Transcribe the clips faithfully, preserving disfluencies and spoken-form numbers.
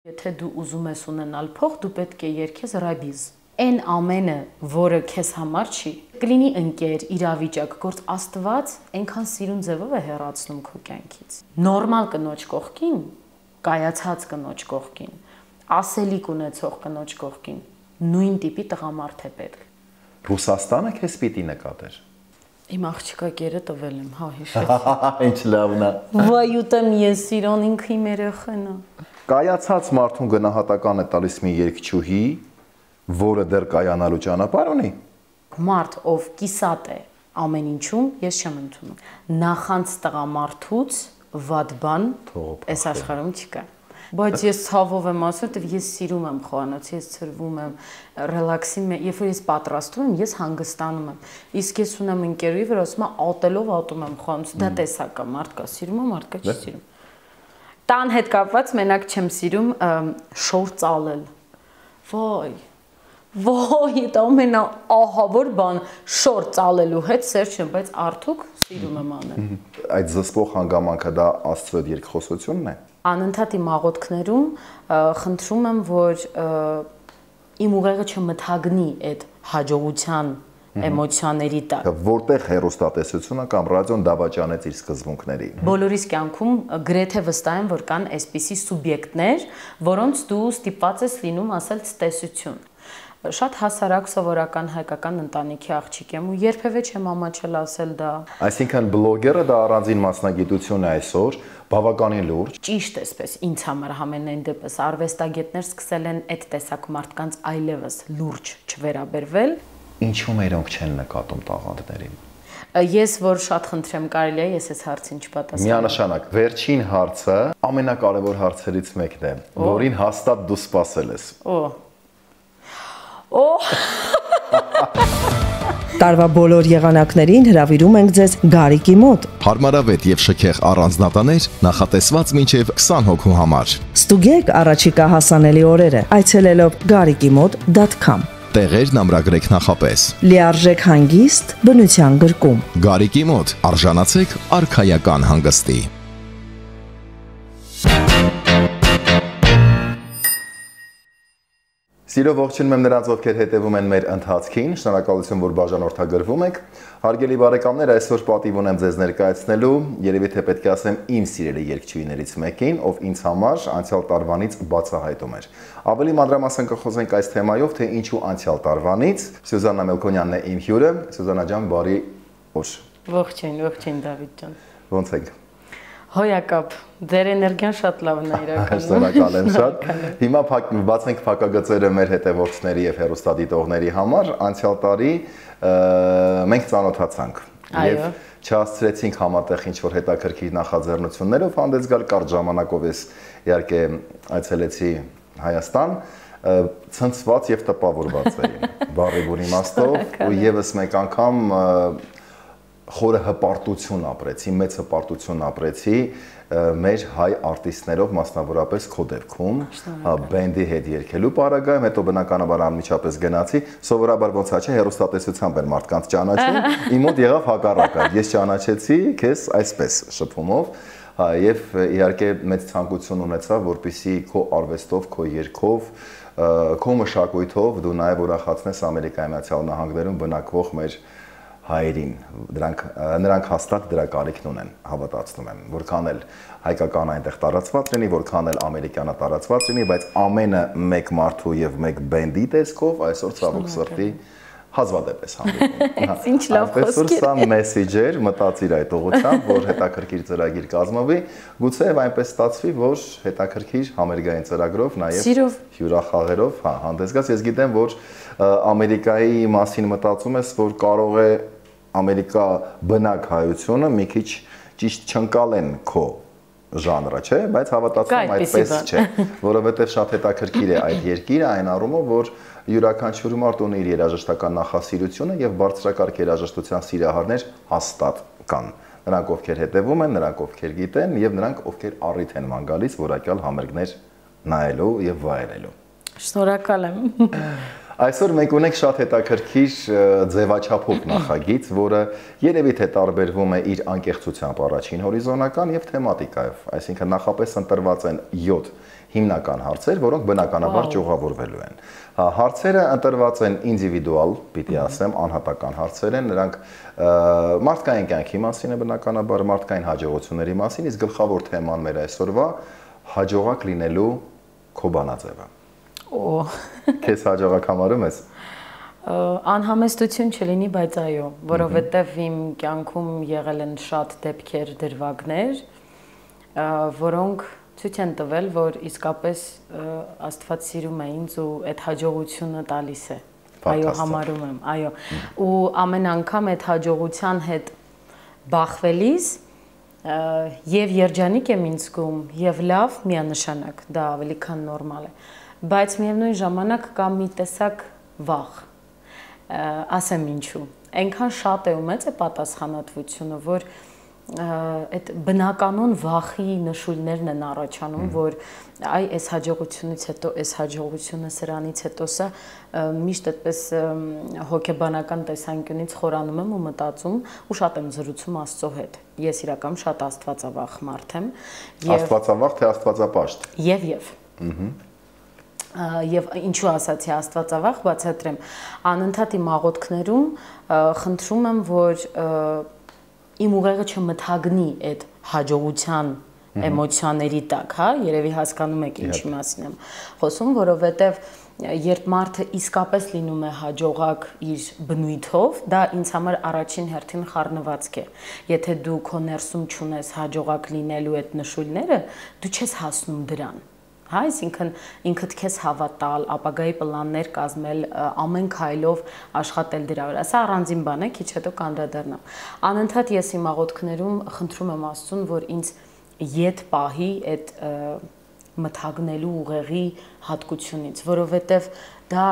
Եթե դու ուզում ես ունենալ փող, դու պետք է երգես ռաբիզ։ Այն ամենը, որը քեզ համար չի, կլինի ընկեր, իրավիճակ, գործ Աստված այնքան սիրուն ձևով է հեռացնում քո կյանքից։ Նորմալ կնոջ կողքին, կայացած կնոջ կողքին, ասելիք ունեցող կնոջ կողքին, նույն տիպի տղամարդ է պետք։ Ռուսաստանը քեզ պիտի նկատեր։ Իմ աղջիկա կերը տվել եմ, հա, հիշեցի։ Ինչ լավն է։ Վայ ուտեմ ես իրոն ինքը իմ երեխան է։ Կայացած մարդուն գնահատական է տալիս մի երգչուհի, որը դեռ կայանալու ճանապարհ ունի։ Մարդ, ով կիսատ է ամեն ինչում, ես չեմ ընդունում։ Նախանց տղամարդուց վատ բան այս աշխարհում չկա։ Բայց ես ցավով եմ ասում, որ ես սիրում եմ խոհանոցը, ես ծրվում եմ, ռելաքսի եմ, երբ որ ես պատրաստում եմ, ես հանգստանում եմ։ Իսկ ես ունեմ ընկերուհի, որ ասում է ատելով ատում եմ խոհանոցը, դա տեսակ է, մարդկա սիրում է, մարդկա չի սիրում։ Տան հետ կապված մենակ չեմ սիրում շոր ծալել։ Վայ։ Ոյ, դա ամենա ահավոր բան շոր ծալելու հետ սեր չեմ, բայց արդյոք սիրում եմ անել։ Այդ զսպող հանգամանքը դա Աստծո երկխոսությունն է։ Անընդհատ իմ աղոթքներում խնդրում եմ, որ իմ ուղեղը չմթագնի այդ հաջողության էմոցիաների տակ։ Որտեղ հեռուստատեսությունը կամ ռադիոն դավաճանեց իր սկզբունքներին։ Բոլորիս կյանքում գրեթե վստահ եմ, որ կան այսպիսի սուբյեկտներ, որոնց դու ստիպված ես լինում ասել ցտեսություն։ Շատ հասարակ սովորական հայկական ընտանիքի աղջիկ եմ ու երբևէ չեմ ամաչել ասել դա։ Այսինքն բլոգերը դա առանձին մասնագիտություն է այսօր, բավականին լուրջ։ Ճիշտ էսպես ինձ համար համենայն դեպս արվեստագետներ սկսել են այդ տեսակ մարդկանց այլևս լուրջ չվերաբերվել։ Ինչու մերոնք չեն նկատում տաղանդներին։ Ես որ շատ խնդրեմ կարելի է ես այս հարցին չպատասխանեմ։ Միանշանակ, վերջին հարցը ամենակարևոր հարցերից մեկն է, որին հաստատ դու սպասել ես։ Օ Օ Տարվա բոլոր եղանակներին հրավիրում ենք ձեզ Գարիկի մոտ։ Հարմարավետ եւ շքեղ առանձնատաներ նախատեսված մինչեւ քսան հոգու համար։ Ստուգեք առաջիկա հասանելի օրերը այցելելով գարիկիմոտ դոտ քոմ։ Տեղերն ամրագրեք նախապես։ Լիարժեք հանգիստ բնության գրկում։ Գարիկի մոտ արժանացեք արքայական հանգստի։ Սիրով ողջունում եմ նրանց, ովքեր հետևում են մեր ընթացքին, շնորհակալություն, որ բաժանորդագրվում եք։ Հարգելի բարեկամներ, այսօր պատիվ ունեմ ձեզ ներկայացնելու, երևի թե պետք է ասեմ իմ սիրելի երգչուհիներից մեկին, ով ինձ համար անցյալ տարվանից բացահայտում էր։ Ավելի մանրամասն կխոսենք այս թեմայով, թե ինչու անցյալ տարվանից։ Սյուզաննա Մելքոնյանն է իմ հյուրը։ Սյուզաննա ջան, բարի օր։ Ողջույն, ողջույն Դավիթ ջան։ Ոնց եք։ Հոյակապ, ձեր էներգիան շատ լավն է իրականում։ Շնորհակալ եմ շատ։ Հիմա բացենք փակագծերը մեր հետևորդների եւ հեռուստադիտողների համար։ Անցյալ տարի մենք ծանոթացանք եւ չհասցրեցինք համատեղ ինչ-որ հետաքրքիր նախաձեռնություններով հանդես գալ, կարճ ժամանակով ես իհարկե այցելեցի Հայաստան, ցնցված եւ տպավորված էի բառի բուն իմաստով ու եւս մեկ անգամ խորը հպարտություն ապրեցի, մեծ հպարտություն ապրեցի մեր հայ արտիստներով, մասնավորապես քո դեպքում, բենդի հետ երգելու պարագայում, հետո բնականաբար անմիջապես գնացի, սովորաբար ոնց է, հեռուստատեսությամբ են մարդկանց ճանաչում, իմ մոտ եղավ հակառակը, ես ճանաչեցի քեզ այսպես շփումով, եւ իհարկե մեծ ցանկություն ունեցա, որպեսզի քո արվեստով, քո երգով, քո մշակույթով դու նաեւ ուրախացնես Ամերիկայի Միացյալ Նահանգներում բնակվող մեր հայերին, դրանք նրանք հաստատ դրա կարիքն ունեն, հավատացնում եմ, որքան էլ հայկական այնտեղ տարածված լինի, որքան էլ ամերիկյանը տարածված լինի, բայց ամենը մեկ մարդու եւ մեկ բենդի տեսքով այսօր ցավոք սրտի հազվադեպ ես հանդիպում։ Ինչ լավ խոսք է։ Սա մեսեջեր, մտածիր այդ ուղղությամբ, որ հետաքրքիր ծրագիր կազմվի, գուցե այնպես ստացվի, որ հետաքրքիր համերգային ծրագրով նաեւ հյուրախաղերով, հա, հանդես գաս։ Ես գիտեմ, որ Ամերիկայի մասին մտածում ես, որ կարող է Ամերիկա բնակ հայությունը մի քիչ ճիշտ չընկալեն քո ժանրը, չէ, բայց հավատացում եմ այդպես չէ, որովհետև շատ հետաքրքիր է այդ երկիրը այն առումով, որ յուրաքանչյուր մարդ ունի իր երաժշտական նախասիրությունը եւ բարձրակարգ երաժշտության սիրահարներ հաստատ կան։ Նրանք ովքեր հետևում են, նրանք ովքեր գիտեն եւ նրանք ովքեր առիթ են ման գալիս որակյալ համերգներ նայելու եւ վայելելու։ Շնորհակալ եմ։ Այսօր մենք ունենք շատ հետաքրքիր ձևաչափով նախագիծ, որը երևի թե տարբերվում է իր անկեղծությամբ առաջին հորիզոնական եւ թեմատիկայով, այսինքն նախապես ընտրված են յոթ հիմնական հարցեր, որոնք բնականաբար ճյուղավորվելու են։ Հարցերը ընտրված են ինդիվիդուալ, պիտի ասեմ, անհատական հարցեր են, նրանք մարդկային կյանքի մասին է բնականաբար, մարդկային հաջողությունների մասին, իսկ գլխավոր թեման մեր այսօրվա հաջողակ լինելու քո բանաձևը։ Օ, քեզ հաջողակ համարում ես։ Անհամեստություն չլինի, բայց այո, որովհետև իմ կյանքում եղել են շատ դեպքեր, դրվագներ, որոնք ցույց են տվել, որ իսկապես Աստված սիրում է ինձ ու այդ հաջողությունը տալիս է։ Այո, համարում եմ, այո։ Ու ամեն անգամ այդ հաջողության հետ բախվելիս եւ երջանիկ եմ ինձ զգում, եւ լավ միանշանակ, դա ավելի քան նորմալ է։ Բայց միևնույն ժամանակ կա մի տեսակ վախ։ Ասեմ ինչու։ Այնքան շատ է ու մեծ է պատասխանատվությունը, որ այդ բնականon վախի նշույլներն են առաջանում, որ այ այս հաջողությունից հետո, այս հաջողությունը սրանից հետո սա միշտ այդպես հոգեբանական տեսանկյունից խորանում եմ ու մտածում ու շատ եմ զրուցում Աստծո հետ։ Ես իրական շատ աստվածավախ մարդ եմ։ Աստվածավախ թե աստվածապաշտ։ Եվ եւ։ Եվ ինչու ասացի աստվածավախ, բացատրեմ, անընդհատ իմ աղոթքներում խնդրում եմ, որ իմ ուղեղը չմթագնի այդ հաջողության էմոցիաների տակ, հա, երևի հասկանում եք ինչի մասին եմ խոսում, որովհետև երբ մարդը իսկապես լինում է հաջողակ իր բնույթով, դա ինձ համար առաջին հերթին խառնվածք է։ Եթե դու քո ներսում չունես հաջողակ լինելու այդ նշույլները, դու չես հասնում դրան։ Հա, այսինքն ինքդ քեզ հավատալ, ապագայի պլաններ կազմել, ամեն քայլով աշխատել դրա վրա։ Սա առանձին բան է, քիչ հետո կանդրադառնամ։ Անընդհատ ես իմ աղոթքներում խնդրում եմ Աստծուն, որ ինձ ետ պահի այդ մթագնելու ուղեղի հատկությունից, որովհետև դա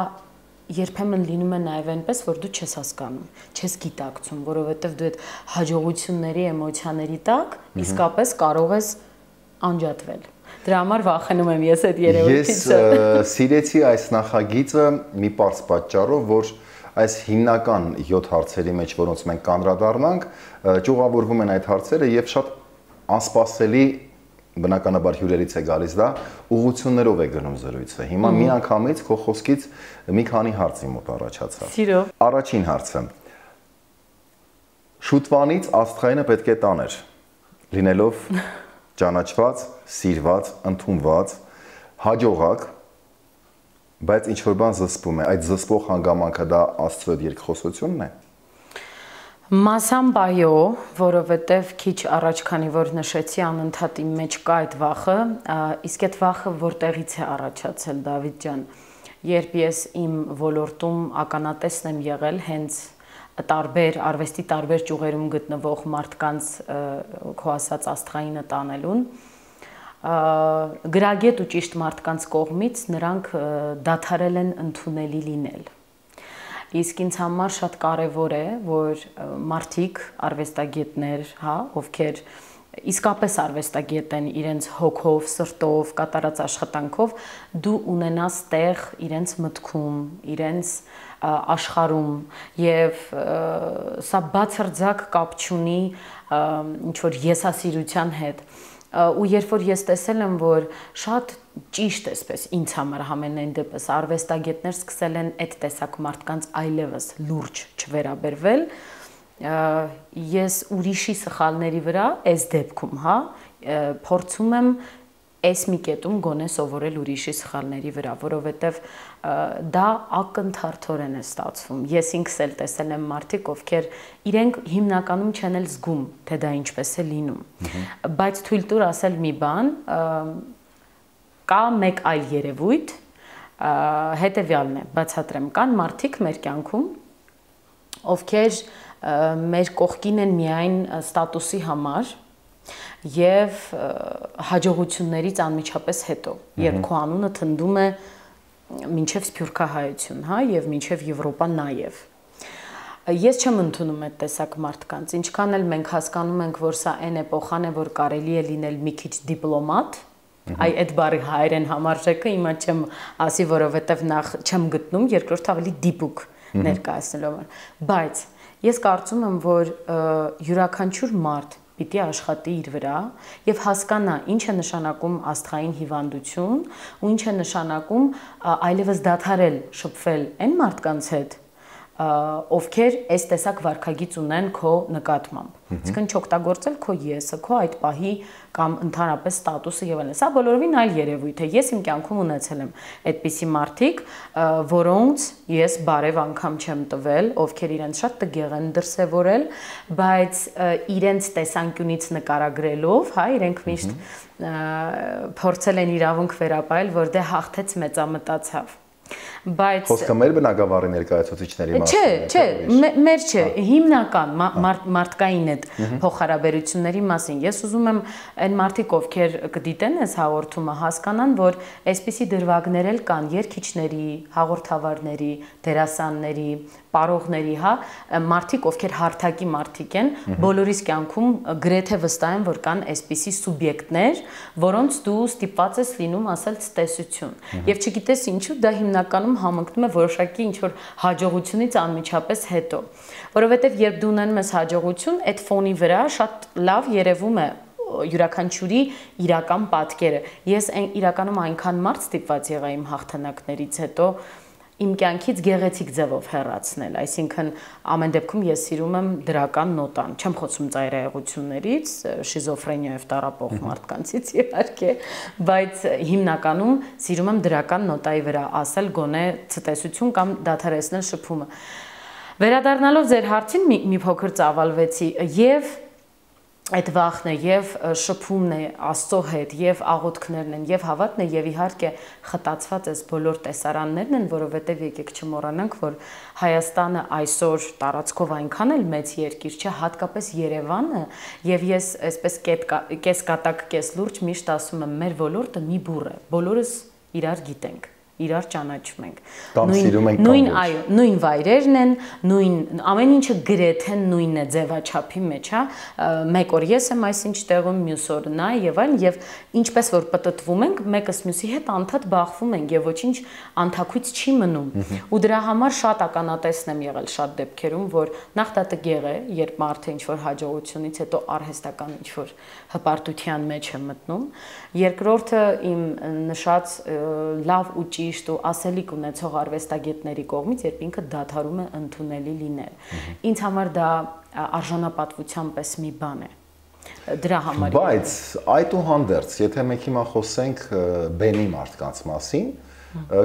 երբեմն լինում է նաև այնպես, որ դու չես հասկանում, չես գիտակցում, որովհետև դու այդ հաջողությունների էմոցիաների տակ իսկապես կարող ես անջատվել։ Դրա համար վախենում եմ ես այդ երևույթից։ Ես սիրեցի այս նախագիծը մի պարզ պատճառով, որ այս հիմնական յոթ հարցերի մեջ, որոնց մենք կանդրադառնանք, ճյուղավորվում են այդ հարցերը եւ շատ անսպասելի, բնականաբար հյուրերից է գալիս դա, ուղղություններով է գնում զրույցը։ Հիմա մի անգամից քո խոսքից մի քանի հարցի մոտ առաջացավ։ Սիրով։ Առաջին հարցը։ Շուտվանից աստղայինը պետք է տաներ, լինելով ճանաչված, սիրված, ընդունված, հաջողակ, բայց ինչ որ բան զսպում է, այդ զսպող հանգամանքը դա Աստծո երկխոսությունն է։ Մասամբ այո, որովհետև քիչ առաջ, քանի որ նշեցի, անընդհատ իմ մեջ կա այդ վախը, իսկ այդ վախը որտեղից է առաջացել, Դավիթ ջան, երբ ես իմ ոլորտում ականատեսն եմ եղել հենց տարբեր արվեստի տարբեր ճյուղերում գտնվող մարդկանց քո ասած աստղայինը տանելուն, գրագետ ու ճիշտ մարդկանց կողմից նրանք դադարել են ընդունելի լինել։ Իսկ ինձ համար շատ կարևոր է, որ մարդիկ, արվեստագետներ, հա, ովքեր իսկապես արվեստագետ են իրենց հոգով, սրտով, կատարած աշխատանքով, դու ունենաս տեղ իրենց մտքում, իրենց աշխարհում եւ սա բացարձակ կապ չունի ինչ որ եսասիրության հետ։ Ու երբ որ ես տեսել եմ, որ շատ ճիշտ էսպես ինձ համար համենայն դեպս արվեստագետներ սկսել են այդ տեսակ մարդկանց այլևս լուրջ չվերաբերվել, ես ուրիշի սխալների վրա, այս դեպքում, հա, փորձում եմ այս մի կետում գոնե սովորել ուրիշի սխալների վրա, որովհետև դա ակնթարթորեն է ստացվում։ Ես ինքս էլ տեսել եմ մարդիկ, ովքեր իրենք հիմնականում չեն էլ զգում, թե դա ինչպես է լինում։ Բայց թույլ տուր ասել մի բան, կա մեկ այլ երևույթ, հետևյալն է, բացատրեմ, կան մարդիկ մեր կյանքում, ովքեր մեր կողքին են միայն ստատուսի համար եւ հաջողություններից անմիջապես հետո, երբ քո անունը թնդում է մինչև սփյուռքահայություն, հա, եւ մինչև Եվրոպա նաեւ։ Ես չեմ ընդունում այդ տեսակ մարդկանց, ինչքան էլ մենք հասկանում ենք, որ սա այն էպոխան է, որ կարելի է լինել մի քիչ դիպլոմատ, այ այդ բառի հայերեն համարժեքը հիմա չեմ ասի, որովհետեւ նախ չեմ գտնում, երկրորդ ավելի դիպուկ ներկայացնելով, բայց ես կարծում եմ, որ յուրաքանչյուր մարդ պիտի աշխատի իր վրա եւ հասկանա ինչ է նշանակում աստղային հիվանդություն ու ինչ է նշանակում այլևս դադարել շփվել այն մարդկանց հետ, ովքեր այս տեսակ վարքագիծ ունեն քո նկատմամբ։ Այսինքն չօգտագործել քո եսը, քո այդ պահի կամ ընդհանրապես ստատուսը եւ այլն։ Սա բոլորովին այլ երևույթ է։ Ես իմ կյանքում ունեցել եմ այդպիսի մարդիկ, որոնց ես բարև անգամ չեմ տվել, ովքեր իրենց շատ տգեղ են դրսևորել, բայց իրենց տեսանկյունից նկարագրելով, հա, իրենք միշտ փորձել են իրավունք վերապայել, որ դե հաղթեց մեծամտացավ։ Բայց խոսքը մեր բնակավարի ներկայացուցիչների մասին է։ Չէ, չէ, մեր չէ, հիմնական մարդկային այդ փոխհարաբերությունների մասին։ Ես ուզում եմ այն մարդիկ, ովքեր կդիտեն այս հաղորդումը, հասկանան, որ այսպիսի դրվագներ էլ կան երգիչների, հաղորդավարների, դերասանների, պարողների, հա, մարդիկ, ովքեր հարթակի մարդիկ են, բոլորիս կյանքում գրեթե վստահ եմ, որ կան այսպիսի սուբյեկտներ, որոնց դու ստիպված ես լինում ասել ցտեսություն։ Եվ չգիտես ինչու, դա հիմնականում համընկնում է որոշակի ինչ-որ հաջողությունից անմիջապես հետո, որովհետև երբ դու ունենում ես հաջողություն, այդ ֆոնի վրա շատ լավ երևում է յուրաքանչյուրի իրական պատկերը։ Ես իրականում այնքան մարդ ստիպված եղա իմ հաղթանակներից հետո իմ կյանքից գեղեցիկ ձևով հեռացնել, այսինքն ամեն դեպքում ես սիրում եմ դրական նոտան, չեմ խոսում ծայրահեղություններից, շիզոֆրենիայով տառապող մարդկանցից իհարկե, բայց հիմնականում սիրում եմ դրական նոտայի վրա ասել գոնե ցտեսություն կամ դադարեցնել շփումը։ Վերադառնալով ձեր հարցին մի փոքր ծավալվեցի եւ այդ վախն է եւ շփումն է Աստծո հետ եւ աղոթքներն են եւ հավատն է եւ իհարկե խտացված էս բոլոր տեսարաններն են, որովհետեւ եկեք չմոռանանք, որ Հայաստանը այսօր տարածքով այնքան էլ մեծ երկիր չէ, հատկապես Երևանը, եւ ես այսպես կես կատակ, կես լուրջ միշտ ասում եմ, մեր ոլորտը մի բուռ է, բոլորս իրար գիտենք, իրար ճանաչում ենք։ Նույն, այո, նույն վայրերն են, նույն ամեն ինչը գրեթե նույնն է ձևաչափի մեջ, հա, մեկ օր ես եմ այսինչ տեղում, մյուս օր նա եւ այլն, եւ ինչպես որ պտտվում ենք, մեկս մյուսի հետ անդադ բախվում ենք եւ ոչինչ անթակույց չի մնում։ Ու դրա համար շատ ականատեսն եմ եղել շատ դեպքերում, որ նախ դա տգեղ է, երբ մարդը ինչ որ հաջողությունից հետո արհեստական ինչ որ հպարտության մեջ է մտնում։ Երկրորդը իմ նշած լավ ու ճիշտ ու ասելիք ունեցող արվեստագետների կողմից, երբ ինքը դադարում է ընդունելի լինել։ Ինձ համար դա արժանապատվության պես մի բան է։ Դրա համար։ Բայց այդուհանդերձ, եթե մենք հիմա խոսենք բեմի մարդկանց մասին,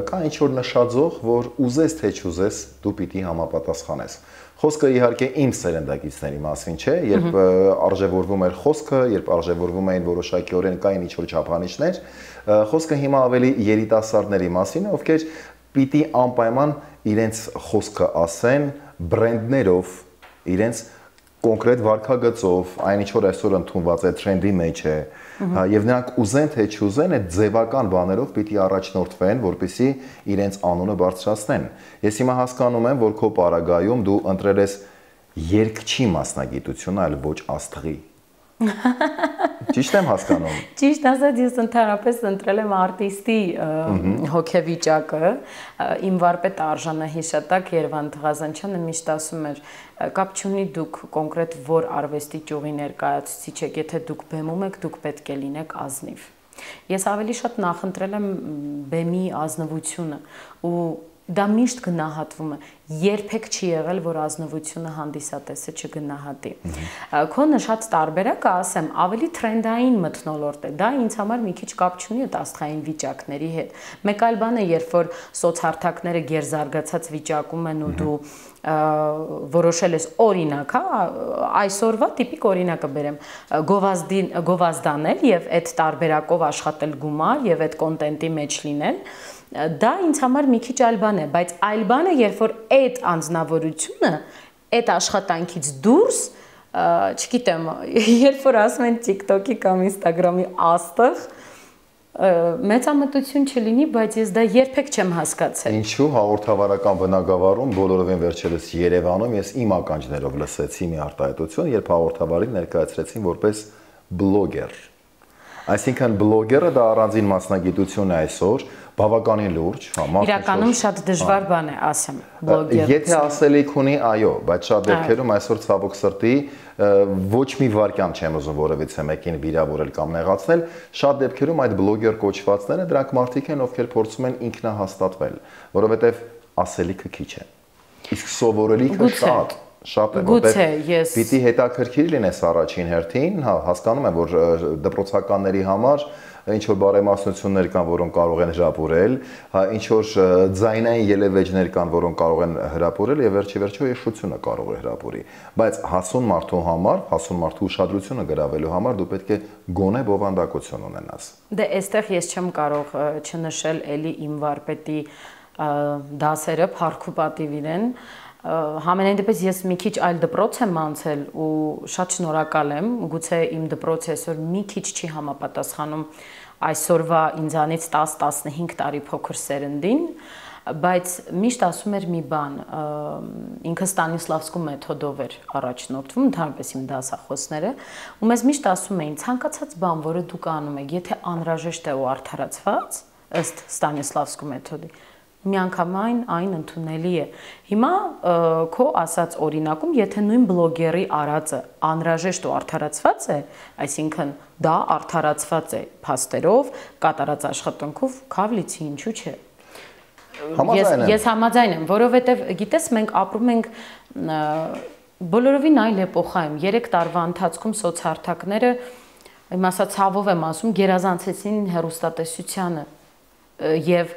կա ինչ որ նշաձող, որ ուզես թե չուզես դու պիտի համապատասխանես։ Խոսքը իհարկե իմ սերնդակիցների մասին չէ, երբ արժևորվում էր խոսքը, երբ արժևորվում էին որոշակիորեն կային ինչ որ չափանիշներ, խոսքը հիմա ավելի երիտասարդների մասին է, ովքեր պիտի անպայման իրենց խոսքը ասեն բրենդներով, իրենց կոնկրետ վարքագծով, այն ինչ որ այսօր ընդունված է տրենդի մեջ է, եւ նրանք ուզեն թե չուզեն այդ ձևական բաներով պիտի առաջնորդվեն, որպեսզի իրենց անունը բարձրացնեն։ Ես հիմա հասկանում եմ, որ քո պարագայում դու ընտրել ես երգչի մասնագիտությունը, այլ ոչ աստղի։ Ճիշտ եմ հասկանում։ Ճիշտ ասած, ես ընդհանրապես ընտրել եմ արտիստի հոգեվիճակը, իմ վարպետ Արժանա Հիշատակ Երվանդ Ղազանչյանը միշտ ասում էր, կապ չունի դուք կոնկրետ որ արվեստի ճյուղի ներկայացուցիչ եք, եթե դուք բեմում եք, դուք պետք է լինեք ազնիվ։ Ես ավելի շատ նախընտրել եմ բեմի ազնվությունը ու դա միշտ գնահատվում է, երբեք չի եղել, որ ազնվությունը հանդիսատեսը չգնահատի։ Քո նշած տարբերակը, ասեմ, ավելի տրենդային մթնոլորտ է, դա ինձ համար մի քիչ կապ չունի այդ աստղային վիճակների հետ։ Մեկ այլ բան է, երբ որ սոցհարթակները գերզարգացած վիճակում են ու դու որոշել ես օրինակ, հա, այսօրվա տիպիկ օրինակը բերեմ, գովազդին գովազդանել եւ այդ տարբերակով աշխատել գումար եւ այդ կոնտենտի մեջ լինել, դա ինձ համար մի քիչ այլ բան է, բայց այլ բան է, երբ որ այդ անձնավորությունը այդ աշխատանքից դուրս, չգիտեմ, երբ որ ասում են TikTok-ի կամ Instagram-ի աստղ, մեծամտություն չլինի, բայց ես դա երբեք չեմ հասկացել։ Ինչու հաղորդավարական բնագավառում բոլորովին վերջերս Երևանում ես իմ ականջներով լսեցի մի արտահայտություն, երբ հաղորդավարին ներկայացրեցին որպես բլոգեր։ Այսինքն բլոգերը դա առանձին մասնագիտություն է այսօր, Բավականին լուրջ, հա, մարդը իրականում շատ դժվար բան է, ասեմ, բլոգեր։ Եթե ասելիք ունի, այո, բայց շատ դեպքերում այսօր ցավոք սրտի ոչ մի վարքյան չեմ ուզում որևիցե մեկին վիրավորել կամ նեղացնել, շատ դեպքերում այդ բլոգեր կոչվածները դրանք մարդիկ են, ովքեր փորձում են ինքնահաստատվել, որովհետև ասելիքը քիչ է։ Իսկ սովորելիքը շատ շատ է, որտեղ պիտի հետաքրքիր լինես առաջին հերթին, հա, հասկանում եմ, որ դպրոցականների համար ինչ որ բարեմասնություններ կան, որոնք կարող են հրապուրել, հա, ինչ որ ձայնային ելևէջներ կան, որոնք կարող են հրապուրել եւ վերջի վերջո եշությունը կարող է հրապուրի, բայց հասուն մարդու համար, հասուն մարդու ուշադրությունը գրավելու համար դու պետք է գոնե բովանդակություն ունենաս։ Դե այստեղ ես չեմ կարող չնշել էլի իմ վարպետի դասերը փառք ու պատիվ իրեն, Համենայն դեպս ես մի քիչ այլ դպրոց եմ անցել ու շատ շնորհակալ եմ, գուցե իմ դպրոցը այսօր մի քիչ չի համապատասխանում այսօրվա ինձանից տաս տասնհինգ տարի փոքր սերնդին, բայց միշտ ասում էր մի բան, ինքը Ստանիսլավսկու մեթոդով էր առաջնորդվում, ընդհանրապես իմ դասախոսները, ու մեզ միշտ ասում էին, ցանկացած բան, որը դուք անում եք, եթե անհրաժեշտ է ու արդարացված, ըստ Ստանիսլավսկու մեթոդի, միանգամայն այն ընդունելի է։ Հիմա քո ասած օրինակում, եթե նույն բլոգերի արածը անհրաժեշտ ու արդարացված է, այսինքն դա արդարացված է փաստերով, կատարած աշխատանքով, քավլիցի ինչու՞ չէ։ Ես ես համաձայն եմ, որովհետև գիտես մենք ապրում ենք բոլորովին այլ էպոխայում, երեք տարվա ընթացքում սոցհարթակները, իմ ասած ցավով եմ ասում, գերազանցեցին հեռուստատեսությանը եւ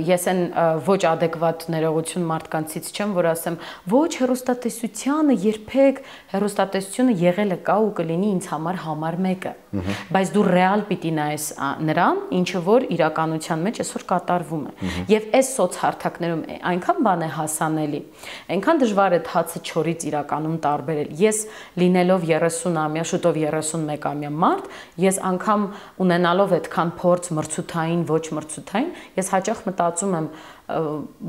ես այն ոչ adekvat ներողություն մարդկանցից չեմ, որ ասեմ, ոչ հեռուստատեսությանը երբեք հեռուստատեսությունը եղել է կա ու կլինի ինձ համար համար մեկը, բայց դու ռեալ պիտի նայես նրան, ինչը որ իրականության մեջ այսօր կատարվում է։ Եվ այս սոցհարթակներում այնքան բան է հասանելի, այնքան դժվար է հացը չորից իրականում տարբերել։ Ես լինելով երեսունամյա, շուտով երեսունմեկամյա մարդ, ես անգամ ունենալով այդքան փորձ մրցութային, ոչ մրցութային, ես հաճախ մտածում եմ,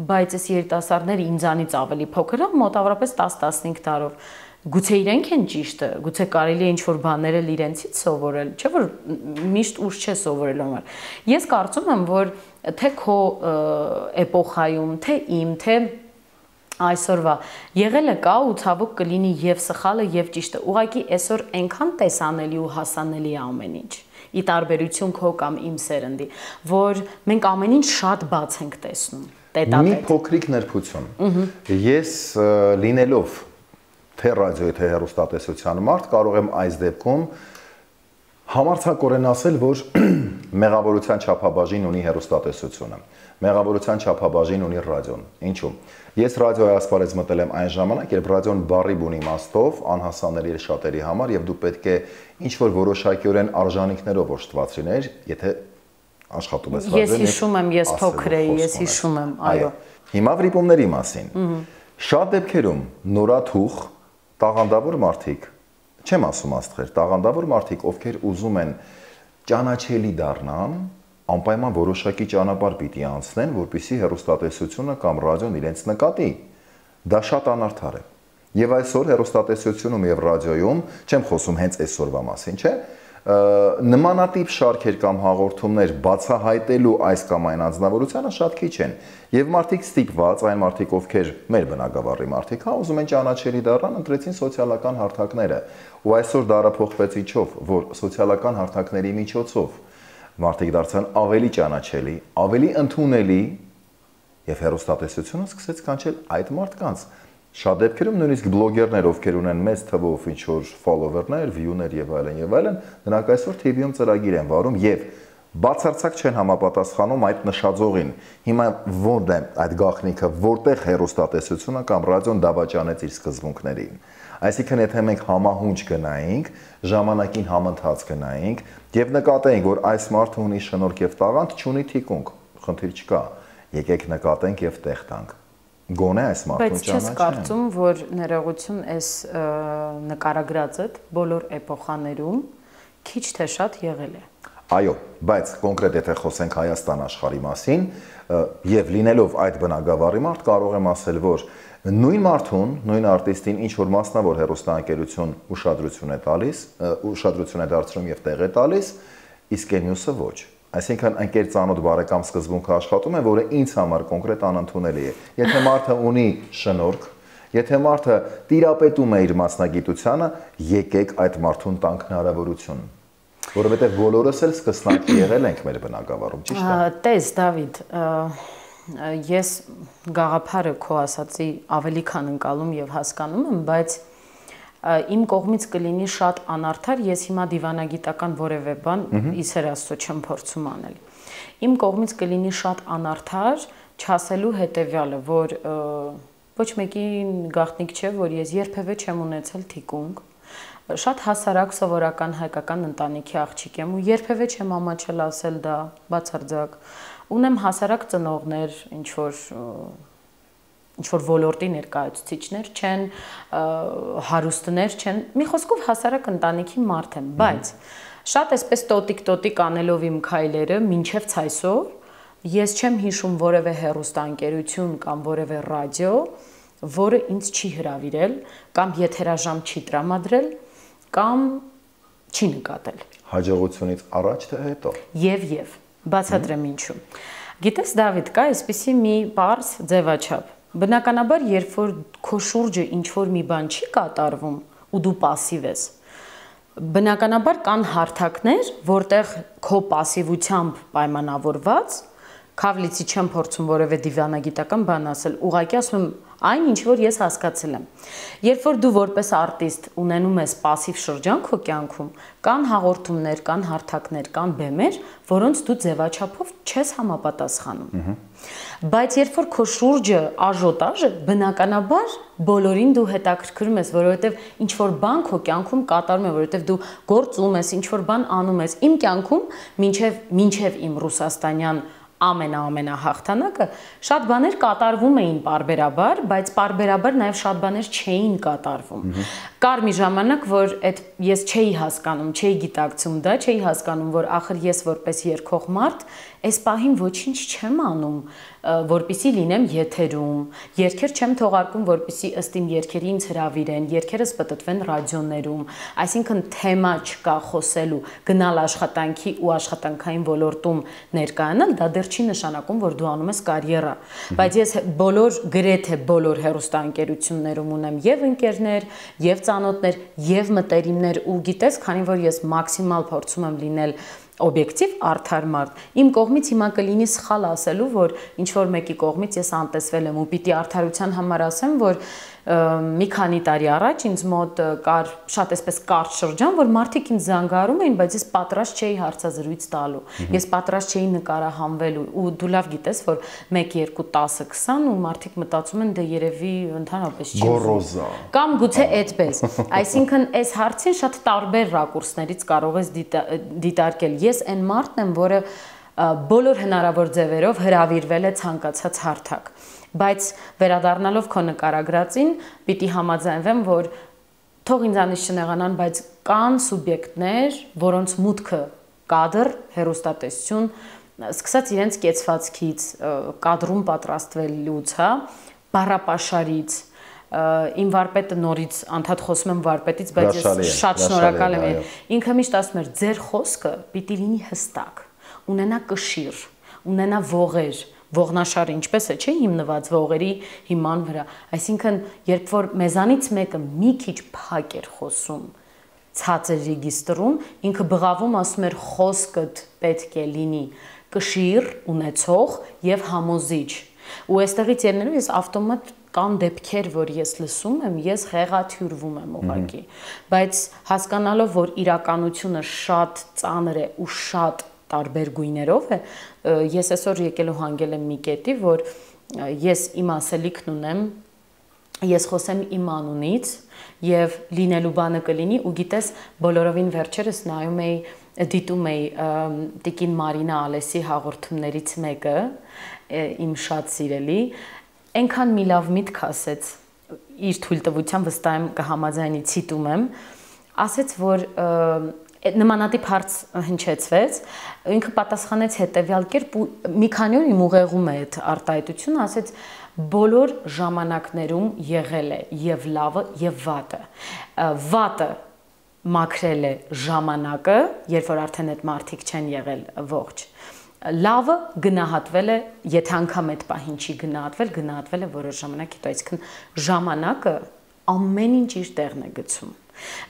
բայց այս երիտասարդները ինձանից ավելի փոքր են, մոտավորապես տաս-տասնհինգ տարով, գուցե իրենք են ճիշտը, գուցե կարելի է ինչ-որ բաներ էլ իրենցից սովորել, չէ՞ որ միշտ ուշ չէ սովորելու համար։ Ես կարծում եմ, որ թե քո էպոխայում, թե իմ, թե այսօրվա եղել է կա ու ցավոք կլինի եւ սխալը եւ ճիշտը։ Ուղղակի այսօր այնքան տեսանելի ու հասանելի է ամեն ինչ։ Ի տարբերություն քո կամ իմ սերնդի, որ մենք ամեն ինչ շատ բաց ենք տեսնում։ Տետատետ։ Մի փոքրիկ ներբություն։ Ես լինելով թե ռադիոյի, թե հեռուստատեսության մարդ կարող եմ այս դեպքում համարձակորեն ասել, որ մեղավորության չափաբաժին ունի հեռուստատեսությունը, մեղավորության չափաբաժին ունի ռադիոն։ Ինչու՞։ Ես ռադիոյի ասպարեզ մտել եմ այն ժամանակ, երբ ռադիոն բառի բուն իմաստով անհասանելի էր շատերի համար եւ դու պետք է ինչ-որ որոշակիորեն արժանինքներով օժտված լիներ, եթե աշխատում ես ռադիոյում։ Ես հիշում եմ, ես փոքր էի, ես հիշում եմ, այո։ Հիմա վրիպումների մասին։ Շատ դեպքերում նորաթուխ տաղանդավոր մարդիկ, չեմ ասում աստղեր, տաղանդավոր մարդիկ, ովքեր ուզում են ճանաչելի դառնան, անպայման որոշակի ճանապարհ պիտի անցնեն, որպեսզի հեռուստատեսությունը կամ ռադիոն իրենց նկատի։ Դա շատ անարդար է։ Եվ այսօր հեռուստատեսությունում եւ ռադիոյում, չեմ խոսում հենց այսօրվա մասին, չէ՞, նմանատիպ շարքեր կամ հաղորդումներ բացահայտելու այս կամ այն անձնավորությունը շատ քիչ են։ Եվ մարդիկ ստիպված, այն մարդիկ, ովքեր մեր բնակավարի մարդիկ, հա, ուզում են ճանաչելի դառնան, ընտրեցին սոցիալական հարթակները։ Ու այսօր դարը փոխվեց ինչով, որ սոցիալական հարթակների միջոցով մարդիկ դարձան ավելի ճանաչելի, ավելի ընդունելի, եւ հեռուստատեսությունը սկսեց կանչել այդ մարդկանց։ Շատ դեպքերում նույնիսկ բլոգերներ, ովքեր ունեն մեծ թվով ինչ-որ ֆոլովերներ, վյուներ եւ այլն եւ այլն, նրանք այսօր T V-ում ծրագիր են վարում եւ բացարձակ չեն համապատասխանում այդ նշաձողին։ Հիմա ո՞րն է այդ գաղտնիքը, որտեղ հեռուստատեսությունը կամ ռադիոն դավաճանեց իր սկզբունքներին։ Այսինքն, եթե մենք համահունչ գնայինք, ժամանակին համընթաց գնայինք եւ նկատեինք, որ այս մարդը ունի շնորհք եւ տաղանդ, չունի թիկունք, խնդիր չկա։ Եկեք նկատենք եւ տեղ տանք։ Գոնե այս մարդուն ճանաչեն։ Բայց չես կարծում, որ ներողություն այս նկարագրածդ բոլոր էպոխաներում քիչ թե շատ եղել է։ Այո, բայց կոնկրետ եթե խոսենք Հայաստան աշխարհի մասին, եւ լինելով այդ բնակավարի մարդ, կարող եմ ասել, որ նույն մարդուն, նույն արտիստին ինչ որ մասնավոր հեռուստաընկերություն ուշադրություն է տալիս, ուշադրություն է դարձնում եւ տեղ է տալիս, իսկ այն մյուսը ոչ։ Այսինքն ընկեր ծանոթ բարեկամ սկզբունքը աշխատում է, որը ինձ համար կոնկրետ անընդունելի է։ Եթե մարդը ունի շնորհք, եթե մարդը տիրապետում է իր մասնագիտությանը, եկեք այդ մարդուն տանք հնարավորություն, որովհետև բոլորս էլ սկսնակ եղել ենք մեր բնակավարում, ճիշտ է։ Տես, Դավիթ, ես գաղափարը քո ասացի ավելի քան ընկալում եւ հասկանում եմ, բայց իմ կողմից կլինի շատ անարդար, ես հիմա դիվանագիտական որևէ բան իսեր Աստծո չեմ փորձում անել։ Իմ կողմից կլինի շատ անարդար չասելու հետեւյալը, որ ոչ մեկին գաղտնիք չէ, որ ես երբևէ չեմ ունեցել թիկունք, շատ հասարակ սովորական հայկական ընտանիքի աղջիկ եմ ու երբևէ չեմ ամաչել ասել դա բացարձակ։ Ունեմ հասարակ ծնողներ, ինչ որ ինչ-որ ոլորտի ներկայացուցիչներ չեն, հարուստներ չեն, մի խոսքով հասարակ ընտանիքի մարդ եմ, բայց շատ այսպես տոտիկ-տոտիկ անելով իմ քայլերը մինչև ցայսօր ես չեմ հիշում որևէ հեռուստաընկերություն կամ որևէ ռադիո, որը ինձ չի հրավիրել կամ եթերաժամ չի տրամադրել կամ չի նկատել։ Հաջողությունից առաջ թե հետո։ Եվ եւ բացատրեմ ինչու։ Գիտես, Դավիթ, կա այսպիսի մի պարզ ձևաչափ։ Բնականաբար, երբ որ քո շուրջը ինչ-որ մի բան չի կատարվում ու դու пассив ես, բնականաբար կան հարթակներ, որտեղ քո пассивությամբ պայմանավորված, քավլիցի չեմ փորձում որևէ դիվանագիտական բան ասել, ուղղակի ասում եմ այն, ինչ որ ես հասկացել եմ։ Երբ որ դու որպես արտիստ ունենում ես пассив շրջան քո կյանքում, կան հաղորդումներ, կան հարթակներ, կան բեմեր, որոնց դու ձևաչափով չես համապատասխանում։ Բայց երբ որ քո շուրջը աժոտաժ է, բնականաբար բոլորին դու հետաքրքրում ես, որովհետև ինչ որ բան քո կյանքում կատարում է, որովհետև դու գործում ես, ինչ որ բան անում ես։ Իմ կյանքում մինչև մինչև իմ ռուսաստանյան ամենա-ամենահաղթանակը շատ բաներ կատարվում էին պարբերաբար, բայց պարբերաբար նաև շատ բաներ չէին կատարվում։ Կար մի ժամանակ, որ այդ ես չէի հասկանում, չէի գիտակցում դա, չէի հասկանում, որ ախր ես որպես երգող մարդ այս պահին ոչինչ չեմ անում, որպեսզի լինեմ եթերում, երգեր չեմ թողարկում, որպեսզի ըստ իմ երգերի ինձ հրավիրեն, երգերս պտտվեն ռադիոներում, այսինքն թեմա չկա խոսելու, գնալ աշխատանքի ու աշխատանքային ոլորտում ներկայանալ, դա դեռ չի նշանակում, որ դու անում ես կարիերա, բայց ես բոլոր գրեթե բոլոր հեռուստաընկերություններում ունեմ եւ ընկերներ, եւ ծանոթներ, եւ մտերիմներ ու գիտես, քանի որ ես մաքսիմալ փորձում եմ լինել օբյեկտիվ արդար մարդ, իմ կողմից հիմա կլինի սխալ ասելու, որ ինչ որ մեկի կողմից ես անտեսվել եմ ու պիտի արդարության համար ասեմ, որ մի քանի տարի առաջ ինձ մոտ կար շատ այսպես կարճ շրջան, որ մարդիկ ինձ զանգարում էին, բայց ես պատրաստ չէի հարցազրույց տալու, ես պատրաստ չէի նկարահանվելու ու դու լավ գիտես, որ մեկ, երկու, տասը, քսան ու մարդիկ մտածում են դե երևի ընդհանրապես չի գոռոզա կամ գուցե այդպես, այսինքն այս հարցին շատ տարբեր ռակուրսներից կարող ես դիտարկել։ Ես այն մարդն եմ, որը բոլոր հնարավոր ձևերով հրավիրվել է ցանկացած հարթակ, բայց վերադառնալով քո նկարագրածին, պիտի համաձայնվեմ, որ թող ինձանից չնեղանան, բայց կան սուբյեկտներ, որոնց մուտքը կադր, հեռուստատեսություն, սկսած իրենց կեցվածքից, կադրում պատրաստվելուց, հա, բառապաշարից, իմ վարպետը նորից անդադ խոսում եմ վարպետից, բայց ես շատ շնորհակալ եմ։ Ինքը միշտ ասում էր, ձեր խոսքը պիտի լինի հստակ, ունենա կշիռ, ունենա ողեր, ողնաշարը ինչպես է, չէ, հիմնված ողերի հիման վրա։ Այսինքն, երբ որ մեզանից մեկը մի քիչ փակ էր խոսում, ցածր ռեգիստրում, ինքը բղավում ասում էր խոսքդ պետք է լինի կշիռ, ունեցող եւ համոզիչ։ Ու այստեղից ելնելով ես ավտոմատ կան դեպքեր, որ ես լսում եմ, ես հեղաթյուրվում եմ ուղղակի, բայց հասկանալով, որ իրականությունը շատ ծանր է ու շատ տարբեր գույներով է, ես այսօր եկել ու հանգել եմ մի կետի, որ ես իմ ասելիքն ունեմ, ես խոսեմ իմ անունից եւ լինելու բանը կլինի ու գիտես բոլորովին վերջերս նայում էի, դիտում էի Տիկին Մարինա Ալեսի հաղորդումներից մեկը, իմ շատ սիրելի, այնքան մի լավ միտք ասեց, իր թույլտվությամբ վստահ եմ կհամաձայնի, ցիտում եմ, ասեց, որ նմանատիպ հարց հնչեցվեց, ինքը պատասխանեց հետևյալ կերպ ու մի քանի օր իմ ուղեղում է այդ արտահայտությունը, ասեց բոլոր ժամանակներում եղել է եւ լավը եւ վատը։ Վատը մաքրել է ժամանակը, երբ որ արդեն այդ մարդիկ չեն եղել ողջ։ Լավը գնահատվել է, եթե անգամ այդ պահին չի գնահատվել, գնահատվել է որոշ ժամանակ հետո, այսինքն ժամանակը ամեն ինչ իր տեղն է գցում։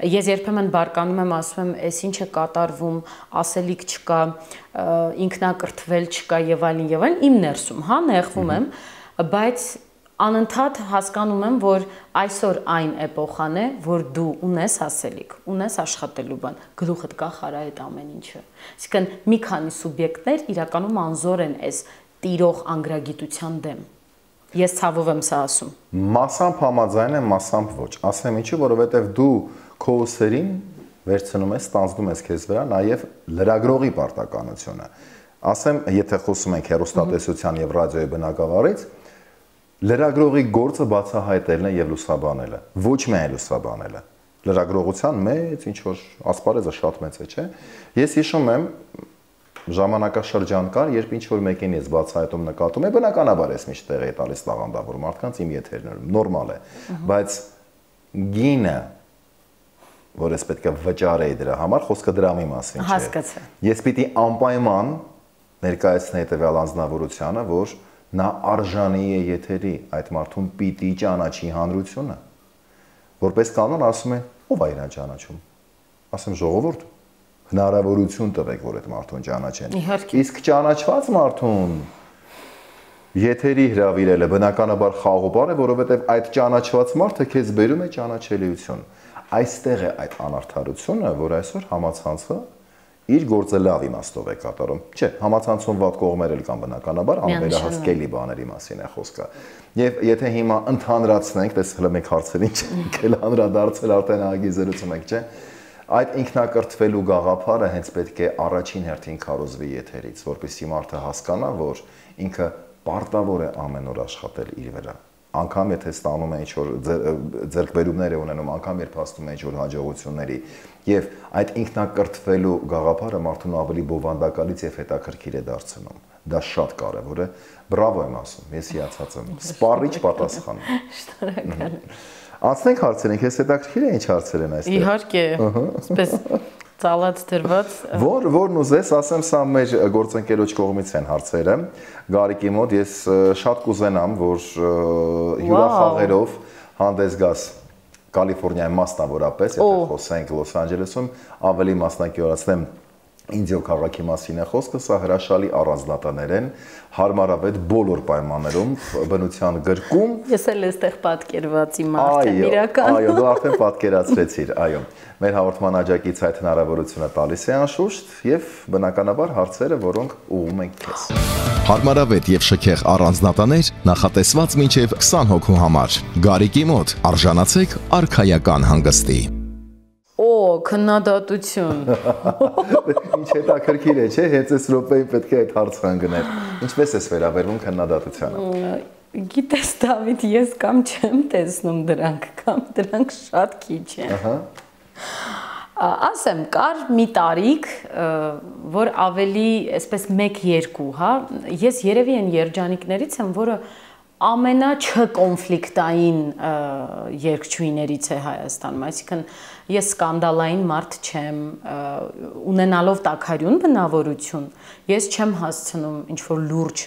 Ես երբեմն բարկանում եմ, ասում եմ, այս ինչ է կատարվում, ասելիք չկա, ինքնակրթվել չկա եւ այլն եւ այլն, իմ ներսում, հա, նեղվում եմ, բայց անընդհատ հասկանում եմ, որ այսօր այն էպոխան է, որ դու ունես ասելիք, ունես աշխատելու բան, գլուխդ կա խարա այդ ամեն ինչը։ Այսինքն մի քանի սուբյեկտներ իրականում անզոր են այս տիրող անգրագիտության դեմ։ Ես ցավով եմ սա ասում։ Մասամբ համաձայն եմ, մասամբ ոչ։ Ասեմ ինչու, որովհետև դու քո ուսերին վերցնում ես, ստանձնում ես քեզ վրա նաև լրագրողի պարտականությունը։ Ասեմ, եթե խոսում ենք հեռուստատեսության եւ ռադիոյի բնագավառից, լրագրողի գործը բացահայտելն է եւ լուսաբանելը, ոչ միայն լուսաբանելը։ Լրագրողության մեծ ինչ որ ասպարեզը շատ մեծ է, չէ՞։ Ես հիշում եմ ժամանակաշրջան կար, երբ ինչ որ մեկին ես բացահայտում նկատում եմ, բնականաբար ես միշտ տեղ է տալիս տաղանդավոր մարդկանց իմ եթերներում, նորմալ է, բայց գինը, որ ես պետք է վճարեի դրա համար, խոսքը դրամի մասին չէ։ Հասկացա։ Ես պիտի անպայման ներկայացնեի տվյալ անձնավորությանը, որ նա արժանի է եթերի, այդ մարդուն պիտի ճանաչի հանրությունը։ Որպես կանոն ասում են, ով է իրան ճանաչում։ Ասեմ ժողովուրդ, հնարավորություն տվեք, որ այդ մարդուն ճանաչեն։ Իսկ ճանաչված մարդուն եթերի հրավիրելը բնականաբար խաղողբար է, որովհետև այդ ճանաչված մարդը քեզ բերում է ճանաչելիություն։ Այստեղ է այդ անարդարությունը, որ այսօր համացանցը իր գործը լավ իմաստով է կատարում։ Չէ, համացանցում վատ կողմեր էլ կան բնականաբար, անվերահսկելի բաների մասին է խոսքը։ Եվ եթե հիմա ընդհանրացնենք, տես հələ մեկ հարցերին չենք էլ անդրադարձել, արդեն ահագի զրուցում ենք, չէ՞։ Այդ ինքնակրթվելու գաղափարը հենց պետք է առաջին հերթին քարոզվի եթերից, որպեսզի մարդը հասկանա, որ ինքը պարտավոր է ամեն օր աշխատել իր վրա։ Անկամ եթե ստանում է ինչ-որ ձեռքբերումներ է ունենում, անկամ երբ հասնում է ինչ-որ հաջողությունների, եւ այդ ինքնակրթվելու գաղափարը մարդուն ավելի բովանդակալից եւ հետաքրքիր է դարձնում։ Դա շատ կարեւոր է։ Բրավո եմ ասում, ես հիացած եմ։ Սպառիչ պատասխան։ Շնորհակալ։ Անցնենք հարցերին, քեզ հետաքրքիր է ինչ հարցեր են այստեղ։ Իհարկե, այսպես ծալած դրված։ Որ որն ուզես, ասեմ, սա մեր գործընկերոջ կողմից են հարցերը։ Գարիկի մոտ ես շատ կուզենամ, որ հյուրախաղերով հանդես գաս Կալիֆոռնիայի մասնավորապես, եթե խոսենք Լոս Անջելեսում, ավելի մասնակիորացնեմ Ինդիո քաղաքի մասին է խոսքը, սա հրաշալի առանձնատներ են, հարմարավետ բոլոր պայմաններում, բնության գրկում։ Ես էլ էստեղ պատկերված իմ արդեն իրական։ Այո, դու արդեն պատկերացրեցիր, այո։ Մեր հաղորդման աջակից այդ հնարավորությունը տալիս է անշուշտ եւ բնականաբար հարցերը, որոնք ուղղում ենք քեզ։ Հարմարավետ եւ շքեղ առանձնատներ նախատեսված մինչեւ քսան հոգու համար։ Գարիկի մոտ արժանացեք արքայական հանգստի։ Օ, քննադատություն։ Ինչ հետաքրքիր է, չէ՞, հենց այս րոպեին պետք է այդ հարցը ընկներ։ Ինչպես ես վերաբերվում քննադատությանը։ Գիտես, Դավիթ, ես կամ չեմ տեսնում դրանք, կամ դրանք շատ քիչ են։ Ահա։ Ասեմ, կար մի տարիք, որ ավելի, այսպես մեկ-երկու, հա, ես երևի այն երջանիկներից եմ, որը ամենաչկոնֆլիկտային երգչուհիներից է Հայաստանում, այսինքն ես սկանդալային մարդ չեմ, ունենալով տաքարյուն բնավորություն, ես չեմ հասցնում ինչ-որ լուրջ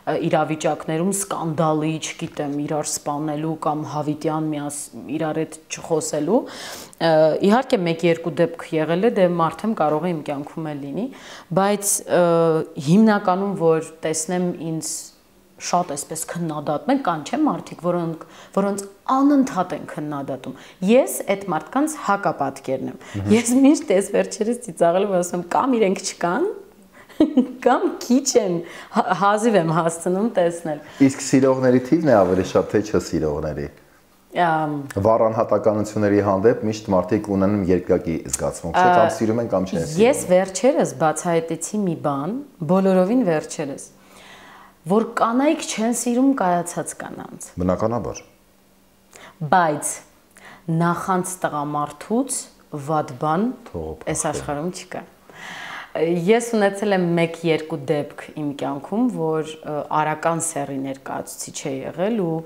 իրավիճակներում սկանդալի, չգիտեմ, իրար սպանելու կամ հավիտյան իրար հետ չխոսելու, իհարկե մեկ-երկու դեպք եղել է, դե մարդ եմ կարող է իմ կյանքում էլ լինի, բայց հիմնականում, որ տեսնեմ ինձ շատ այսպես քննադատում են, կան չէ մարդիկ, որոնք որոնց անընդհատ են քննադատում։ Ես այդ մարդկանց հակապատկերն եմ։ Ես միշտ այս վերջերս ծիծաղելով ասում եմ, կամ իրենք չկան, կամ քիչ են, հազիվ եմ հասցնում տեսնել։ Իսկ սիրողների թիվն է ավելի շատ, թե չսիրողների։ Վառ անհատականությունների հանդեպ միշտ մարդիկ ունեն երկակի զգացմունք, չէ՞, կամ սիրում են, կամ չեն սիրում։ Ես վերջերս բացահայտեցի մի բան, բոլորովին վերջերս, որ կանայք չեն սիրում կայացած կանանց։ Բնականաբար։ Բայց նախանց տղամարդուց վատ բան այս աշխարհում չկա։ Ես ունեցել եմ մեկ-երկու դեպք իմ կյանքում, որ արական սեռի ներկայացուցիչ է եղել ու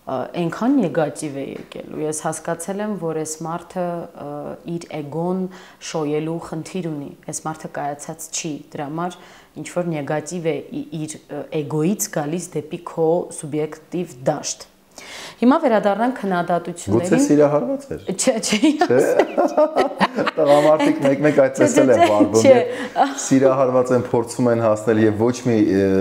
այնքան նեգատիվ է եկել ու ես հասկացել եմ, որ այս մարդը իր էգոն շոյելու խնդիր ունի։ Այս մարդը կայացած չի, դրա համար ինչ որ նեգատիվ է իր էգոից գալիս դեպի քո սուբյեկտիվ դաշտ։ Հիմա վերադառնանք քննադատություններին։ Գուցե սիրահարված էր։ Չէ, չէ։ Տղամարդիկ մեկ-մեկ այդպես էլ են վարվում, սիրահարված են, փորձում են հասնել եւ ոչ մի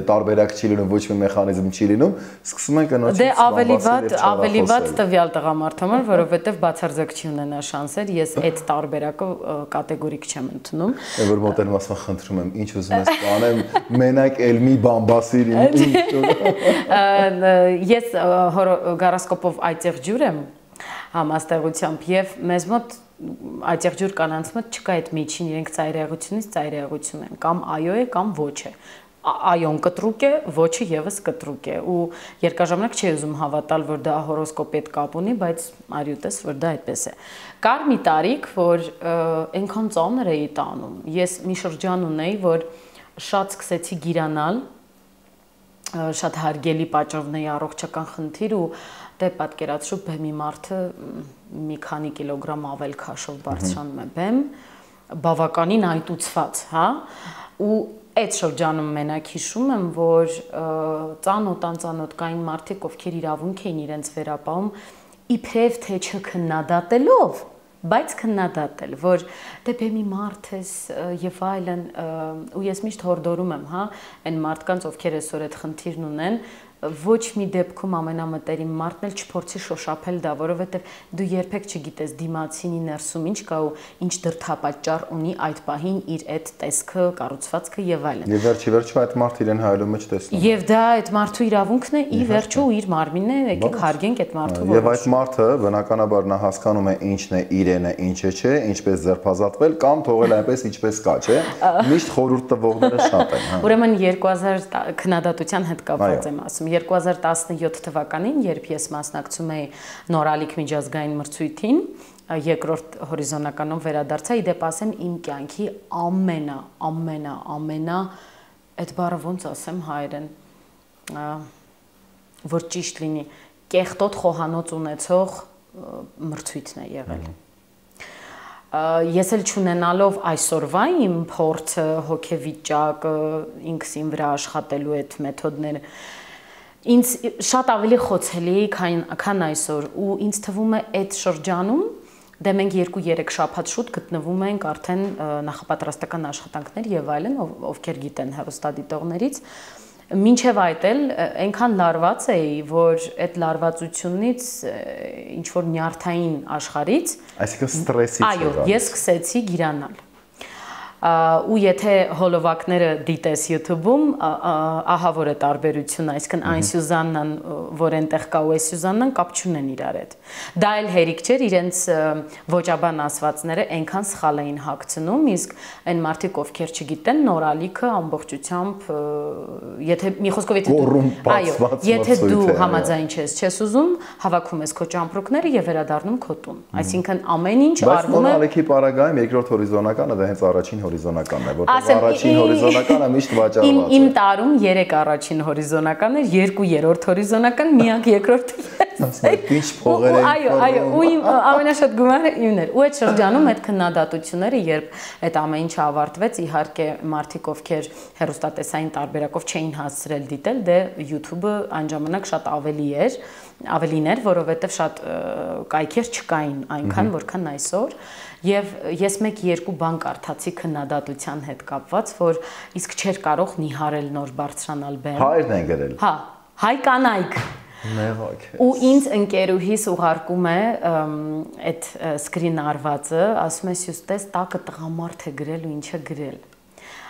տարբերակ չի լինում, ոչ մի մեխանիզմ չի լինում, սկսում են կնոջից Դե ավելի վատ, ավելի վատ տվյալ տղամարդը մար, որովհետեւ բացարձակ չի ունենա շանսեր, ես այդ տարբերակը կատեգորիկ չեմ ընդունում։ Որ մոտենում ասում խնդրում եմ, ինչ ուզում ես կանեմ, մենակ էլ մի բան բասիր ինչ։ Ես գարասկոպով այծեղ ջուր եմ համաստեղությամբ եւ մեզ մոտ այծեղ ջուր կանանց մոտ չկա այդ միջին, իրենք ծայրահեղությունից ծայրահեղություն են, կամ այո է, կամ ոչ է։ Այոն կտրուկ է, ոչը եւս կտրուկ է ու երկարաժամանակ չի ուզում հավատալ, որ դա հորոսկոպի հետ կապ ունի, բայց արյուտես որ դա այդպես է։ Կար մի տարիք, որ այնքան ծանր էի տանում։ Ես մի շրջան ունեի, որ շատ սկսեցի գիրանալ, շատ հարգելի պատճառներ առողջական խնդիր ու դե պատկերացրու բեմի մարդը մի քանի կիլոգրամ ավել քաշով բարձրանում է բեմ, բավականին այտուցված, հա, ու այդ շրջանում մենակ հիշում եմ, որ ծանոթ անծանոթ կային մարդիկ, ովքեր իրավունք էին իրենց վերապահում, իբրև թե չքննադատելով, բայց քննադատել, որ դե բեմի մարդ ես եւ այլն, ու ես միշտ հորդորում եմ, հա, այն մարդկանց, ովքեր այսօր այդ խնդիրն ունեն, ոչ մի դեպքում ամենամտերիմ մարդն էլ չփորձի շոշափել դա, որովհետև դու երբեք չգիտես դիմացինի ներսում ինչ կա ու ինչ դրդապատճառ ունի այդ պահին իր այդ տեսքը, կառուցվածքը եւ այլն։ Եվ վերջի վերջո այդ մարդը իրեն հայելու մեջ տեսնում։ Եվ դա այդ մարդու իրավունքն է, ի վերջո ու իր մարմինն է, եկեք հարգենք այդ մարդու որոշումը։ Եվ այդ մարդը բնականաբար նա հասկանում է ինչն է իրենը, ինչը չէ, ինչպես ձերբազատվել կամ թողել այնպես ինչպես կա, չէ։ Միշտ խորհուրդ տվողները շատ են, հա։ Ուրեմն երկու հազար քննադատության հետ կապված եմ ասում։ երկու հազար տասնյոթ թվականին, երբ ես մասնակցում էի Նորալիք միջազգային մրցույթին, երկրորդ հորիզոնականով վերադարձա, իդեպ ասեմ իմ կյանքի ամենա, ամենա, ամենա, այդ բառը ոնց ասեմ հայերեն, որ ճիշտ լինի, կեղտոտ խոհանոց ունեցող մրցույթն է եղել։ Ես էլ չունենալով այսօրվա իմ փորձը, հոգեվիճակը, ինքս իմ վրա աշխատելու այդ մեթոդները, ինձ շատ ավելի խոցելի քան քան այսօր ու ինձ թվում է այդ շրջանում դե մենք երկու երեք շաբաթ շուտ գտնվում ենք արդեն նախապատրաստական աշխատանքներ եւ այլն, ովքեր գիտեն հեռուստադիտողներից, մինչև այդ էլ այնքան լարված էի, որ այդ լարվածությունից ինչ որ նյարդային աշխարից, այսինքն ստրեսից, այո, ես սկսեցի գիրանալ։ Ու եթե հոլովակները դիտես YouTube-ում, ահա որ է տարբերությունը, այսինքն այն Սյուզաննան, որ այնտեղ կա ու այս Սյուզաննան կապ չունեն իրար հետ։ Դա էլ հերիք չէր, իրենց ոճաբան ասվածները այնքան սխալ էին հագցնում, իսկ այն մարդիկ, ովքեր չգիտեն, Նորալիքը ամբողջությամբ, եթե մի խոսքով եթե եթե դու համաձայն չես, չես ուզում, հավաքում ես քո ճամպրուկները եւ վերադառնում քո տուն։ Այսինքն ամեն ինչ արվում է։ Բայց Նորալիքի պարագայում երկրորդ հորիզոնականը դա հենց առաջին հորիզոնականն է, որտեղ առաջին հորիզոնականը միշտ վաճառված է։ Իմ տարում երեք առաջին հորիզոնական էր, երկու երրորդ հորիզոնական, միակ երկրորդը ես։ Ինչ փողեր էին։ Այո, այո, ու իմ ամենաշատ գումարը իմն էր։ Ու այդ շրջանում այդ քննադատությունները, երբ այդ ամեն ինչը ավարտվեց, իհարկե մարդիկ, ովքեր հեռուստատեսային տարբերակով չէին հասցրել դիտել, դե YouTube-ը այն ժամանակ շատ ավելի էր, ավելին էր, որովհետև շատ կայքեր չկային այնքան, որքան այսօր։ Եվ ես մեկ-երկու բան կարդացի քննադատության հետ կապված, որ իսկ չէր կարող նիհարել նոր բարձրանալ բեմ։ Հայերն են գրել։ Հա, հայ կանայք։ Մեղակ է։ Ու ինձ ընկերուհիս ուղարկում է այդ սկրին արվածը, ասում է Սյուստես տակը տղամարդ է գրել ու ինչ է գրել։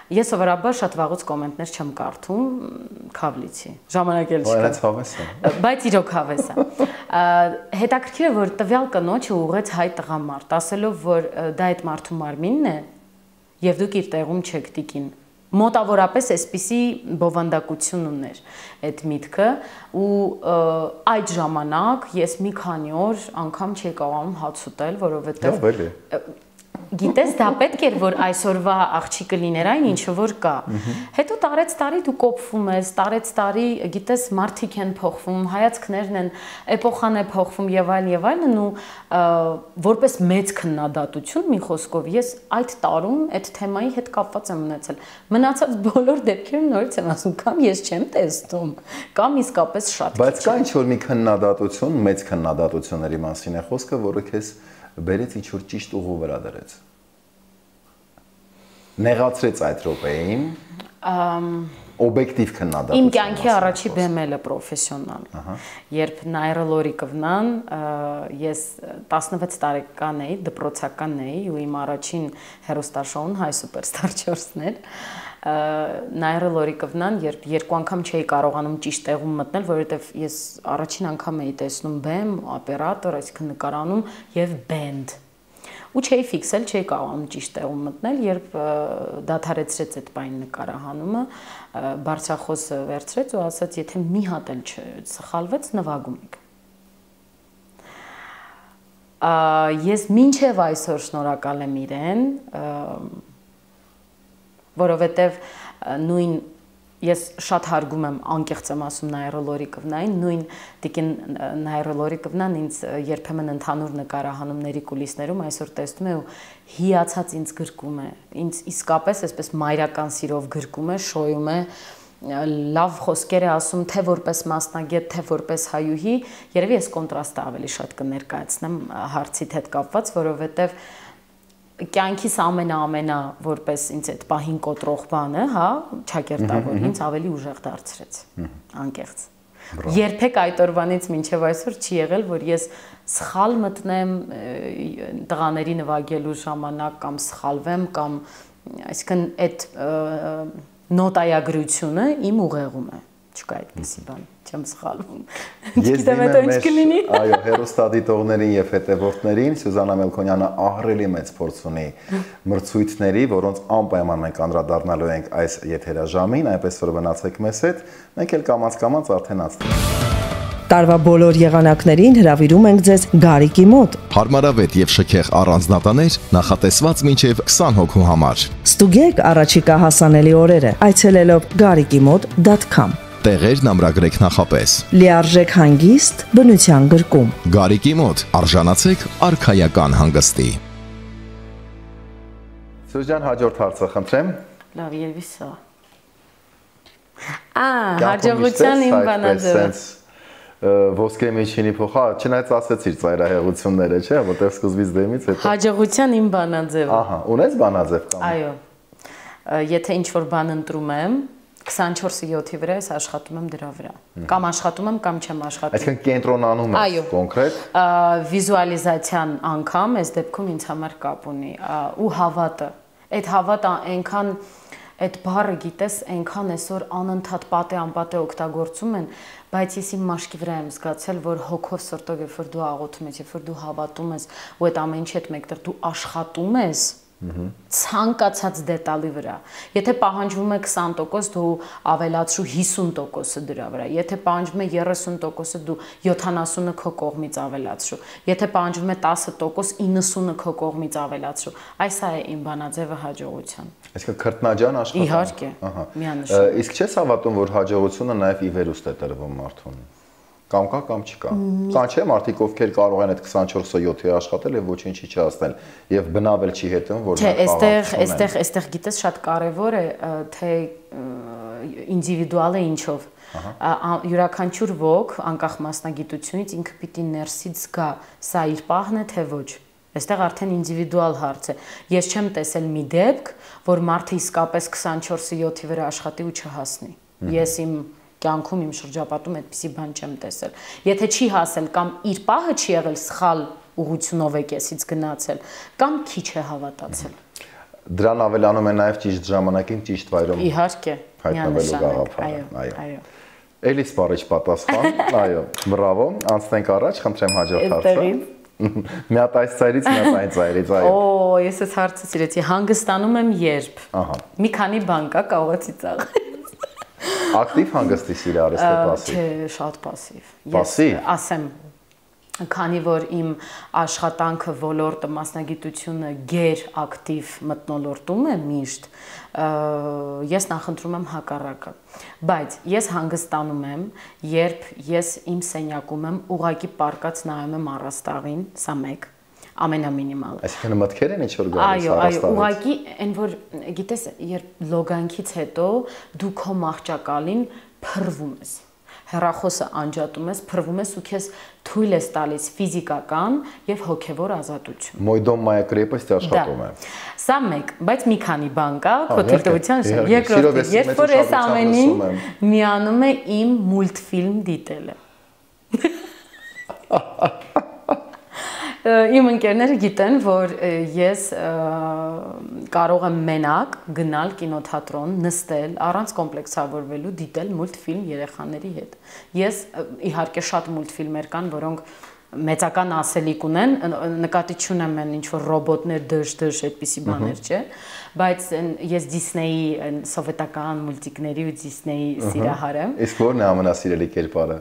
Ես սովորաբար շատ վաղուց կոմենտներ չեմ կարդում, քավլիցի։ Ժամանակ էլ չկա։ Բայց հավես է։ Բայց իրոք հավես է։ Հետաքրքիր է, որ տվյալ կնոջը ուղղեց հայ տղամարդ, ասելով, որ դա այդ մարդու մարմինն է, եւ դուք իր տեղում չեք տիկին։ Մոտավորապես այսպիսի բովանդակություն ուներ այդ միտքը ու այդ ժամանակ ես մի քանի օր անգամ չէի կարողանում հաց ուտել, որովհետեւ Գիտես, դա պետք էր, որ այսօրվա աղջիկը լիներ այն ինչը որ կա։ Հետո տարեց տարի դու կոփվում ես, տարեց տարի, գիտես, մարդիկ են փոխվում, հայացքներն են, էպոխան է փոխվում եւ այլն եւ այլն ու որպես մեծ քննադատություն մի խոսքով ես այդ տարում այդ թեմայի հետ կապված եմ ունեցել։ Մնացած բոլոր դեպքերում նորից եմ ասում, կամ ես չեմ տեսնում, կամ իսկապես շատ քիչ։ Բայց կա ինչ-որ մի քննադատություն, մեծ քննադատությունների մասին է խոսքը, որը քեզ բերեց ինչ-որ ճիշտ ուղու վրա դրեց։ Նեղացրեց այդ րոպեին, օբյեկտիվ քննադատություն։ Իմ կյանքի առաջի բեմելը պրոֆեսիոնալ։ Երբ Նայրը Լորիկովնան, ես տասնվեց տարեկան էի, դպրոցական էի ու իմ առաջին հեռուստաշոուն Հայ Սուպերստար չորսն էր։ Նայրը Լորիկովնան, երբ երկու անգամ չէի կարողանում ճիշտ տեղում մտնել, որովհետև ես առաջին անգամ էի տեսնում բեմ, օպերատոր, այսինքն նկարանում եւ բենդ։ Ու չէի ֆիքսել, չէի կարողանում ճիշտ տեղում մտնել, երբ դադարեցրեց այդ պայն նկարահանումը, բարձրախոսը վերցրեց ու ասաց, եթե մի հատ էլ չսխալվեց, նվագում եք։ Ես մինչև այսօր շնորհակալ եմ իրեն, որովհետև նույն ես շատ հարգում եմ, անկեղծ եմ ասում Նայրը Լորիկովնային, նույն տիկին Նայրը Լորիկովնան ինձ երբեմն ընդհանուր նկարահանումների կուլիսներում այսօր տեսնում է ու հիացած ինձ գրկում է, ինձ իսկապես այսպես մայրական սիրով գրկում է, շոյում է, լավ խոսքեր է ասում, թե որպես մասնագետ, թե որպես հայուհի, երևի ես կոնտրաստը ավելի շատ կներկայացնեմ հարցիդ հետ կապված, որովհետև կյանքիս ամենա-ամենա որպես ինձ այդ պահին կոտրող բանը, հա, ճակերտավոր ինձ ավելի ուժեղ դարձրեց, անկեղծ։ Երբեք այդ օրվանից մինչև այսօր չի եղել, որ ես սխալ մտնեմ տղաների նվագելու ժամանակ կամ սխալվեմ կամ այսինքն այդ նոտայագրությունը իմ ուղեղում է, չկա այդպիսի բան, չեմ սխալվում։ Չգիտեմ հետո ինչ կլինի։ Այո, հեռուստադիտողներին եւ հետևորդներին Սյուզաննա Մելքոնյանը ահռելի մեծ փորձ ունի մրցույթների, որոնց անպայման մենք անդրադառնալու ենք այս եթերաժամին, այնպես որ մնացեք մեզ հետ, մենք էլ կամաց-կամաց արդեն անցնենք։ Տարվա բոլոր եղանակներին հրավիրում ենք ձեզ Գարիկի մոտ։ Հարմարավետ եւ շքեղ առանձնատաներ նախատեսված մինչև քսան հոգու համար։ Ստուգեք առաջիկա հասանելի օրերը այցելելով գարիկի մոտ դոտ քոմ։ Տեղերն ամրագրեք նախապես։ Լիարժեք հանգիստ, բնության գրկում։ Գարիկի մոտ արժանացեք արքայական հանգստի։ Սյուզան, հաջորդ հարցը խնդրեմ։ Լավ, երևի սա։ Ա, հաջողության իմ բանաձևը։ Ոսկե միջինի փոխա, չնայած ասեցիր ծայրահեղությունները, չէ՞, որտեղ սկզբից դեմից հետո։ Հաջողության իմ բանաձևը։ Ահա, ունես բանաձև կամ։ Այո։ Եթե ինչ-որ բան ընտրում եմ, քսանչորսը յոթի վրա ես աշխատում եմ դրա վրա։ Կամ աշխատում եմ, կամ չեմ աշխատում։ Այսինքն կենտրոնանում ես կոնկրետ։ Վիզուալիզացիան անգամ այս դեպքում ինձ համար կապ ունի ու հավատը։ Այդ հավատը այնքան այդ բառը գիտես այնքան այսօր անընդհատ պատե անպատե օգտագործում են, բայց ես իմ մաշկի վրա եմ զգացել, որ հոգով սրտով երբ որ դու աղոթում ես, երբ որ դու հավատում ես ու այդ ամեն ինչի հետ մեկտեղ դու աշխատում ես, ցանկացած դետալի վրա։ Եթե պահանջվում է քսան տոկոս, դու ավելացրու հիսուն տոկոսը դրա վրա։ Եթե պահանջվում է երեսուն տոկոսը, դու յոթանասունը քո կողմից ավելացրու։ Եթե պահանջվում է տասը տոկոս, իննսունը քո կողմից ավելացրու։ Այս է իմ բանաձևը հաջողության։ Այսինքն քրտնաջան աշխատանք։ Իհարկե, միանշանակ։ Իսկ չես հավատում, որ հաջողությունը նաև ի վերուստ է տրվում մարդուն։ Կամ կա, կամ չկա։ Կան չէ մարդիկ, ովքեր կարող են այդ քսանչորսը յոթի աշխատել եւ ոչինչի չհասնել եւ բնավել չի հետում, որ նա այստեղ, այստեղ, այստեղ գիտես շատ կարեւոր է, թե ինդիվիդուալ է ինչով։ Յուրաքանչյուր ոք, անկախ մասնագիտությունից ինքը պիտի ներսից զգա, սա իր պահն է, թե ոչ։ Այստեղ արդեն ինդիվիդուալ հարց է։ Ես չեմ տեսել մի դեպք, որ մարդը իսկապես քսանչորսը յոթի վրա աշխատի ու չհասնի։ Ես իմ կյանքում իմ շրջապատում այդպիսի բան չեմ տեսել։ Եթե չի հասել կամ իր պահը չի եղել սխալ ուղղությունով է կեսից գնացել, կամ քիչ է հավատացել։ Դրան ավելանում է նաև ճիշտ ժամանակին ճիշտ վայրում։ Իհարկե, հայտնվելու գաղափարը։ Այո, այո։ Էլի սպառիչ պատասխան։ Այո, բրավո։ Անցնենք առաջ, խնդրեմ հաջորդ հարցը։ Մի հատ այս ծայրից, մի հատ այն ծայրից, այո։ Օ, ես այս հարցը սիրեցի։ Հանգստանում եմ երբ։ Ահա։ Մի քանի բան կա, կարող է ծիծաղ։ Ակտիվ հանգստի սիրարես թե պասիվ։ Չէ, շատ պասիվ։ Պասիվ։ Ասեմ, քանի որ իմ աշխատանքը, ոլորտը, մասնագիտությունը գեր ակտիվ մթնոլորտում է միշտ, ես նախընտրում եմ հակառակը։ Բայց ես հանգստանում եմ, երբ ես իմ սենյակում եմ, ուղղակի պառկած նայում եմ առաստաղին, սա մեկ, ամենամինիմալը։ Այսինքն մտքեր են ինչ-որ գալիս առաստաղից։ Այո, այո, ուղղակի այն որ գիտես, երբ լոգանքից հետո դու քո մահճակալին փռվում ես։ Հեռախոսը անջատում ես, փռվում ես ու քեզ թույլ ես տալիս ֆիզիկական եւ հոգեվոր ազատություն։ Мой дом, моя крепость աշխատում է։ Սա մեկ, բայց մի քանի բան կա, քո թույլտվության շնորհիվ։ Երկրորդը, երբ որ ես ամենին միանում է իմ մուլտֆիլմ դիտելը։ Իմ ընկերները գիտեն, որ ես կարող եմ մենակ գնալ կինոթատրոն, նստել, առանց կոմպլեքսավորվելու, դիտել մուլտֆիլմ երեխաների հետ։ Ես իհարկե շատ մուլտֆիլմեր կան, որոնք մեծական ասելիք ունեն, նկատի չունեմ են ինչ-որ ռոբոտներ, դժ-դժ, այդպիսի բաներ չէ, բայց ես Դիսնեյի սովետական մուլտիկների ու Դիսնեյի սիրահար եմ։ Իսկ ո՞րն է ամենասիրելի կերպարը։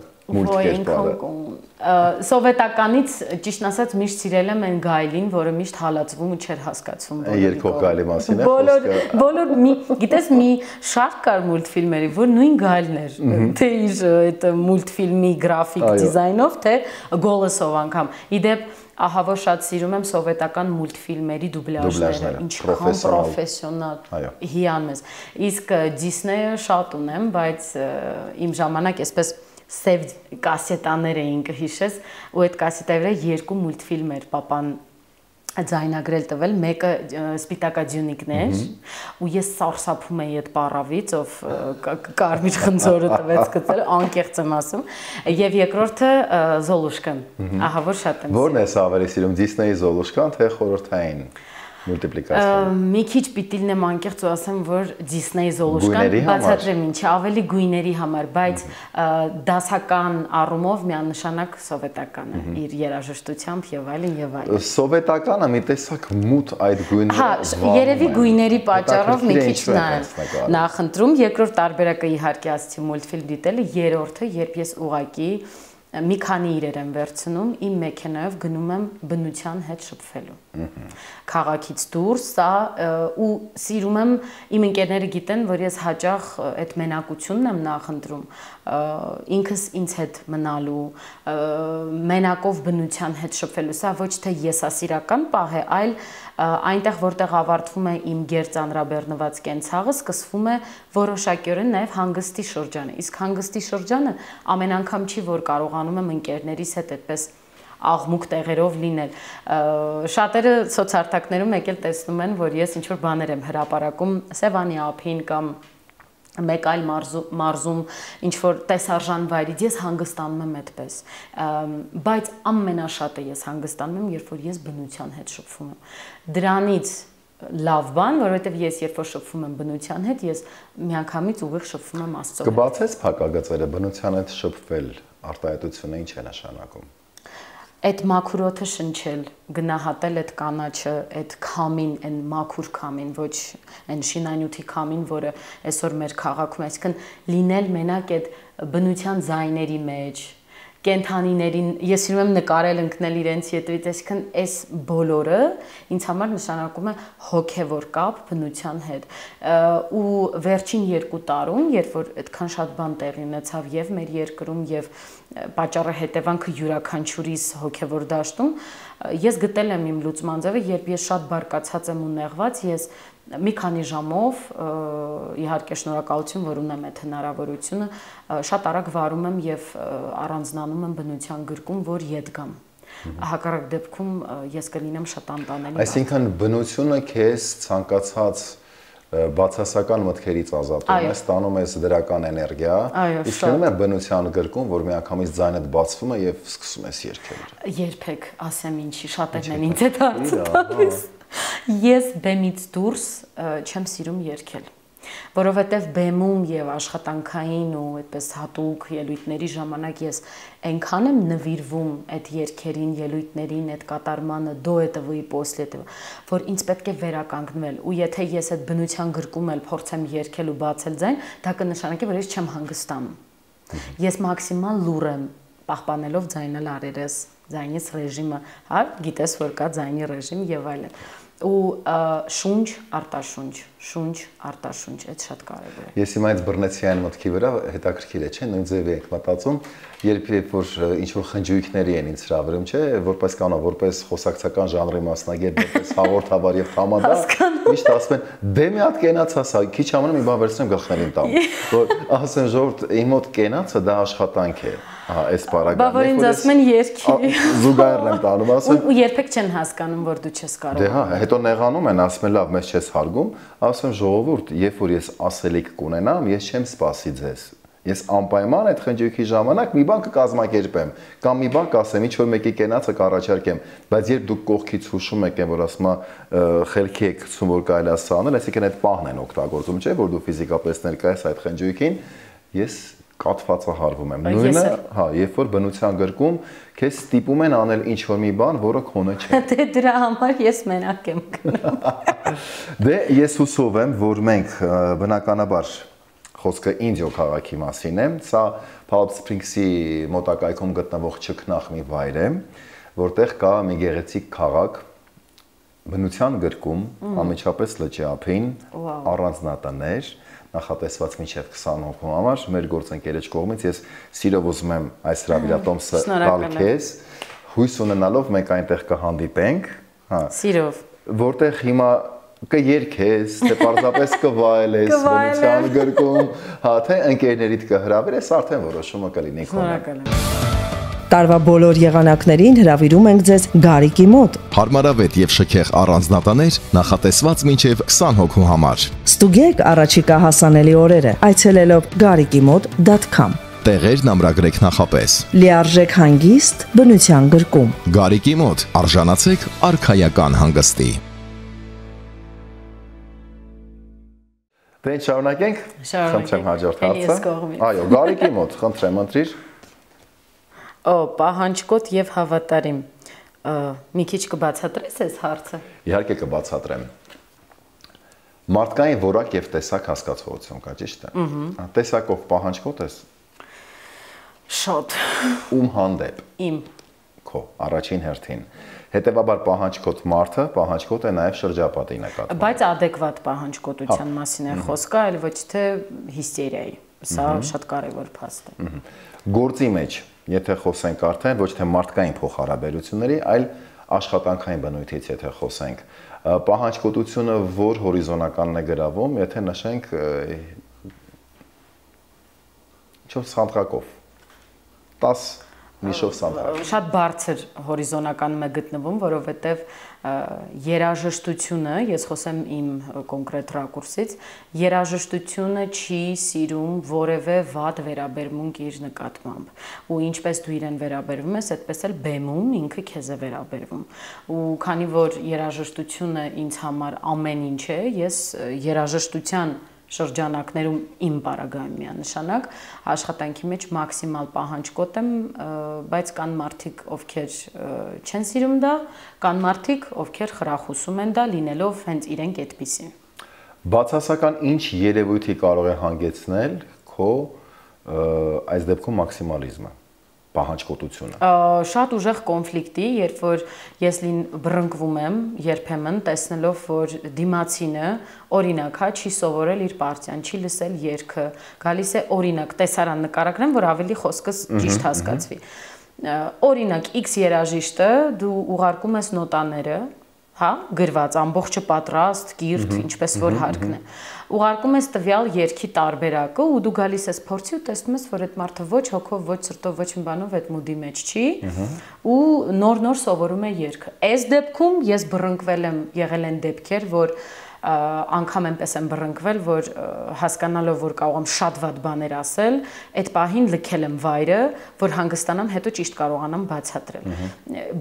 Սովետականից ճիշտ ասած միշտ սիրել եմ այն գայլին, որը միշտ հալածվում ու չէր հասկացվում։ Երկով գայլի մասին է խոսքը։ Բոլոր մի, գիտես, մի շարք կար մուլտֆիլմերի, որ նույն գայլն էր, թե իր այդ մուլտֆիլմի գրաֆիկ դիզայնով, թե գոլեսով անգամ։ Իդեպ ահա որ շատ սիրում եմ սովետական մուլտֆիլմերի դուբլաժները, ինչքան պրոֆեսիոնալ, հիանմես։ Իսկ Դիսնեյը շատ ունեմ, բայց իմ ժամանակ այսպես սև կասետաներ էին կհիշես, ու այդ կասետայի վրա երկու մուլտֆիլմ էր պապան ձայնագրել տվել, մեկը Սպիտակաձյունիկն էր, ու ես սարսափում էի այդ պառավից, ով կարմիր խնձորը տվեց գծել, անկեղծ եմ ասում, եւ երկրորդը Զոլուշկան, ահա որ շատ եմ։ Որն ես ավելի սիրում, Դիսնեյի Զոլուշկան, թե խորհրդային մուլտիպլիկացիա։ Մի քիչ պիտի լինեմ անկեղծ ու ասեմ, որ Դիսնեյի Զոլուշկան բացատրեմ ինչի, ավելի գույների համար, բայց դասական առումով միանշանակ սովետական է, իր երաժշտությամբ եւ այլն եւ այլն։ Սովետականը մի տեսակ մութ այդ գույները։ Հա, երևի գույների պատճառով մի քիչ նախընտրում, երկրորդ տարբերակը իհարկե ասացի մուլտֆիլմ դիտելը, երրորդը, երբ ես ուղակի մի քանի իրեր եմ վերցնում, իմ մեքենայով գնում եմ բնության հետ շփվելու։ Քաղաքից դուրս, սա ու սիրում եմ, իմ ընկերները գիտեն, որ ես հաճախ այդ մենակությունն եմ նախընտրում, ինքս ինձ հետ մնալու, մենակով բնության հետ շփվելու, սա ոչ թե եսասիրական պահ է, այլ այնտեղ, որտեղ ավարտվում է իմ գերծանրաբեռնված կենցաղը, սկսվում է որոշակիորեն նաև հանգստի շրջանը։ Իսկ հանգստի շրջանը ամեն անգամ չի, որ կարողանում եմ ընկերներիս հետ այդպես աղմուկ տեղերով լինել։ Շատերը սոցարթակներում եկել տեսնում են, որ ես ինչ-որ բաներ եմ հրապարակում Սևանի ափին կամ մեկ այլ մարզում ինչ-որ տեսարժան վայրից, ես հանգստանում եմ այդպես, բայց ամենաշատը ես հանգստանում եմ, երբ որ ես բնության հետ շփվում եմ։ Դրանից լավ բան, որովհետև ես երբ որ շփվում եմ բնության հետ, ես միանգամից ուղիղ շփվում եմ Աստծո հետ։ Կբացես փակագծերը, բնության հետ շփվել, արտահայտությունը ինչ է նշանակում։ Այդ մաքուր օդը շնչել, գնահատել այդ կանաչը, այդ քամին, այն մաքուր քամին, ոչ այն շինանյութի քամին, որը այսօր մեր քաղաքում է, այսինքն լինել մենակ այդ բնության ձայների մեջ, կենդանիներին, ես սիրում եմ նկարել, ընկնել իրենց ետևից, այսինքն այս բոլորը ինձ համար նշանակում է հոգևոր կապ բնության հետ։ Ու վերջին երկու տարում, երբ որ այդքան շատ բան տեղի ունեցավ եւ մեր երկրում եւ պատճառը հետևանքը յուրաքանչյուրիս հոգևոր դաշտում, ես գտել եմ իմ լուծման ձևը, երբ ես շատ բարկացած եմ ու նեղված, ես մի քանի ժամով, իհարկե շնորհակալություն, որ ունեմ այդ հնարավորությունը, շատ արագ վարում եմ եւ առանձնանում եմ բնության գրկում, որ ետ գամ։ Հակառակ դեպքում ես կլինեմ շատ անտանելի։ Այսինքն բնությունը քեզ ցանկացած բացասական մտքերից ազատում է, ստանում ես դրական էներգիա, իսկ գնում է բնության գրկում, որ միանգամից ձայնդ բացվում է եւ սկսում ես երգել։ Երբեք ասեմ ինչի, շատերն են ինձ այդ հարցը տալիս։ Ես բեմից դուրս չեմ սիրում երգել, որովհետև բեմում եւ աշխատանքային ու այդպես հատուկ ելույթների ժամանակ ես այնքան եմ նվիրվում այդ երգերին, ելույթներին, այդ կատարմանը, դո этого и после этого, որ ինձ պետք է վերականգնվել, ու եթե ես այդ բնության գրկում էլ փորձեմ երգել ու բացել ձայն, դա կնշանակի, որ ես չեմ հանգստանում։ Ես մաքսիմալ լուր եմ, պահպանելով ձայնել արերես, ձայնից ռեժիմը, հա, գիտես, որ կա ձայնի ռեժիմ եւ այլն։ Ու շունչ, արտաշունչ, շունչ, արտաշունչ, այդ շատ կարևոր է։ Ես հիմա այդ բռնեցի այն մտքի վրա, հետաքրքիր է, չէ՞, նույն ձևի եք մտածում, երբ երբ որ ինչ որ խնջույքների են ինձ հրավիրում, չէ, որպես կանոն, որպես խոսակցական ժանրի մասնագետ, որպես հաղորդավար եւ թամադար, միշտ ասում են, դե մի հատ կենաց ասա, քիչ ամնում մի բան վերցնեմ գլխներին տամ, որ ասեմ ժողովուրդ, իմ մոտ կենացը դա աշխատանք է։ Ահա, այս բառագանը։ Բա որ ինձ ասում են երկի։ Զուգահեռ եմ տանում, ասում։ Ու երբեք չեն հասկանում, որ դու չես կարող։ Դե հա, հետո նեղանում են, ասում են լավ, մեզ չես հարգում, ասում ժողովուրդ, երբ որ ես ասելիք կունենամ, ես չեմ սպասի ձեզ։ Ես անպայման այդ խնջույքի ժամանակ մի բան կկազմակերպեմ, կամ մի բան կասեմ, ինչ որ մեկի կենացը կառաջարկեմ, բայց երբ դուք կողքից հուշում եք, որ ասում է խելքի եք գցում, որ կարելի է սա անել, այսինքն այդ պահն են օգտագործում, չէ՞, որ դու ֆիզիկապես ներկայ ես այդ խնջույքին, ես կաթվածահարվում եմ։ Նույնը, հա, երբ որ բնության գրկում քեզ ստիպում են անել ինչ որ մի բան, որը քոնը չէ։ Դե դրա համար ես մենակ եմ գնում։ Դե ես հուսով եմ, որ մենք բնականաբար խոսքը Ինդիո քաղաքի մասին է, սա Palm Springs-ի մոտակայքում գտնվող ճգնախ մի վայր է, որտեղ կա մի գեղեցիկ քաղաք, բնության գրկում, անմիջապես լճի ափին, առանձնատներ, նախատեսված մինչև քսան հոգու համար, մեր գործընկերոջ կողմից ես սիրով ուզում եմ այս հրավիրատոմսը տալ քեզ, հույս ունենալով մենք այնտեղ կհանդիպենք, հա։ Սիրով։ Որտեղ հիմա կերքես, թե պարզապես կվայելես բնության գրկում, հա, թե ընկերներիդ կհրավիրես, արդեն որոշումը կլինի քոնը։ Տարվա բոլոր եղանակներին հրավիրում ենք ձեզ Գարիկի մոտ։ Հարմարավետ եւ շքեղ առանձնատաներ նախատեսված մինչև քսան հոգու համար։ Ստուգեք առաջիկա հասանելի օրերը այցելելով գարիկի մոտ դոտ կոմ։ Տեղերն ամրագրեք նախապես։ Լիարժեք հանգիստ բնության գրկում։ Գարիկի մոտ արժանացեք արքայական հանգստի։ Դե շարունակենք։ Խնդրեմ հաջորդ հարցը։ Այո, Գարիկի մոտ, խնդրեմ, ընտրիր։ Օ, պահանջկոտ եւ հավատարիմ։ Մի քիչ կբացատրես այս հարցը։ Իհարկե կբացատրեմ։ Մարդկային որակ եւ տեսակ հասկացողություն կա, ճիշտ է։ Տեսակով պահանջկոտ ես։ Շատ։ Ում հանդեպ։ Իմ։ Քո առաջին հերթին։ Հետևաբար պահանջկոտ մարդը պահանջկոտ է նաեւ շրջապատի նկատմամբ։ Բայց adekvat պահանջկոտության մասին է խոսքը, այլ ոչ թե հիստերիայի։ Սա շատ կարևոր փաստ է։ Գործի մեջ, եթե խոսենք արդեն ոչ թե մարդկային փոխհարաբերությունների, այլ աշխատանքային բնույթից եթե խոսենք, պահանջկոտությունը որ հորիզոնականն է գրավում, եթե նշենք չորս սանտրակով, տաս միշով սանտրակ։ Շատ բարձր հորիզոնականում է գտնվում, որովհետև երաժշտությունը, ես խոսեմ իմ կոնկրետ ռակուրսից, երաժշտությունը չի սիրում որևէ վատ վերաբերմունք իր նկատմամբ։ Ու ինչպես դու իրեն վերաբերվում ես, այդպես էլ բեմում ինքը քեզ է վերաբերվում։ Ու քանի որ երաժշտությունը ինձ համար ամեն ինչ է, ես երաժշտության շրջանակներում իմ բարագայում միանշանակ աշխատանքի մեջ մաքսիմալ պահանջկոտ եմ, բայց կան մարդիկ, ովքեր չեն սիրում դա, կան մարդիկ, ովքեր խրախուսում են դա, լինելով հենց իրենք այդպիսին։ Բացասական ինչ երևույթի կարող է հանգեցնել քո այս դեպքում մաքսիմալիզմը, պահանջկոտությունը։ Շատ ուժեղ կոնֆլիկտի, երբ որ ես լին բռնկվում եմ երբեմն տեսնելով, որ դիմացինը օրինակ հա չի սովորել իր պարտիան, չի լսել երգը, գալիս է օրինակ տեսարան նկարագրեմ, որ ավելի խոսքս ճիշտ հասկացվի։ Օրինակ X երաժիշտը դու ուղարկում ես նոտաները, հա, գրված ամբողջը պատրաստ, կիրթ, ինչպես որ հարկն է։ Ուղարկում ես տվյալ երգի տարբերակը ու դու գալիս ես փորձի ու տեսնում ես, որ այդ մարդը ոչ հոգով, ոչ սրտով, ոչ մի բանով այդ մուդի մեջ չի ու նոր-նոր սովորում է երգը։ Այս դեպքում ես բռնկվել եմ, եղել են դեպքեր, որ անգամ այնպես եմ բռնկվել, որ հասկանալով, որ կարող եմ շատ վատ բաներ ասել, այդ պահին լքել եմ վայրը, որ հանգստանամ, հետո ճիշտ կարողանամ բացատրել։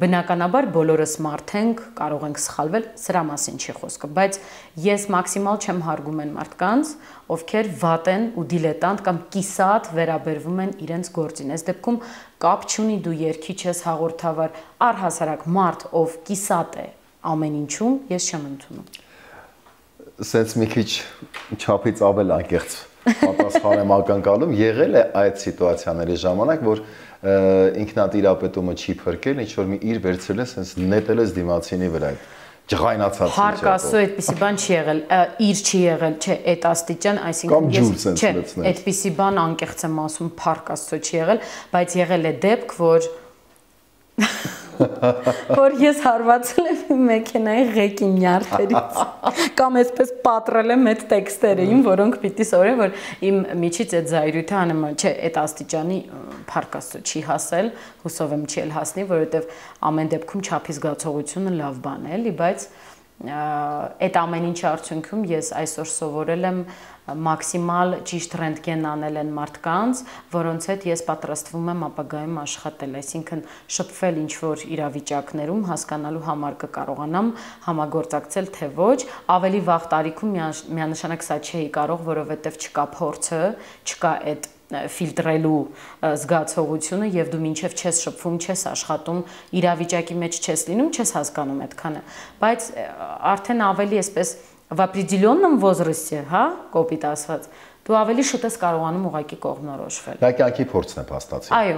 Բնականաբար բոլորս մարդ ենք, կարող ենք սխալվել, սրա մասին չի խոսքը, բայց ես մաքսիմալ չեմ հարգում այն մարդկանց, ովքեր վատ են ու դիլետանտ կամ կիսատ վերաբերվում են իրենց գործին։ Այս դեպքում կապ չունի դու երգիչ ես, հաղորդավար, առհասարակ մարդ, ով կիսատ է ամեն ինչում, ես չեմ ընդունում։ Սենց մի քիչ չափից ավել անկեղծ պատասխան եմ ակնկալում, եղել է այդ սիտուացիաների ժամանակ, որ ինքնատիրապետումը չի փրկել, ինչ որ մի իր վերցրել է, sense նետել ես դիմացինի վրա։ Ջղայնացած ինչ է։ Հարկ ասո, այդպիսի բան չի եղել, իր չի եղել, չէ, այդ աստիճան, այսինքն ես չէ, այդպիսի բան անկեղծ եմ ասում, հարկ ասո չի եղել, բայց եղել է դեպք, որ որ ես հարվածել եմ մեքենայի ղեկի նյարդերից կամ այսպես պատրել եմ այդ տեքստերին, որոնք պիտի սովորեն, որ իմ միջից այդ զայրույթը անեմ, չէ, այդ աստիճանի փառք Աստծո չի հասել, հուսով եմ չի էլ հասնի, որովհետև ամեն դեպքում չափի զգացողությունը լավ բան է, էլի, բայց այդ ամեն ինչի արդյունքում ես այսօր սովորել եմ մաքսիմալ ճիշտ ռենտգեն անել են մարդկանց, որոնց հետ ես պատրաստվում եմ ապագայում աշխատել, այսինքն շփվել ինչ-որ իրավիճակներում, հասկանալու համար կկարողանամ համագործակցել, թե ոչ, ավելի վաղ տարիքում միանշանակ սա չէի կարող, որովհետև չկա փորձը, չկա այդ ֆիլտրելու զգացողությունը եւ դու մինչեւ չես շփվում, չես աշխատում, իրավիճակի մեջ չես լինում, չես հասկանում այդքանը, բայց արդեն ավելի այսպես в определенном возрасте, հա, կոպիտ ասված, դու ավելի շուտ ես կարողանում ուղղակի կողմնորոշվել։ Դա կյանքի փորձն է փաստացի։ Այո,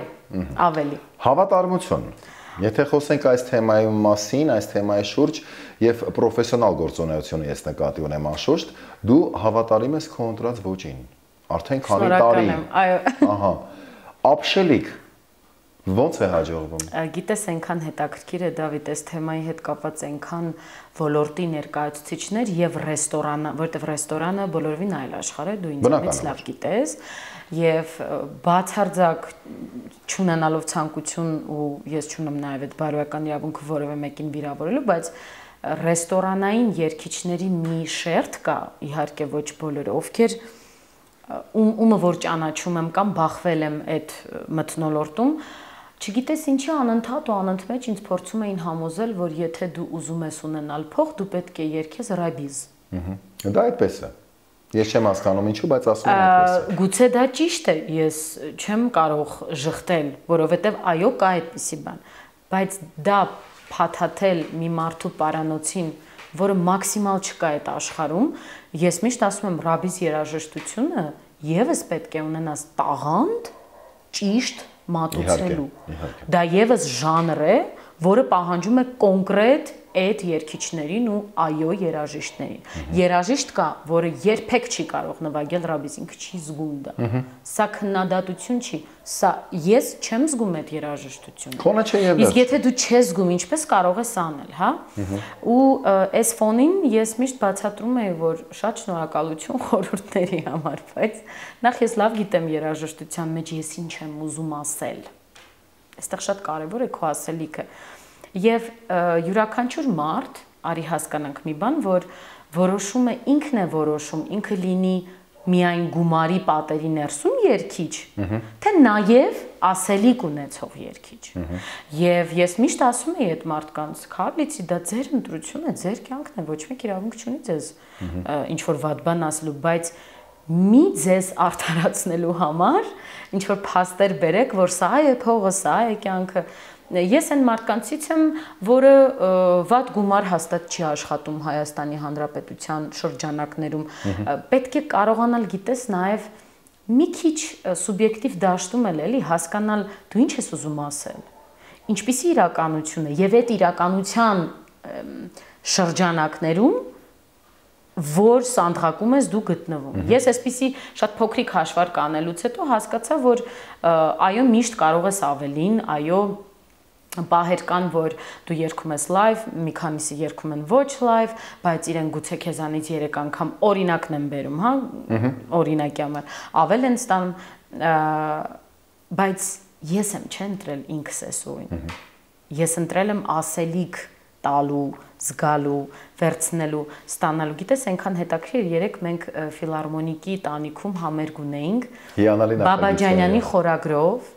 ավելի։ Հավատարմություն։ Եթե խոսենք այս թեմայի մասին, այս թեմայի շուրջ եւ պրոֆեսիոնալ գործունեությունը ես նկատի ունեմ անշուշտ, դու հավատարիմ ես քո ընտրած ոճին։ Արդեն քանի տարի։ Այո։ Ահա։ Ապշելիք ո՞նց է հաջողվում։ Գիտես, այնքան հետաքրքիր է, Դավիթ, այս թեմայի հետ կապված այնքան ոլորտի ներկայացուցիչներ եւ ռեստորանը, որտեվ ռեստորանը բոլորովին այլ աշխարհ է, դու ինձանից լավ գիտես, եւ բացարձակ չունենալով ցանկություն ու ես չունեմ նաեւ այդ բարոյական իրավունքը որևէ մեկին վիրավորելու, բայց ռեստորանային երգիչների մի շերտ կա, իհարկե ոչ բոլորը, ովքեր ում ումը որ ճանաչում եմ կամ բախվել եմ այդ մթնոլորտում, չգիտես ինչի անընդհատ ու անընդմեջ ինձ փորձում էին համոզել, որ եթե դու ուզում ես ունենալ փող, դու պետք է երգես ռաբիզ։ Դա այդպես է։ Ես չեմ հասկանում ինչու, բայց ասում եմ այդպես է։ Գուցե դա ճիշտ է, ես չեմ կարող ժխտել, որովհետև այո, կա այդպիսի բան, բայց դա փաթաթել մի մարդու պարանոցին, որը մաքսիմալ չկա այդ աշխարհում, ես միշտ ասում եմ, ռաբիզ երաժշտությունը եւս պետք է ունենաս տաղանդ ճիշտ մատուցելու։ Դա եւս ժանր է, որը պահանջում է կոնկրետ այդ երգիչներին ու այո երաժիշտներին։ Երաժիշտ կա, որը երբեք չի կարող նվագել ռաբիզ, ինքը չի զգում դա։ Սա քննադատություն չի, սա ես չեմ զգում այդ երաժշտությունը։ Քոնը չէ եւ։ Իսկ եթե դու չես զգում, ինչպես կարող ես անել, հա։ Ու այս ֆոնին ես միշտ բացատրում եի, որ շատ շնորհակալություն խորհուրդների համար, բայց նախ ես լավ գիտեմ երաժշտության մեջ ես ինչ եմ ուզում ասել։ Այստեղ շատ կարևոր է քո ասելիքը։ Եվ յուրաքանչյուր մարդ, արի հասկանանք մի բան, որ որոշում է ինքն է որոշում, ինքը լինի միայն գումարի պատերի ներսում երգիչ, թե նաև ասելիք ունեցող երգիչ։ Եվ ես միշտ ասում եի այդ մարդկանց, քարլիցի դա ձեր ընտրությունն է, ձեր կյանքն է, ոչ մեկ իրավունք չունի ձեզ ինչ որ վատ բան ասելու, բայց մի ձեզ արդարացնելու համար ինչ որ փաստեր բերեք, որ սա է փողը, սա է կյանքը։ Ես այն մարդկանցից եմ, որը վատ գումար հաստատ չի աշխատում Հայաստանի Հանրապետության շրջանակներում, պետք է կարողանալ, գիտես, նաև մի քիչ սուբյեկտիվ դաշտում էլ էլի հասկանալ դու ինչ ես ուզում ասել, ինչպիսի իրականություն է եւ այդ իրականության շրջանակներում որ սանդղակում ես դու գտնվում։ Ես այսպիսի շատ փոքրիկ հաշվարկ անելուց հետո հասկացա, որ այո, միշտ կարող ես ավելին, այո, պահեր կան, որ դու երգում ես լայվ, մի քանիսը երգում են ոչ լայվ, բայց իրեն գուցե քեզանից երեք անգամ օրինակն եմ բերում, հա, օրինակի համար, ավել են ստանում, բայց ես եմ չէ ընտրել ինքս էսօրին։ Ես ընտրել եմ ասելիք տալու, զգալու, վերցնելու, ստանալու։ Գիտես, այնքան հետաքրքիր, երեք մենք ֆիլհարմոնիկի տանիքում համերգ ունեինք Բաբաջանյանի խորագրով,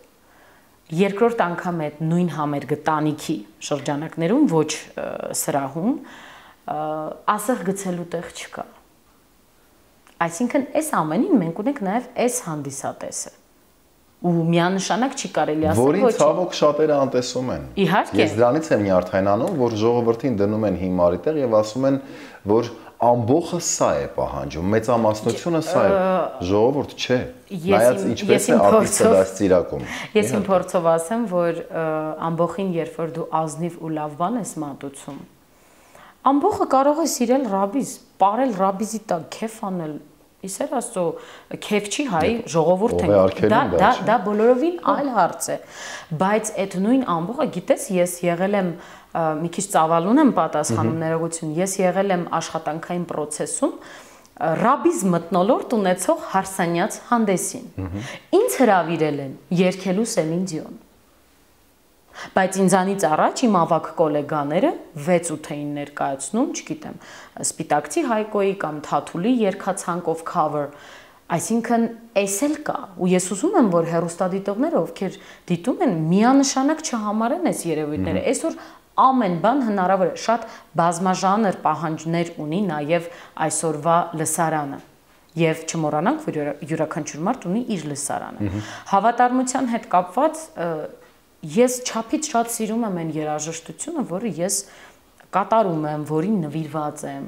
երկրորդ անգամ այդ նույն համերգը տանիքի շրջանակներում, ոչ սրահում, ասեղ գցելու տեղ չկա։ Այսինքն, այս ամենին մենք ունենք նաև այս հանդիսատեսը։ Ու միանշանակ չի կարելի ասել, որին ցավոք շատերը անտեսում են։ Իհարկե։ Ես դրանից եմ նյարդայնանում, որ ժողովրդին դնում են հիմարի տեղ եւ ասում են, որ ամբողջը սա է պահանջում, մեծամասնությունը սա է, ժողովուրդ չէ, նայած ինչպես է արտիստը դաստիարակում։ Ես իմ փորձով ասեմ, որ ամբողջին երբ որ դու ազնիվ ու լավ բան ես մատուցում, ամբողջը կարող է սիրել ռաբիզ, ապարել ռաբիզի տակ, քեֆ անել, իսեր աստծո, քեֆ չի հայ, ժողովուրդ են, դա դա բոլորովին այլ հարց է, բայց այդ նույն ամբողջը, գիտես, ես եղել եմ մի քիչ ծավալուն եմ պատասխանում ներողություն, ես եղել եմ աշխատանքային process-ում ռաբիզ մթնոլորտ ունեցող հարսանյաց հանդեսին։ Ինձ հրավիրել են երգելու Սելին Դիոն։ Բայց ինձանից առաջ իմ ավագ գոլեգաները վեց ութ էին ներկայացնում, չգիտեմ, Սպիտակցի Հայկոյի կամ Թաթուլի երգացանկով cover, այսինքն էս էլ կա, ու ես ուզում եմ, որ հեռուստադիտողները, ովքեր դիտում են, միանշանակ չհամարեն այս երևույթները, այսօր ամեն բան հնարավոր է, շատ բազմաժանր պահանջներ ունի նաև այսօրվա լսարանը եւ չմոռանանք, որ յուրաքանչյուր մարդ ունի իր լսարանը։ Հավատարմության հետ կապված ես չափից շատ սիրում եմ այն երաժշտությունը, որը ես կատարում եմ, որին նվիրված եմ,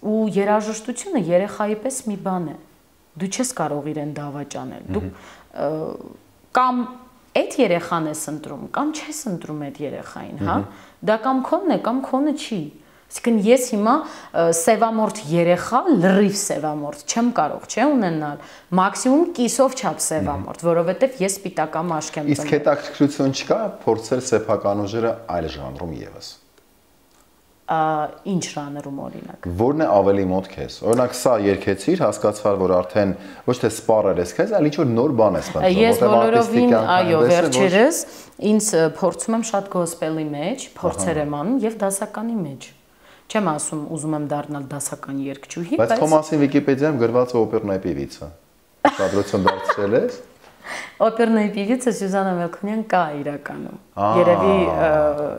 ու երաժշտությունը երեխայի պես մի բան է։ Դու չես կարող իրեն դավաճանել։ Դու կամ այդ երեխան ես ընտրում, կամ չես ընտրում այդ երեխային, հա։ Դա կամ քոնն է, կամ քոնը չի։ Այսինքն ես հիմա սևամորթ երեխա, լրիվ սևամորթ չեմ կարող, չէ, ունենալ, մաքսիմում կիսով չափ սևամորթ, որովհետև ես սպիտակամ աշկ եմ ծնվել։ Իսկ հետաքրքրություն չկա փորձել սեփական ուժերը այլ ժանրում եւս։ Ինչ ժանրում օրինակ։ Որն է ավելի մոտ քեզ։ Օրինակ սա երկեցիր, հասկացար, որ արդեն ոչ թե սպառել ես քեզ, այլ ինչ որ նոր բան ես մտնում։ Ես բոլորովին, այո, վերջերս ինձ փորձում եմ շատ գոսպելի մեջ, փորձեր եմ անում եւ դասականի մեջ։ Չեմ ասում ուզում եմ դառնալ դասական երգչուհի, բայց Բայց քո մասին Վիկիպեդիայում գրված է օպերնայի պիվիցա։ Շադրություն դարձրել ես։ Օպերնայի պիվիցա Սյուզաննա Մելքոնյան կա իրականում։ Երևի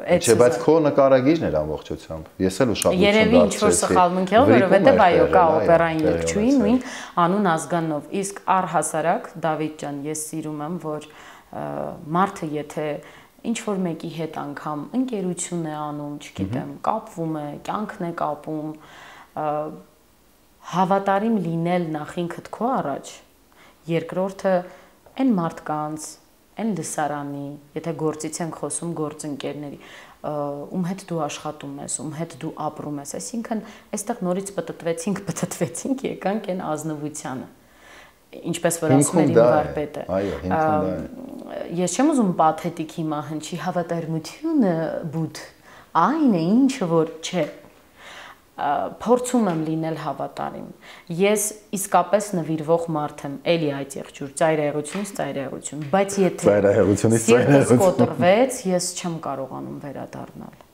այդ Չէ, բայց քո նկարագիրն էր ամբողջությամբ։ Ես էլ ուշադրություն դարձրեցի։ Երևի ինչ որ սխալմունք եղավ, որովհետև այո, կա օպերային երգչուհի նույն անուն ազգանով։ Իսկ առհասարակ Դավիթ ջան, ես սիրում եմ, որ մարդը եթե ինչ որ մեկի հետ անգամ ընկերություն է անում, չգիտեմ, կապվում է, կյանքն է կապում, հավատարիմ լինել նախ ինքդ քո առաջ, երկրորդը այն մարդկանց, այն լսարանի, եթե գործից ենք խոսում գործընկերների, ում հետ դու աշխատում ես, ում հետ դու ապրում ես, այսինքն այստեղ նորից պտտվեցինք, պտտվեցինք, եկանք այն ազնվությանը։ Ինչպես որ ասում էր իմ վարպետը։ Այո, հիմքում դա է։ Ես չեմ ուզում պաթետիկ հիմա հնչի, հավատարմությունը բուդ այն է, ինչը որ չէ։ Փորձում եմ լինել հավատարիմ։ Ես իսկապես նվիրվող մարդ եմ, էլի այդ եղջյուր, ծայրահեղությունից ծայրահեղություն, բայց եթե ծայրահեղությունից ծայրահեղություն կոտրվեց, ես չեմ կարողանում վերադառնալ։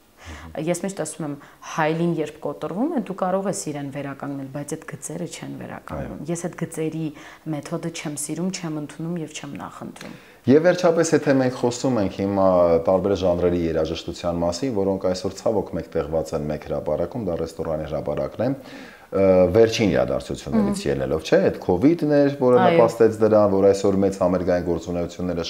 Ես միշտ ասում եմ, հայլին երբ կոտրվում է, դու կարող ես իրեն վերականգնել, բայց այդ գծերը չեն վերականգնում։ Ես այդ գծերի մեթոդը չեմ սիրում, չեմ ընդունում եւ չեմ նախընտրում։ Եվ վերջապես, եթե մենք խոսում ենք հիմա տարբեր ժանրերի երաժշտության մասին, որոնք այսօր ցավոք մեկտեղված են մեկ հրապարակում, դա ռեստորանի հրապարակն է, վերջին իրադարձություններից ելնելով, չէ, այդ քովիդն էր, որը նպաստեց դրան, որ այսօր մեծ համերգային գործունեությունները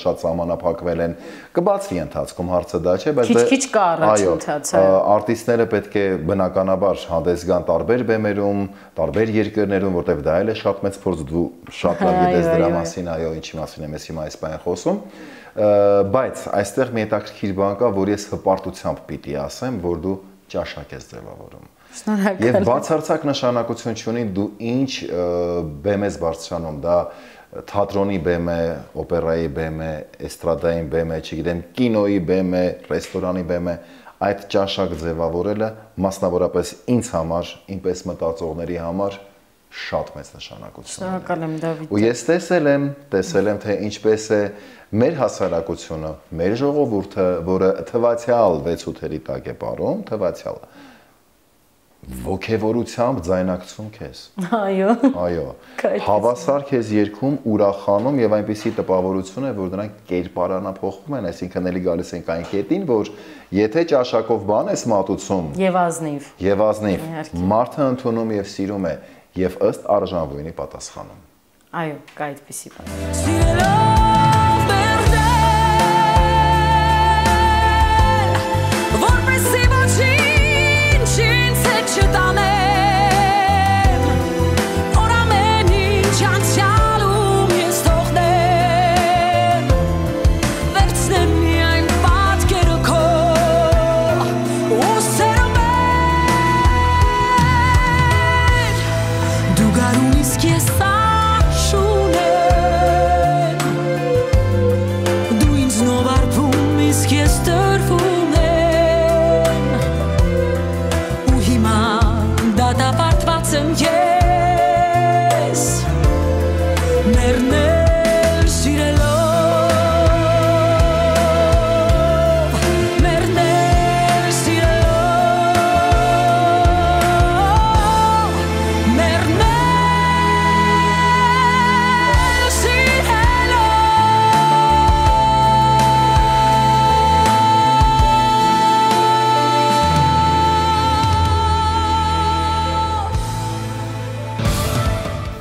շատ սահմանափակվել են, կբացվի ընթացքում հարցը դա չէ, բայց քիչ-քիչ կա առաջընթացը։ Արտիստները պետք է բնականաբար հանդես գան տարբեր բեմերում, տարբեր երկրներում, որտեղ դա էլ է շատ մեծ փորձ, դու շատ լավ գիտես դրա մասին, այո, ինչի մասին եմ ես հիմա այս բանը խոսում, բայց այստեղ մի հետաքրքիր բան կա, որ ես հպարտությամբ պիտի ասեմ, որ դու ճաշակ ես ձևավորում։ Եվ բացարձակ նշանակություն չունի դու ինչ բեմ ես բարձրանում, դա թատրոնի բեմ է, օպերայի բեմ է, էստրադային բեմ է, չգիտեմ, կինոյի բեմ է, ռեստորանի բեմ է, այդ ճաշակ ձևավորելը մասնավորապես ինձ համար, ինպես մտածողների համար շատ մեծ նշանակություն ունի։ Շնորհակալ եմ Դավիթ։ Ու ես տեսել եմ, տեսել եմ, թե ինչպես է մեր հասարակությունը, մեր ժողովուրդը, որը թվացյալ վեց ութերի տակ է ապրում, թվացյալ ոգևորությամբ ձայնակցում քեզ։ Այո։ Այո։ Հավասար քեզ երգում, ուրախանում եւ այնպիսի տպավորություն է, որ դրանք կերպարանափոխվում են, այսինքն էլի գալիս ենք այն կետին, որ եթե ճաշակով բան ես մատուցում եւ ազնիվ, եւ ազնիվ, մարդը ընդունում եւ սիրում է եւ ըստ արժանվույնի պատասխանում։ Այո, կա այդպիսի բան։ Որպես իմ ոչինչ ինձ հետ չտանել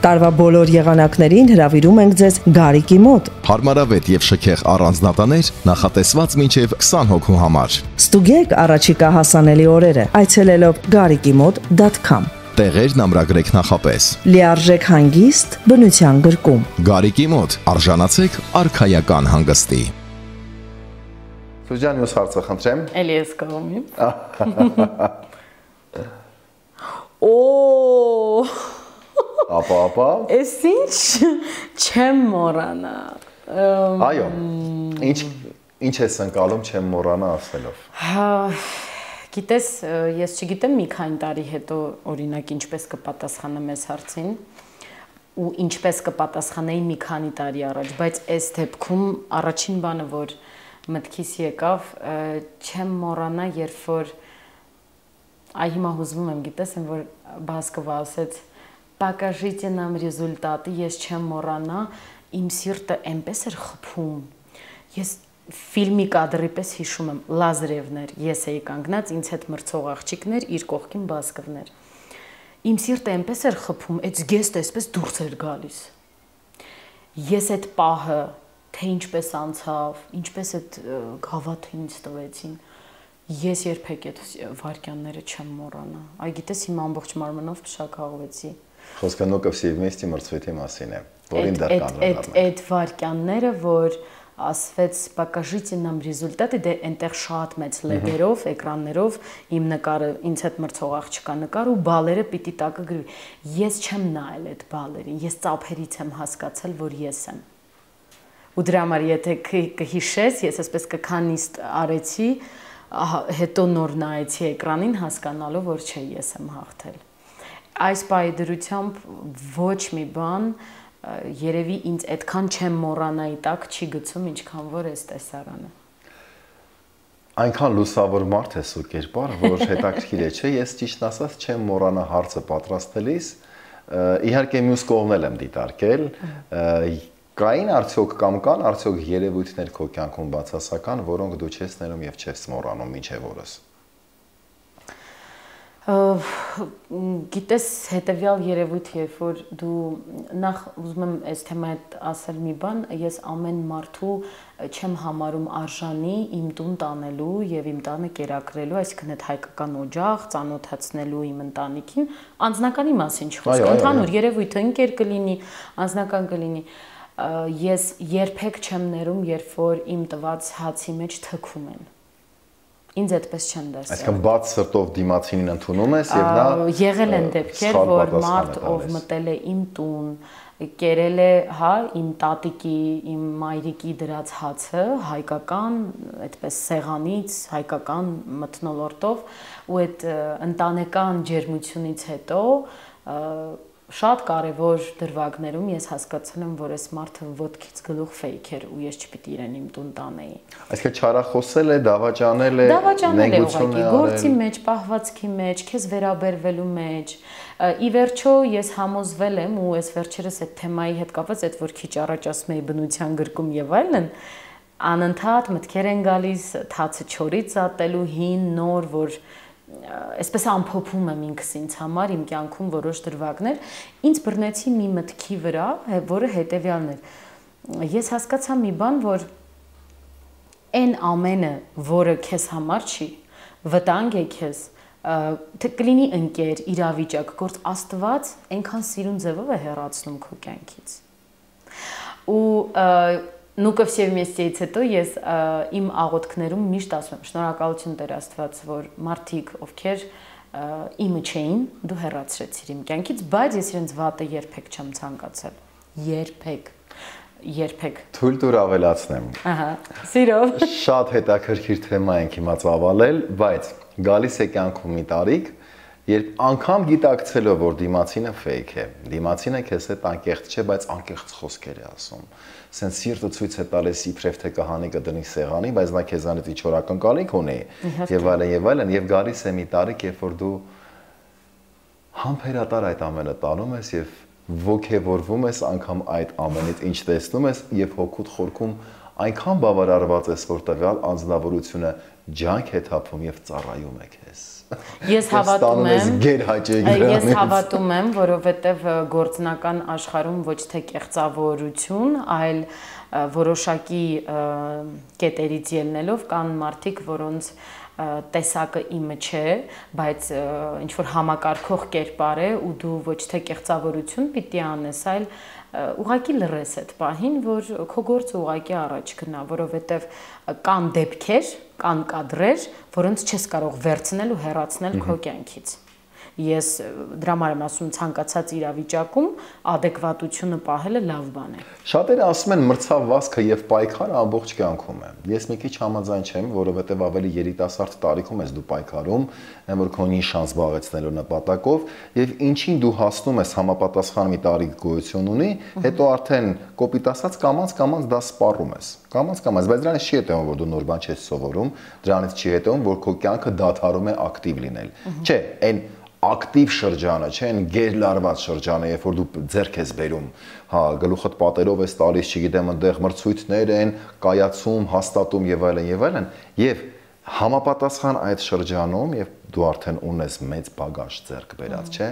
Տարվա բոլոր եղանակներին հրավիրում ենք ձեզ Գարիկի մոտ։ Հարմարավետ եւ շքեղ առանձնատաներ նախատեսված մինչեւ քսան հոգու համար։ Ստուգեք առաջիկա հասանելի օրերը այցելելով գարիկի մոտ դոտ com։ Տեղերն ամրագրեք նախապես։ Լիարժեք հանգիստ բնության գրկում։ Գարիկի մոտ արժանացեք արքայական հանգստի։ Սուզան, յուս հարցը խնդրեմ։ Էլի ես կողմի։ Օ Ապա, ապա։ Էս ինչ չեմ մոռանա։ Այո։ Ինչ ինչ ես ընկալում չեմ մոռանա ասելով։ Հա, գիտես, ես չգիտեմ մի քանի տարի հետո օրինակ ինչպես կպատասխանեմ այս հարցին ու ինչպես կպատասխանեի մի քանի տարի առաջ, բայց այս դեպքում առաջին բանը, որ մտքիս եկավ, չեմ մոռանա, երբ որ այ հիմա հուզվում եմ, գիտես, որ Բասկովը ասեց «Покажите нам результаты», ես չեմ մոռանա, իմ սիրտը այնպես էր խփում։ Ես ֆիլմի կադրի պես հիշում եմ, Լազարևներ, ես էի կանգնած, ինձ հետ մրցող աղջիկներ, իր կողքին Բասկովներ։ Իմ սիրտը այնպես էր խփում, այդ զգեստը այսպես դուրս էր գալիս։ Ես այդ պահը, թե ինչպես անցավ, ինչպես այդ գավաթը ինձ տվեցին, ես երբեք այդ վարքյանները չեմ մոռանա։ Այ գիտես, հիմա ամբողջ մարմնով փշակաղվեցի։ Խոսքը նոկով սիվմեստի մրցույթի մասին է, որին դեռ կանոնավորում է։ Այդ վարքյանները, որ ասվեց «Покажите нам результаты», դե այնտեղ շատ մեծ լեգերով, էկրաններով իմ նկարը, ինձ հետ մրցող աղջկա նկար ու բալերը պիտի տակը գրվի։ Ես չեմ նայել այդ բալերին, ես ծափերից եմ հասկացել, որ ես եմ։ Ու դրա համար եթե կհիշես, ես այսպես կքանիստ արեցի, հետո նոր նայեցի էկրանին հասկանալով, որ չէ, ես եմ հաղթել։ Այս պահի դրությամբ ոչ մի բան երևի ինձ այդքան չեմ մոռանայի տակ չի գցում, ինչքան որ այս տեսարանը։ Այնքան լուսավոր մարդ ես ու կերպար, որ հետաքրքիր է, չէ, ես ճիշտ ասած չեմ մոռանա հարցը պատրաստելիս, իհարկե մյուս կողմն էլ եմ դիտարկել, կային արդյոք կամ կան արդյոք երևույթներ քո կյանքում բացասական, որոնք դու չես ներում եւ չես մոռանում մինչեւ օրս։ Գիտես, հետևյալ երևույթ, երբ որ դու նախ ուզում եմ այս թեմայի հետ ասել մի բան, ես ամեն մարդու չեմ համարում արժանի իմ տուն տանելու եւ իմ տանը կերակրելու, այսինքն այդ հայկական օջախ, ծանոթացնելու իմ ընտանիքին, անձնականի մասին չխոսք, ընդհանուր երևույթը ընկեր կլինի, անձնական կլինի։ Ես երբեք չեմ ներում, երբ որ իմ տված հացի մեջ թքում են։ Ինձ այդպես չեն դասել։ Այսինքն բաց սրտով դիմացինին ընդունում ես եւ նա եղել են դեպքեր, որ մարդ ով մտել է իմ տուն, կերել է, հա, իմ տատիկի, իմ մայրիկի դրած հացը, հայկական, այդպես սեղանից, հայկական մթնոլորտով, ու այդ ընտանեկան ջերմությունից հետո շատ կարևոր դրվագներում ես հասկացել եմ, որ այս մարդը ոտքից գլուխ ֆեյք էր ու ես չպիտի իրեն իմ տուն տանեի։ Այսինքն չարախոսել է, դավաճանել է, դավաճանել է ուղղակի գործի մեջ, պահվածքի մեջ, քեզ վերաբերվելու մեջ։ Ի վերջո ես համոզվել եմ ու այս վերջերս այդ թեմայի հետ կապված, այդ որ քիչ առաջ ասում էի բնության գրկում եւ այլն, անընդհատ մտքեր են գալիս թացը չորից ատելու հին նոր, որ այսպես ամփոփում եմ ինքս ինձ համար իմ կյանքում որոշ դրվագներ, ինձ բռնեցի մի մտքի վրա, որը հետևյալն էր։ Ես հասկացա մի բան, որ այն ամենը, որը քեզ համար չի, վտանգ է քեզ, թե կլինի ընկեր, իրավիճակ, գործ Աստված այնքան սիրուն ձևով է հեռացնում քո կյանքից։ Ու Նուկով Սևմեստիից հետո ես իմ աղոթքներում միշտ ասում եմ շնորհակալություն Տեր Աստված, որ մարդիկ, ովքեր իմը չէին, դու հեռացրեցիր իմ կյանքից, բայց ես իրենց վատը երբեք չեմ ցանկացել։ Երբեք, երբեք։ Թույլ տուր ավելացնեմ։ Ահա, սիրով։ Շատ հետաքրքիր թեմա ենք հիմա ծավալել, բայց գալիս է կյանքում մի տարիք, երբ անգամ գիտակցելով, որ դիմացինը ֆեյք է, դիմացինը քեզ հետ անկեղծ չէ, բայց անկեղծ խոսքեր է ասում։ Սենց սիրտը ցույց է տալիս իբրև թե կհանի կդնի սեղանի, բայց նա քեզանից ինչ որ ակնկալիք ունի, եւ այլն եւ այլն, եւ գալիս է մի տարիք, երբ որ դու համբերատար այդ ամենը տանում ես եւ ոգևորվում ես անգամ այդ ամենից, ինչ տեսնում ես եւ հոգուտ խորքում այնքան բավարարված ես, որ տվյալ անձնավորությունը ջանք է թափում եւ ծառայում է քեզ։ Ես հավատում եմ, ես հավատում եմ, որովհետեւ գործնական աշխարհում ոչ թե կեղծավորություն, այլ որոշակի կետերից ելնելով կան մարդիկ, որոնց տեսակը իմը չէ, բայց ինչ որ համակարգող կերպար է ու դու ոչ թե կեղծավորություն պիտի անես, այլ ուղղակի լռես այդ պահին, որ քո գործը ուղղակի առաջ գնա, որովհետև կան դեպքեր, կան կադրեր, որոնց չես կարող վերցնել ու հեռացնել քո կյանքից։ Ես դրա համար եմ ասում ցանկացած իրավիճակում adekvatությունը պահելը լավ բան է։ Շատերը ասում են մրցավ վազքը եւ պայքարը ամբողջ կյանքում է։ Ես մի քիչ համաձայն չեմ, որովհետեւ ավելի երիտասարդ տարիքում ես դու պայքարում, այն որ քո նիշան զբաղեցնելու նպատակով եւ ինչին դու հասնում ես համապատասխան մի տարիք գոյություն ունի, հետո արդեն կոպիտ ասած կամած կամած դա սպառում ես։ Կամած կամած, բայց դրանից չի հետևում, որ դու նոր բան չես սովորում, դրանից չի հետևում, որ քո կյանքը դադարում է ակտիվ լինել։ Չէ, այն ակտիվ շրջանը, չէ, այն գերլարված շրջանը, երբ որ դու ձեռք ես բերում, հա, գլուխդ պատերով ես տալիս, չգիտեմ, այնտեղ մրցույթներ են, կայացում, հաստատում եւ այլն եւ այլն, եւ համապատասխան այդ շրջանում, եւ դու արդեն ունես մեծ բագաժ ձեռք բերած, չէ,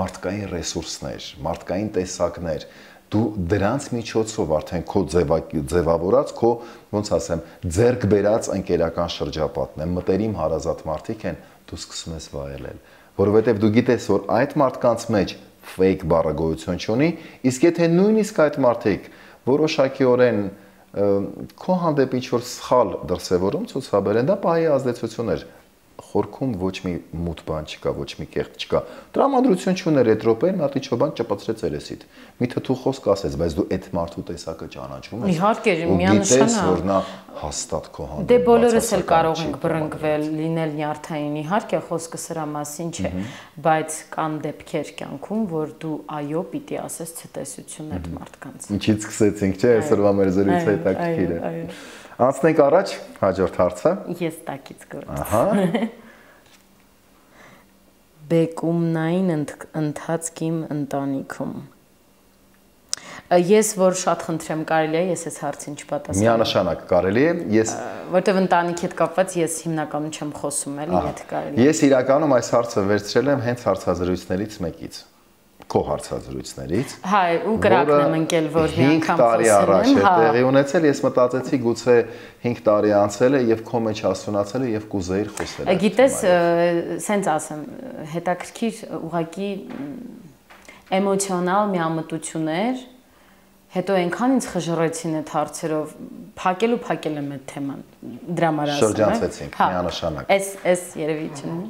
մարդկային ռեսուրսներ, մարդկային տեսակներ, դու դրանց միջոցով արդեն քո ձևավորած, քո ոնց ասեմ, ձեռք բերած ընկերական շրջապատն է, մտերիմ հարազատ մարդիկ են, դու սկսում ես վայելել, որովհետև դու գիտես, որ այդ մարդկանց մեջ fake բառը գոյություն չունի, իսկ եթե նույնիսկ այդ մարդիկ որոշակիորեն քո հանդեպ ինչ-որ սխալ դրսևորում ցուցաբերեն, դա պահի ազդեցություն էր, խորքում ոչ մի մութ բան չկա, ոչ մի կեղծ չկա։ Տրամադրություն չուներ այդ րոպեին, մի հատ ինչ-որ բան ճպցրեց երեսիդ։ Մի թթու խոսք ասեց, բայց դու այդ մարդու տեսակը ճանաչում ես։ Իհարկե, միանշանակ, որ նա հաստատ քո հանդեպ։ Դե բոլորս էլ կարող ենք բռնկվել, լինել նյարդային, իհարկե, խոսքը սրա մասին չէ, բայց կան դեպքեր կյանքում, որ դու այո պիտի ասես ցտեսություն այդ մարդկանց։ Ինչից սկսեցինք, չէ՞, այսօրվա մեր զրույցը հետաքրքիր է։ Անցնենք առաջ, հաջորդ հարցը։ Ես տակից գործ։ Ահա։ Բեկումնային ընթացք իմ ընտանիքում։ Ես որ շատ խնդրեմ կարելի է, ես այս հարցին չպատասխանեմ։ Միանշանակ կարելի է, ես որտեվ ընտանիքի հետ կապված ես հիմնականում չեմ խոսում էլի, եթե կարելի է։ Ես իրականում այս հարցը վերցրել եմ հենց հարցազրույցներից մեկից, քո հարցազրույցներից։ Հա, ու կրակն եմ ընկել, որ մի անգամ տարի առաջ է տեղի ունեցել, ես մտածեցի գուցե հինգ տարի անցել է եւ քո մեջ հասունացել է եւ կուզեիր խոսել։ Գիտես, սենց ասեմ, հետաքրքիր ուղղակի էմոցիոնալ միամտություններ, հետո այնքան ինձ խժռեցին այդ հարցերով, փակել ու փակել եմ այդ թեման, դրա համար ասեմ։ Շրջանցեցինք, միանշանակ։ Էս էս երևի չունի։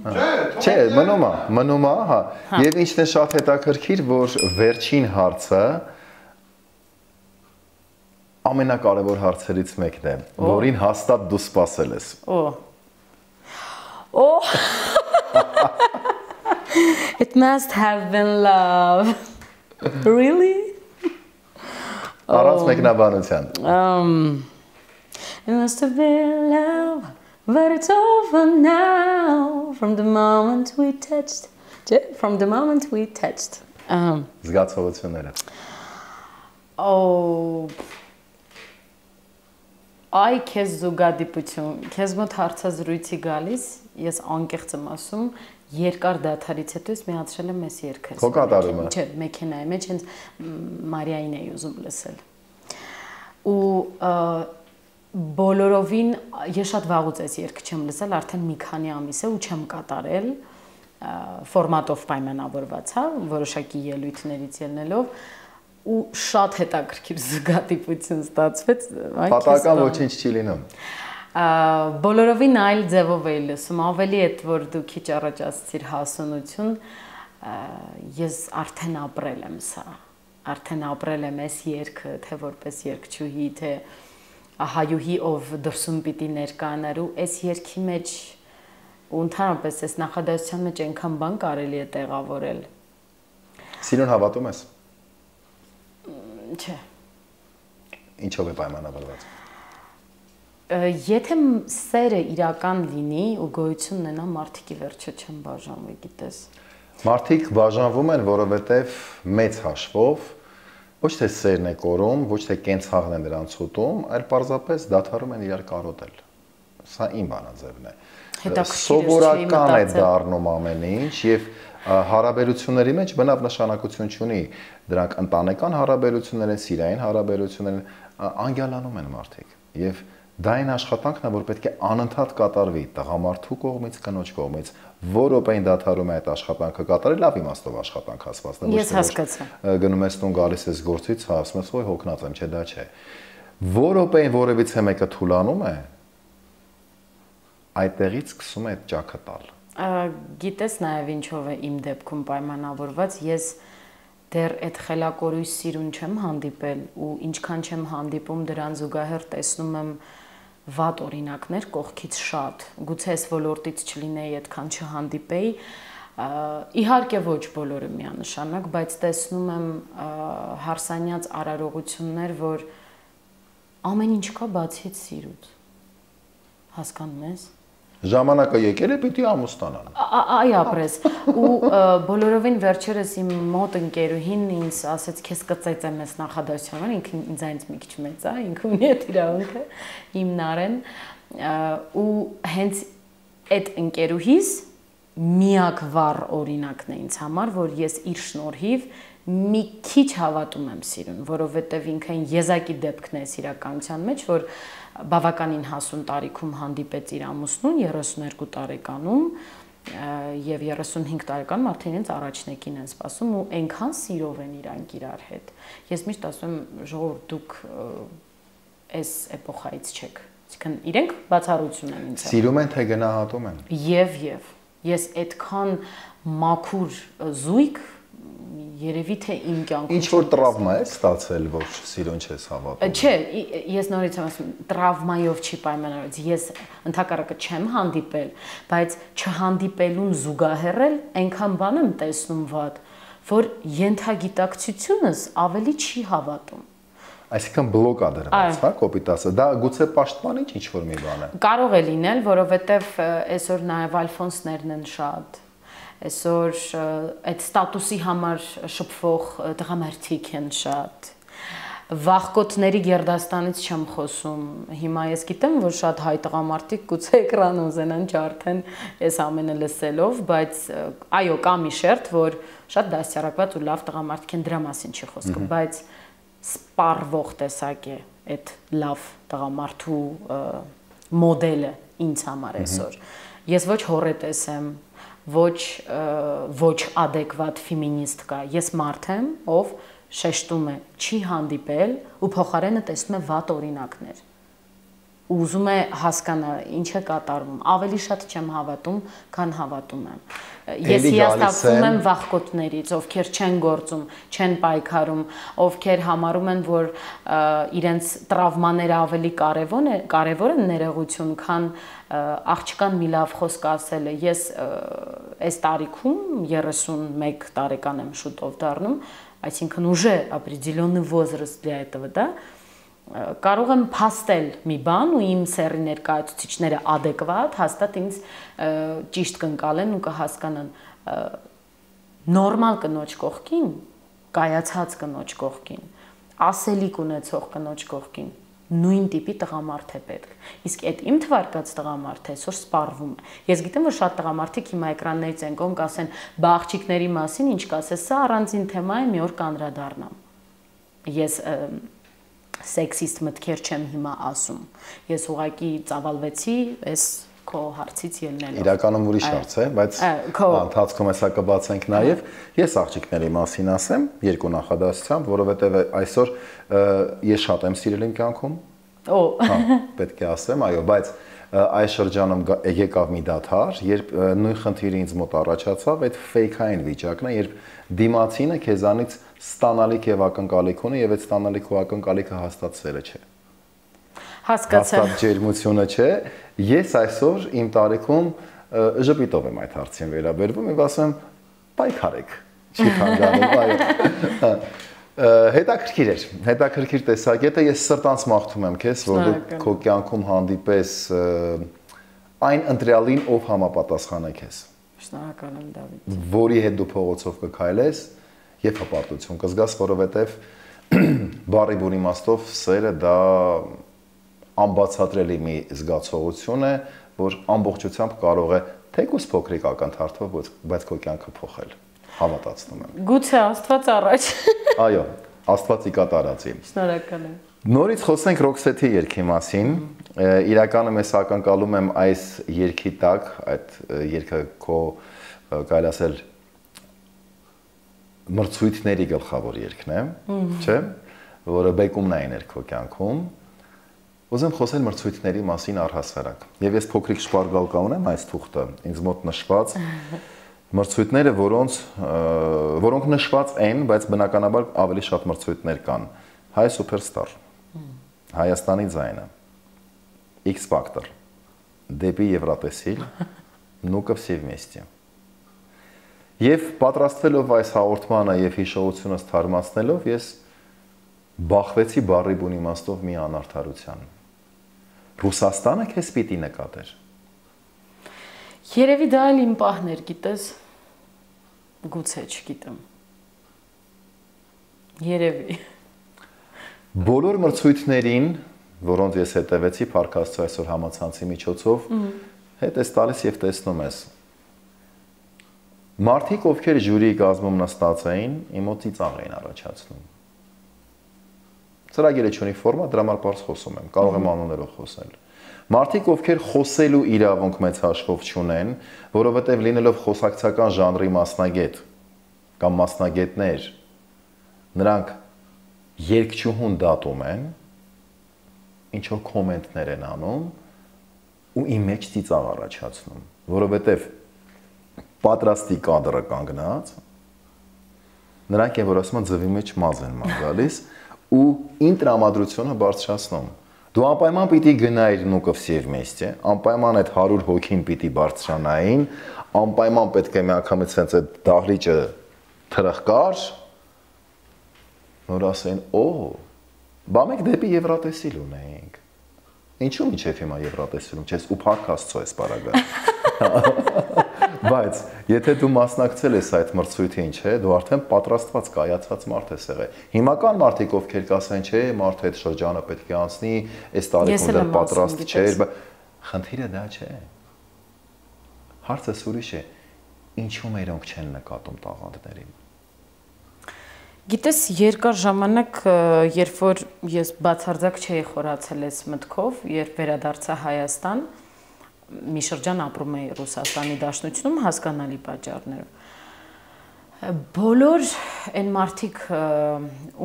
Չէ, մնում է, մնում է, հա։ Եվ ինչն է շատ հետաքրքիր, որ վերջին հարցը ամենակարևոր հարցերից մեկն է, որին հաստատ դու սպասել ես։ Օ։ Օ։ It must have been love. Really? Առանց մեկնաբանության։ Um, it must have been love, but it's over now. From the moment we touched, from the moment we touched. Um. Զգացողությունները։ Oh. Այ քեզ զուգադիպություն, քեզ մոտ հարցազրույցի գալիս, ես անկեղծ եմ ասում, երկար դադարից հետո ես միացրել եմ այս երգը։ Քո կատարումը։ Չէ, մեքենայի մեջ հենց Մարիային էի ուզում լսել։ Ու բոլորովին ես շատ վաղուց այս երգը չեմ լսել, արդեն մի քանի ամիս է ու չեմ կատարել, ֆորմատով պայմանավորված, հա, որոշակի ելույթներից ելնելով ու շատ հետաքրքիր զգատիպություն ստացվեց։ Պատահական ոչինչ չի լինում։ Բոլորովին այլ ձևով էի լսում, ավելի այդ որ դու քիչ առաջ ասացիր հասունություն, ես արդեն ապրել եմ սա, արդեն ապրել եմ այս երգը, թե որպես երգչուհի, թե հայուհի, ով դրսում պիտի ներկայանար ու այս երգի մեջ ու ընդհանրապես այս նախադասության մեջ այնքան բան կարելի է տեղավորել։ Սիրուն հավատում ես։ Չէ։ Ինչով է պայմանավորված։ Եթե սերը իրական լինի ու գոյություն ունենա, մարդիկ ի վերջո չեն բաժանվի, գիտես։ Մարդիկ բաժանվում են, որովհետև մեծ հաշվով Ոչ թե սերն է կորում, ոչ թե կենցաղն է նրանց ուտում, այլ պարզապես դադարում են իրար կարոտել։ Սա իմ բանաձևն է։ Սովորական է դառնում ամեն ինչ եւ հարաբերությունների մեջ բնավ նշանակություն չունի։ Դրանք ընտանեկան հարաբերություններ են, սիրային հարաբերություններ են, անգյալանում են մարդիկ։ Եվ դա այն աշխատանքն է, որ պետք է անընդհատ կատարվի տղամարդու կողմից, կնոջ կողմից, որ րոպեին դադարում է այդ աշխատանքը կատարել, լավ իմաստով աշխատանք ասված է։ Ես հասկացա։ Գնում ես տուն, գալիս ես գործից, ասում ես, «Ոյ, հոգնած եմ», չէ, դա չէ։ Որ րոպեին որևիցե մեկը թուլանում է, այդտեղից սկսում է այդ ճաքը տալ։ Գիտես նաև ինչով է իմ դեպքում պայմանավորված, ես դեռ այդ խելակորույս սիրուն չեմ հանդիպել ու ինչքան չեմ հանդիպում դրան զուգահեռ տեսնում եմ վատ օրինակներ կողքից շատ, գուցե այս ոլորտից չլինեի, այդքան չհանդիպեի, իհարկե ոչ բոլորը միանշանակ, բայց տեսնում եմ հարսանյաց արարողություններ, որ ամեն ինչ կա բացի այդ սիրուց, հասկանում ես։ Ժամանակը եկել է, պիտի ամուսնանան։ Այ ապրես, ու բոլորովին վերջերս իմ մոտ ընկերուհին ինձ ասեց, քեզ կծեծեմ ես նախադասությունը, ինքը ինձանից մի քիչ մեծ է, ինքը ունի այդ իրավունքը, իմ Նարեն, ու հենց այդ ընկերուհիս միակ վառ օրինակն է ինձ համար, որ ես իր շնորհիվ մի քիչ հավատում եմ սիրուն, որովհետև ինքն եզակի դեպքն է իրականության մեջ, որ բավականին հասուն տարիքում հանդիպեց իր ամուսնուն երեսունհինգ տարեկանում եւ երեսունհինգ տարեկանում արդեն իրենց առաջնեկին են սպասում ու այնքան սիրով են իրանք իրար հետ։ Ես միշտ ասում եմ, ժողովուրդ, դուք այս էպոխայից չեք։ Այսինքն իրենք բացառություն են ինձ։ Սիրում են թե գնահատում են։ Եվ եւ ես այդքան մաքուր զույգ երևի թե իմ կյանքում ինչ որ տրավմա է ստացել, որ սիրուն չես հավատում։ Չէ, ես նորից եմ ասում, տրավմայով չի պայմանավորված։ Ես ընդհակառակը չեմ հանդիպել, բայց չհանդիպելուն զուգահեռ այնքան բան եմ տեսնում վատ, որ ենթագիտակցությունս ավելի չի հավատում։ Այսինքն բլոկ է դրված, հա, կոպիտ ասած։ Դա գուցե պաշտպանիչ ինչ որ մի բան է։ Կարող է լինել, որովհետև այսօր նաև ալֆոնսներն են շատ։ Այսօր այդ ստատուսի համար շփվող տղամարդիկ են շատ։ Վախկոտների գերդաստանից չեմ խոսում։ Հիմա ես գիտեմ, որ շատ հայ տղամարդիկ գուցե էկրան ուզենան չարթեն այս ամենը լսելով, բայց այո, կա մի շերտ, որ շատ դաստիարակված ու լավ տղամարդիկ են, դրա մասին չի խոսքը, բայց սպառվող տեսակ է այդ լավ տղամարդու մոդելը ինձ համար այսօր։ Ես ոչ հորետես եմ, ոչ ոչ adekvat ֆեմինիստ կա։ Ես մարդ եմ, ով շեշտում է, չի հանդիպել ու փոխարենը տեսնում է վատ օրինակներ։ Ու ուզում է հասկանալ ինչ է կատարվում։ Ավելի շատ չեմ հավատում, քան հավատում եմ։ Ես հիասթափվում եմ վախկոտներից, ովքեր չեն գործում, չեն պայքարում, ովքեր համարում են, որ իրենց տրավմաները ավելի կարևոր է, կարևոր են ներողություն, քան աղջկան մի լավ խոսք ասելը։ Ես այս տարիքում երեսունմեկ տարեկան եմ շուտով դառնում, այսինքն уже определенный возраст для этого, да? Կարող եմ փաստել մի բան ու իմ սեռի ներկայացուցիչները adekvat հաստատ ինձ ճիշտ կընկալեն ու կհասկանան նորմալ կնոջ կողքին, կայացած կնոջ կողքին, ասելիք ունեցող կնոջ կողքին նույն տիպի տղամարդ է պետք։ Իսկ այդ իմ թվարկած տղամարդը այսօր սպառվում է։ Ես գիտեմ, որ շատ տղամարդիկ հիմա էկրաններից են կողմ կասեն, բա աղջիկների մասին ինչ կասես, սա առանձին թեմա է, մի օր կանդրադառնամ։ Ես սեքսիստ մտքեր չեմ հիմա ասում։ Ես ուղղակի ծավալվեցի այս քո հարցից ելնելով։ Իրականում ուրիշ հարց է, բայց ընթացքում հեսա կբացենք նաև։ Ես աղջիկների մասին ասեմ երկու նախադասությամբ, որովհետև այսօր ես շատ եմ սիրել իմ կյանքում։ Օ, հա, պետք է ասեմ, այո, բայց այս շրջանում եկավ մի դադար, երբ նույն խնդիրը ինձ մոտ առաջացավ, այդ ֆեյքային վիճակն է, երբ դիմացինը քեզանից ստանալիք եւ ակնկալիք ունի եւ այդ ստանալիք ու ակնկալիքը հաստատվելը չէ։ Հասկացա։ Հաստատ ջերմությունը չէ։ Ես այսօր իմ տարիքում ժպիտով եմ այդ հարցին վերաբերվում եւ ասում եմ՝ պայքարեք։ Չի խանգարում, այո։ Հետաքրքիր էր, հետաքրքիր տեսակետը, ես սրտանց մաղթում եմ քեզ, որ դու քո կյանքում հանդիպես այն ընտրյալին, ով համապատասխան է քեզ։ Շնորհակալ եմ, Դավիթ։ Որի հետ դու փողոցով կքայլես եւ հպարտություն կզգաս, որովհետեւ բառի բուն իմաստով սերը դա անբացատրելի մի զգացողություն է, որ ամբողջությամբ կարող է թեկուզ փոքրիկ ակնթարթով, բայց քո կյանքը փոխել։ Հավատացնում եմ։ Գուցե Աստված առաջ։ Այո, Աստվածի կատարածի։ Շնորհակալ եմ։ Նորից խոսենք Ռոքսեթի երգի մասին։ Իրականում ես ակնկալում եմ այս երգի տակ, այդ երգը քո կարելի ասել մրցույթների գլխավոր երգն է, չէ՞, որը բեկումն է ներ քո կյանքում։ Ուզեմ խոսել մրցույթների մասին առհասարակ։ Եվ ես փոքրիկ շպարգալ ունեմ այս թուղթը, ինձ մոտ նշված մրցույթները, որոնց որոնք նշված են, բայց բնականաբար ավելի շատ մրցույթներ կան։ Հայ Սուպերստար, Հայաստանի ձայնը, X Factor, Դեպի Եվրատեսիլ, Ну-ка все вместе։ Եվ պատրաստվելով այս հաղորդմանը եւ հիշողությունս թարմացնելով, ես բախվեցի բառի բուն իմաստով մի անարդարության։ Ռուսաստանը քեզ պիտի նկատեր։ Երևի դա էլ իմ պահն էր, գիտես, գուցե չգիտեմ։ Երևի։ Բոլոր մրցույթներին, որոնց ես հետևեցի Փարքաստու այսօր համացանցի միջոցով, հետ ես տալիս եւ տեսնում ես։ Մարդիկ, ովքեր ժյուրիի կազմում նստած էին, իմ մոտ ծիծաղ էին առաջացնում։ Ծրագիրը չունի ֆորմա, դրա համար բարձ խոսում եմ, կարող եմ անուններով խոսել։ Մարդիկ, ովքեր խոսելու իրավունք մեծ հաշվով չունեն, որովհետև լինելով խոսակցական ժանրի մասնագետ կամ մասնագետներ, նրանք երգչուհուն դատում են, ինչ-որ կոմենտներ են անում ու իմ մեջ ծիծաղ առաջացնում, որովհետև պատրաստի կադրը կանգնած, նրանք են, որ ասում են ձվի մեջ մազ են ման գալիս ու իմ տրամադրությունը բարձրացնում։ Դու անպայման պիտի գնայիր Ну-ка все вместе, անպայման այդ հարյուր հոգին պիտի բարձրանային, անպայման պետք է միանգամից հենց այդ դահլիճը թրխկար, որ ասեն, օ, բա մենք դեպի Եվրատեսիլ ունենք։ Ինչու՞ միջև հիմա Եվրատեսիլում չես ու Փարքաստու ես պարագա։ Բայց եթե դու մասնակցել ես այդ մրցույթին, չէ, դու արդեն պատրաստված կայացած մարդ ես եղել։ Հիմական մարդիկ ովքեր կասեն, չէ, մարդը այդ շրջանը պետք է անցնի, այս տարիքում դեռ պատրաստ չէր, բայց խնդիրը դա չէ։ Հարցը ուրիշ է, ինչու մերոնք չեն նկատում տաղանդներին։ Գիտես, երկար ժամանակ, երբ որ ես բացարձակ չէի խորացել այս մտքով, երբ վերադարձա Հայաստան, մի շրջան ապրում էի Ռուսաստանի Դաշնությունում հասկանալի պատճառներով։ Բոլոր այն մարդիկ,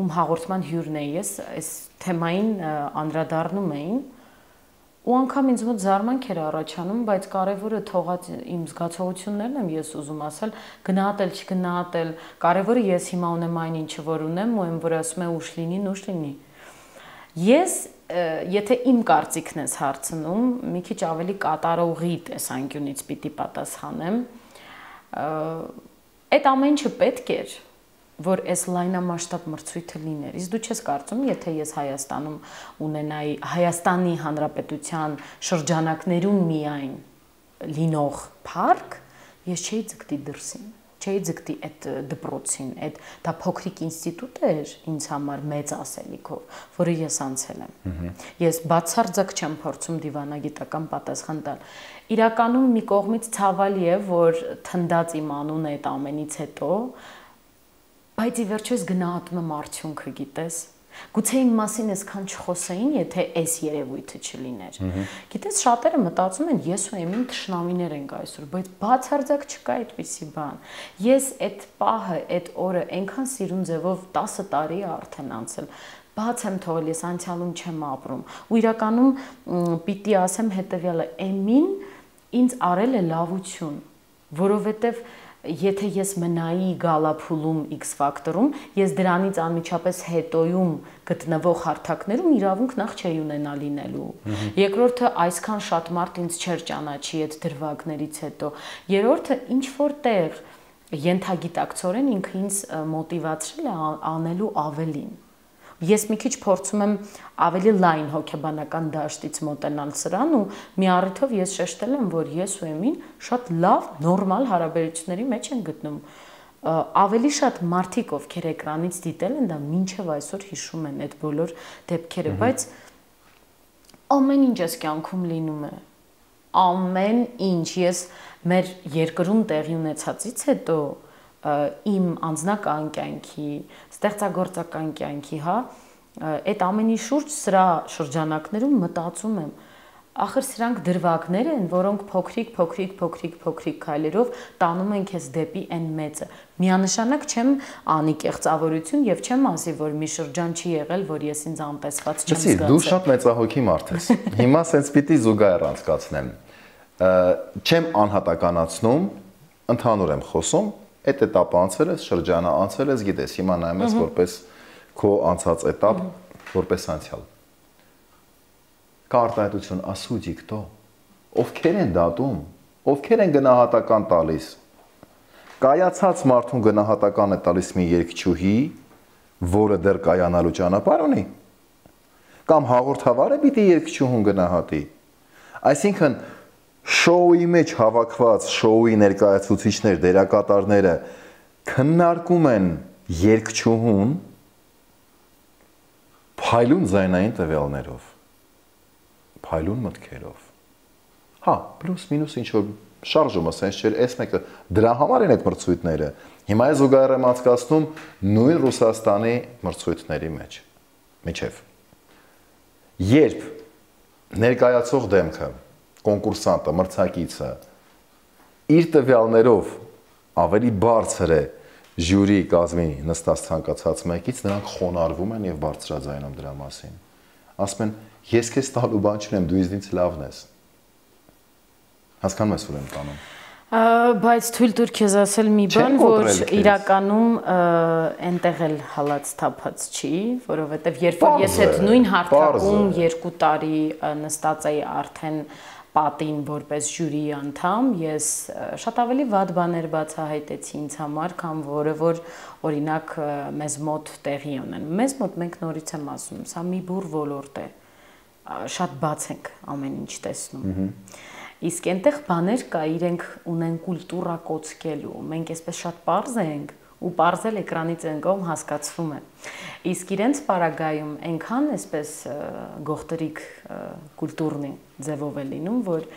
ում հաղորդման հյուրն էի ես, այս թեմային անդրադառնում էին, ու անգամ ինձ մոտ զարմանք էր առաջանում, բայց կարևորը թողած իմ զգացողություններն եմ ես ուզում ասել, գնահատել, չգնահատել, կարևորը ես հիմա ունեմ այն ինչը որ ունեմ, ու եմ որ ասում է ուշ լինի, նուշ լինի։ Ես եթե իմ կարծիքն ես հարցնում, մի քիչ ավելի կատարողի տեսանկյունից պիտի պատասխանեմ, այդ ամեն ինչը պետք էր, որ այս լայնամասշտաբ մրցույթը լիներ։ Իսկ դու չես կարծում, եթե ես Հայաստանում ունենայի Հայաստանի Հանրապետության շրջանակներում միայն լինող փառք, ես չէի ձգտի դրսին, չէի ձգտի այդ դպրոցին, այդ դա փոքրիկ ինստիտուտ էր ինձ համար մեծ ասելիքով, որը ես անցել եմ։ Ես բացարձակ չեմ փորձում դիվանագիտական պատասխան տալ։ Իրականում մի կողմից ցավալի է, որ թնդած իմ անունը այդ ամենից հետո, բայց ի վերջո ես գնահատում եմ արդյունքը, գիտես։ Գուցե իմ մասին այսքան չխոսեին, եթե այս երևույթը չլիներ։ Գիտես, շատերը մտածում են, ես ու Էմին թշնամիներ ենք այսօր, բայց բացարձակ չկա այդպիսի բան։ Ես այդ պահը, այդ օրը այնքան սիրուն ձևով տասը տարի է արդեն անցել, բաց եմ թողել, ես անցյալում չեմ ապրում։ Ու իրականում պիտի ասեմ հետևյալը, Էմին ինձ արել է լավություն, որովհետև եթե ես մնայի գալափուլում X Factor-ում, ես դրանից անմիջապես հետոյում գտնվող հարթակներում իրավունք նախ չէի ունենա լինելու։ Երկրորդը այսքան շատ մարդ ինձ չէր ճանաչի այդ դրվագներից հետո։ Երրորդը ինչ որ տեղ ենթագիտակցորեն ինքը ինձ մոտիվացրել է անելու ավելին։ Ես մի քիչ փորձում եմ ավելի լայն հոգեբանական դաշտից մոտենալ սրան ու մի առիթով ես շեշտել եմ, որ ես ու Էմին շատ լավ, նորմալ հարաբերությունների մեջ են գտնում։ ավելի շատ մարդիկ, ովքեր էկրանից դիտել են, դա մինչև այսօր հիշում են այդ բոլոր դեպքերը, բայց ամեն ինչ այս կյանքում լինում է։ Ամեն ինչ, ես մեր երկրում տեղի ունեցածից հետո իմ անձնական կյանքի, ստեղծագործական կյանքի, հա, այդ ամենի շուրջ սրա շրջանակներում մտածում եմ, ախր սրանք դրվագներ են, որոնք փոքրիկ, փոքրիկ, փոքրիկ, փոքրիկ քայլերով տանում են քեզ դեպի այն մեծը։ Միանշանակ չեմ անի կեղծավորություն եւ չեմ ասի, որ մի շրջան չի եղել, որ ես ինձ անտեսված չեմ զգացել։ Դու շատ մեծահոգի մարդ ես։ Հիմա սենց պիտի զուգահեռ անցկացնեմ։ Չեմ անհատականացնում, ընդհանուր եմ խոսում, այդ этаպը անցել ես, շրջանը անցել ես, գիտես, հիմա նայում ես որպես քո անցած этап, որպես անցյալ։ Կա արտահայտություն, ասուջի քտո, ովքեր են դատում, ովքեր են գնահատական տալիս։ Կայացած մարդուն գնահատական է տալիս մի երգչուհի, որը դեռ կայանալու ճանապարհ ունի, կամ հաղորդավարը պիտի երգչուհուն գնահատի։ Այսինքն շոուի մեջ հավաքված շոուի ներկայացուցիչներ, դերակատարները քննարկում են երգչուհուն փայլուն ձայնային տվյալներով, փայլուն մտքերով։ Հա, պլյուս մինուս ինչ որ շարժումը սենց չէր, այս մեկը դրա համար են այդ մրցույթները։ Հիմա ես զուգահեռ եմ անցկացնում նույն Ռուսաստանի մրցույթների մեջ։ Միջև։ Երբ ներկայացող դեմքը, կոնկուրսանտը, մրցակիցը իր տվյալներով ավելի բարձր է ժյուրի կազմի նստած ցանկացած մեկից, նրանք խոնարհվում են եւ բարձրաձայնում դրա մասին։ Ասում են, ես քեզ տալու բան չունեմ, դու ինձնից լավն ես։ Հասկանում ես որ եմ տանում։ Բայց թույլ տուր քեզ ասել մի բան, որ իրականում այնտեղ էլ հալած թափած չի, որովհետեւ երբ որ ես այդ նույն հարթակում երկու տարի նստած էի արդեն պատին որպես ժյուրի անդամ, ես շատ ավելի վատ բաներ բացահայտեցի ինձ համար, քան որը որ օրինակ մեզ մոտ տեղի ունեն։ Մեզ մոտ մենք նորից եմ ասում, սա մի բուր ոլորտ է, շատ բաց ենք ամեն ինչ տեսնում։ Իսկ այնտեղ բաներ կա, իրենք ունեն կուլտուրա կոծկելու, մենք այսպես շատ պարզ ենք ու պարզել էկրանից են կողմ հասկացվում է։ Իսկ իրենց պարագայում այնքան այսպես գողտրիկ կուլտուրնի ձևով է լինում, որ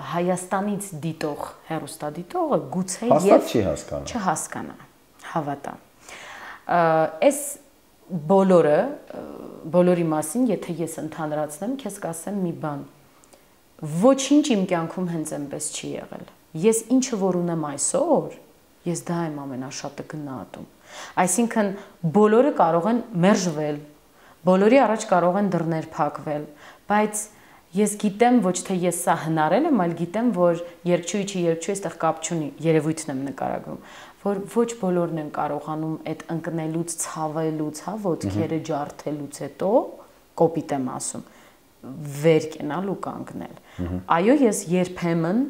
Հայաստանից դիտող հեռուստադիտողը գուցե եւ չհասկանա, հավատա։ Այս բոլորը, բոլորի մասին, եթե ես ընդհանրացնեմ, քեզ կասեմ մի բան։ Ոչինչ իմ կյանքում հենց այնպես չի եղել։ Ես ինչը որ ունեմ այսօր, ես դա եմ ամենաշատը գնահատում։ Այսինքն բոլորը կարող են մերժվել, բոլորի առաջ կարող են դռներ փակվել, բայց ես գիտեմ ոչ թե ես սա հնարել եմ, այլ գիտեմ, որ երկչույի չի երկչույի այստեղ կապ չունի, երևույթն եմ նկարագրում, որ ոչ բոլորն են կարողանում այդ ընկնելուց, ցավելուց, հա, ոտքերը ջարդելուց հետո, կոպիտ եմ ասում, վեր կենալ ու կանգնել։ Այո, ես երբեմն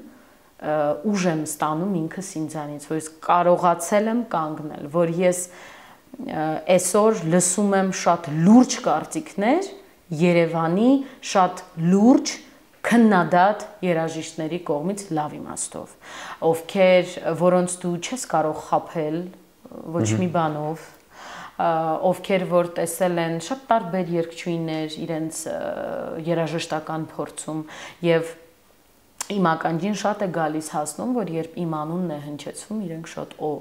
ուժ եմ ստանում ինքս ինձանից, որ ես կարողացել եմ կանգնել, որ ես այսօր լսում եմ շատ լուրջ կարծիքներ Երևանի շատ լուրջ քննադատ երաժիշտների կողմից լավ իմաստով, ովքեր որոնց դու չես կարող խաբել ոչ մի բանով, ովքեր որ տեսել են շատ տարբեր երգչուհիներ իրենց երաժշտական փորձում եւ իմ ականջին շատ է գալիս հասնում, որ երբ իմ անունն է հնչեցվում, իրենք շատ օ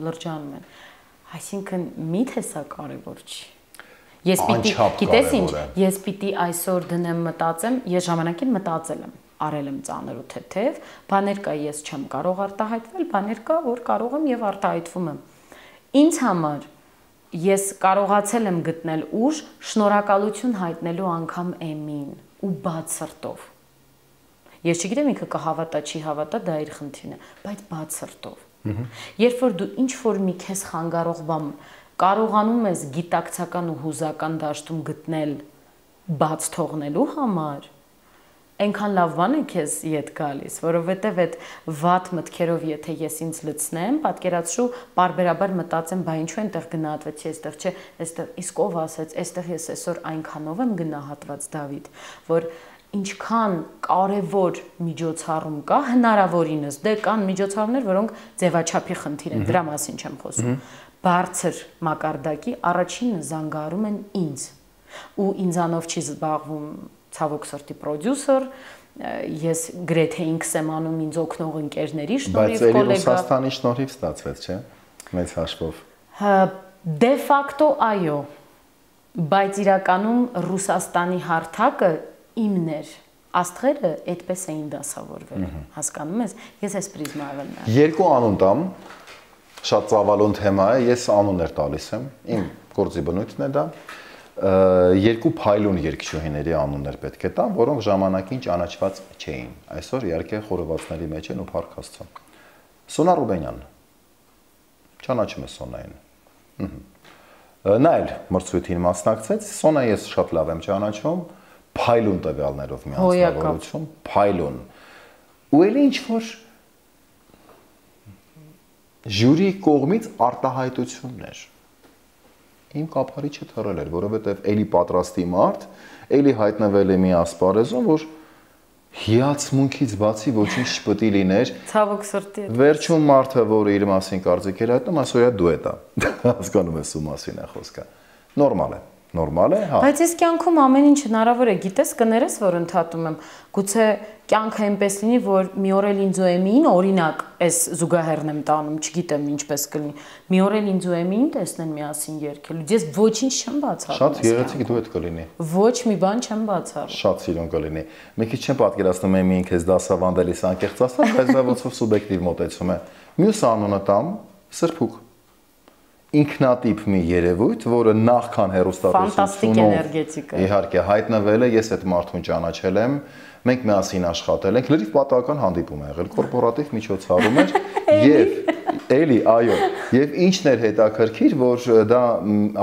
լրջանում են։ Այսինքն միթե սա կարևոր չի։ Ես պիտի, գիտես ինչ, ես պիտի այսօր դնեմ մտածեմ, ես ժամանակին մտածել եմ, արել եմ ծանր ու թեթև, բաներ կա ես չեմ կարող արտահայտվել, բաներ կա որ կարող եմ եւ արտահայտվում եմ։ Ինձ համար ես կարողացել եմ գտնել ուժ շնորհակալություն հայտնելու անգամ Էմին ու բաց սրտով։ Ես չգիտեմ ինքը կհավատա, չի հավատա, դա իր խնդիրն է, բայց բաց սրտով։ Երբ որ դու ինչ որ մի քեզ խանգարող բան կարողանում ես գիտակցական ու հուզական դաշտում գտնել բաց թողնելու համար, այնքան լավ բան է քեզ իդ գալիս, որովհետև այդ վատ մտքերով եթե ես ինձ լցնեմ, պատկերացրու բարբերաբար մտածեմ, բա ինչու այնտեղ գնահատվեցի, այստեղ չէ, այստեղ իսկ ով ասեց, այստեղ ես այսօր այնքանով եմ գնահատված Դավիթ, որ ինչքան կարևոր միջոցառում կա, հնարավորինս դե կան միջոցառումներ, որոնք ձևաչափի խնդիր են, դրա մասին չեմ խոսում։ Բարձր մակարդակի առաջինը զանգարում են ինձ, ու ինձանով չի զբաղվում ցավոք սրտի պրոդյուսեր, ես գրեթե ինքս եմ անում ինձ օգնող ընկերների շնորհիվ, կոլեգա։ Բայց էլի Ռուսաստանի շնորհիվ ստացվեց, չէ՞։ Մեծ հաշվով։ Դե ֆակտո այո, բայց իրականում Ռուսաստանի հարթակը իմն էր, աստղերը այդպես էին դասավորվել, հասկանում ես, ես այս պրիզմայով եմ նայում։ Երկու անուն տամ, շատ ծավալուն թեմա է, ես անուններ տալիս եմ, իմ գործի բնույթն է դա, երկու փայլուն երգչուհիների անուններ պետք է տամ, որոնք ժամանակին ճանաչված չէին, այսօր իհարկե խորովածների մեջ են ու փառք Աստծո։ Սոնա Ռուբենյան, ճանաչում է Սոնային։ Նա էլ մրցույթին մասնակցեց, Սոնա ես շատ լավ եմ ճանաչում, փայլուն տվյալներով մի անձնավորություն, փայլուն։ Ու ելի ինչ-որ ժյուրի կողմից արտահայտություններ։ Իմ կափարիչը թռել էր, որովհետև էլի պատրաստի մարդ, էլի հայտնվել է մի ասպարեզում, որ հիացմունքից բացի ոչինչ չպետք է լիներ։ Ցավոք սրտի։ Վերջում մարդը, որը իր մասին կարծիք էր հայտնում, այսօր դու է դա։ Հասկանում ես ում մասին է խոսքը։ Նորմալ է։ Նորմալ է, հա։ Բայց ես կյանքում ամեն ինչ հնարավոր է, գիտես, կներես, որ ընդհատում եմ, գուցե կյանքը այնպես լինի, որ մի օր էլ ինձ ու Էմիին, օրինակ, այս զուգահեռն եմ տանում, չգիտեմ ինչպես կլինի, մի օր էլ ինձ ու Էմիին տեսնեն միասին երգելու, ես ոչինչ չեմ բացառում։ Շատ գեղեցիկ դուետ կլինի։ Ոչ մի բան չեմ բացառում։ Շատ սիրուն կլինի։ Մի քիչ չեմ պատկերացնում Էմիին քեզ դասավանդելիս անկեղծ ասած, բայց դա ոնց որ սուբյեկտիվ մոտեցում է։ Մյուս անունը տամ Սրփուկ։ Ինքնատիպ մի երևույթ, որը նախքան հեռուստատեսությունով իհարկե հայտնվել է, ես այդ մարդուն ճանաչել եմ, մենք միասին աշխատել ենք, լրիվ պատահական հանդիպում է եղել, կորպորատիվ միջոցառում էր եւ էլի, այո, եւ ինչն էր հետաքրքիր, որ դա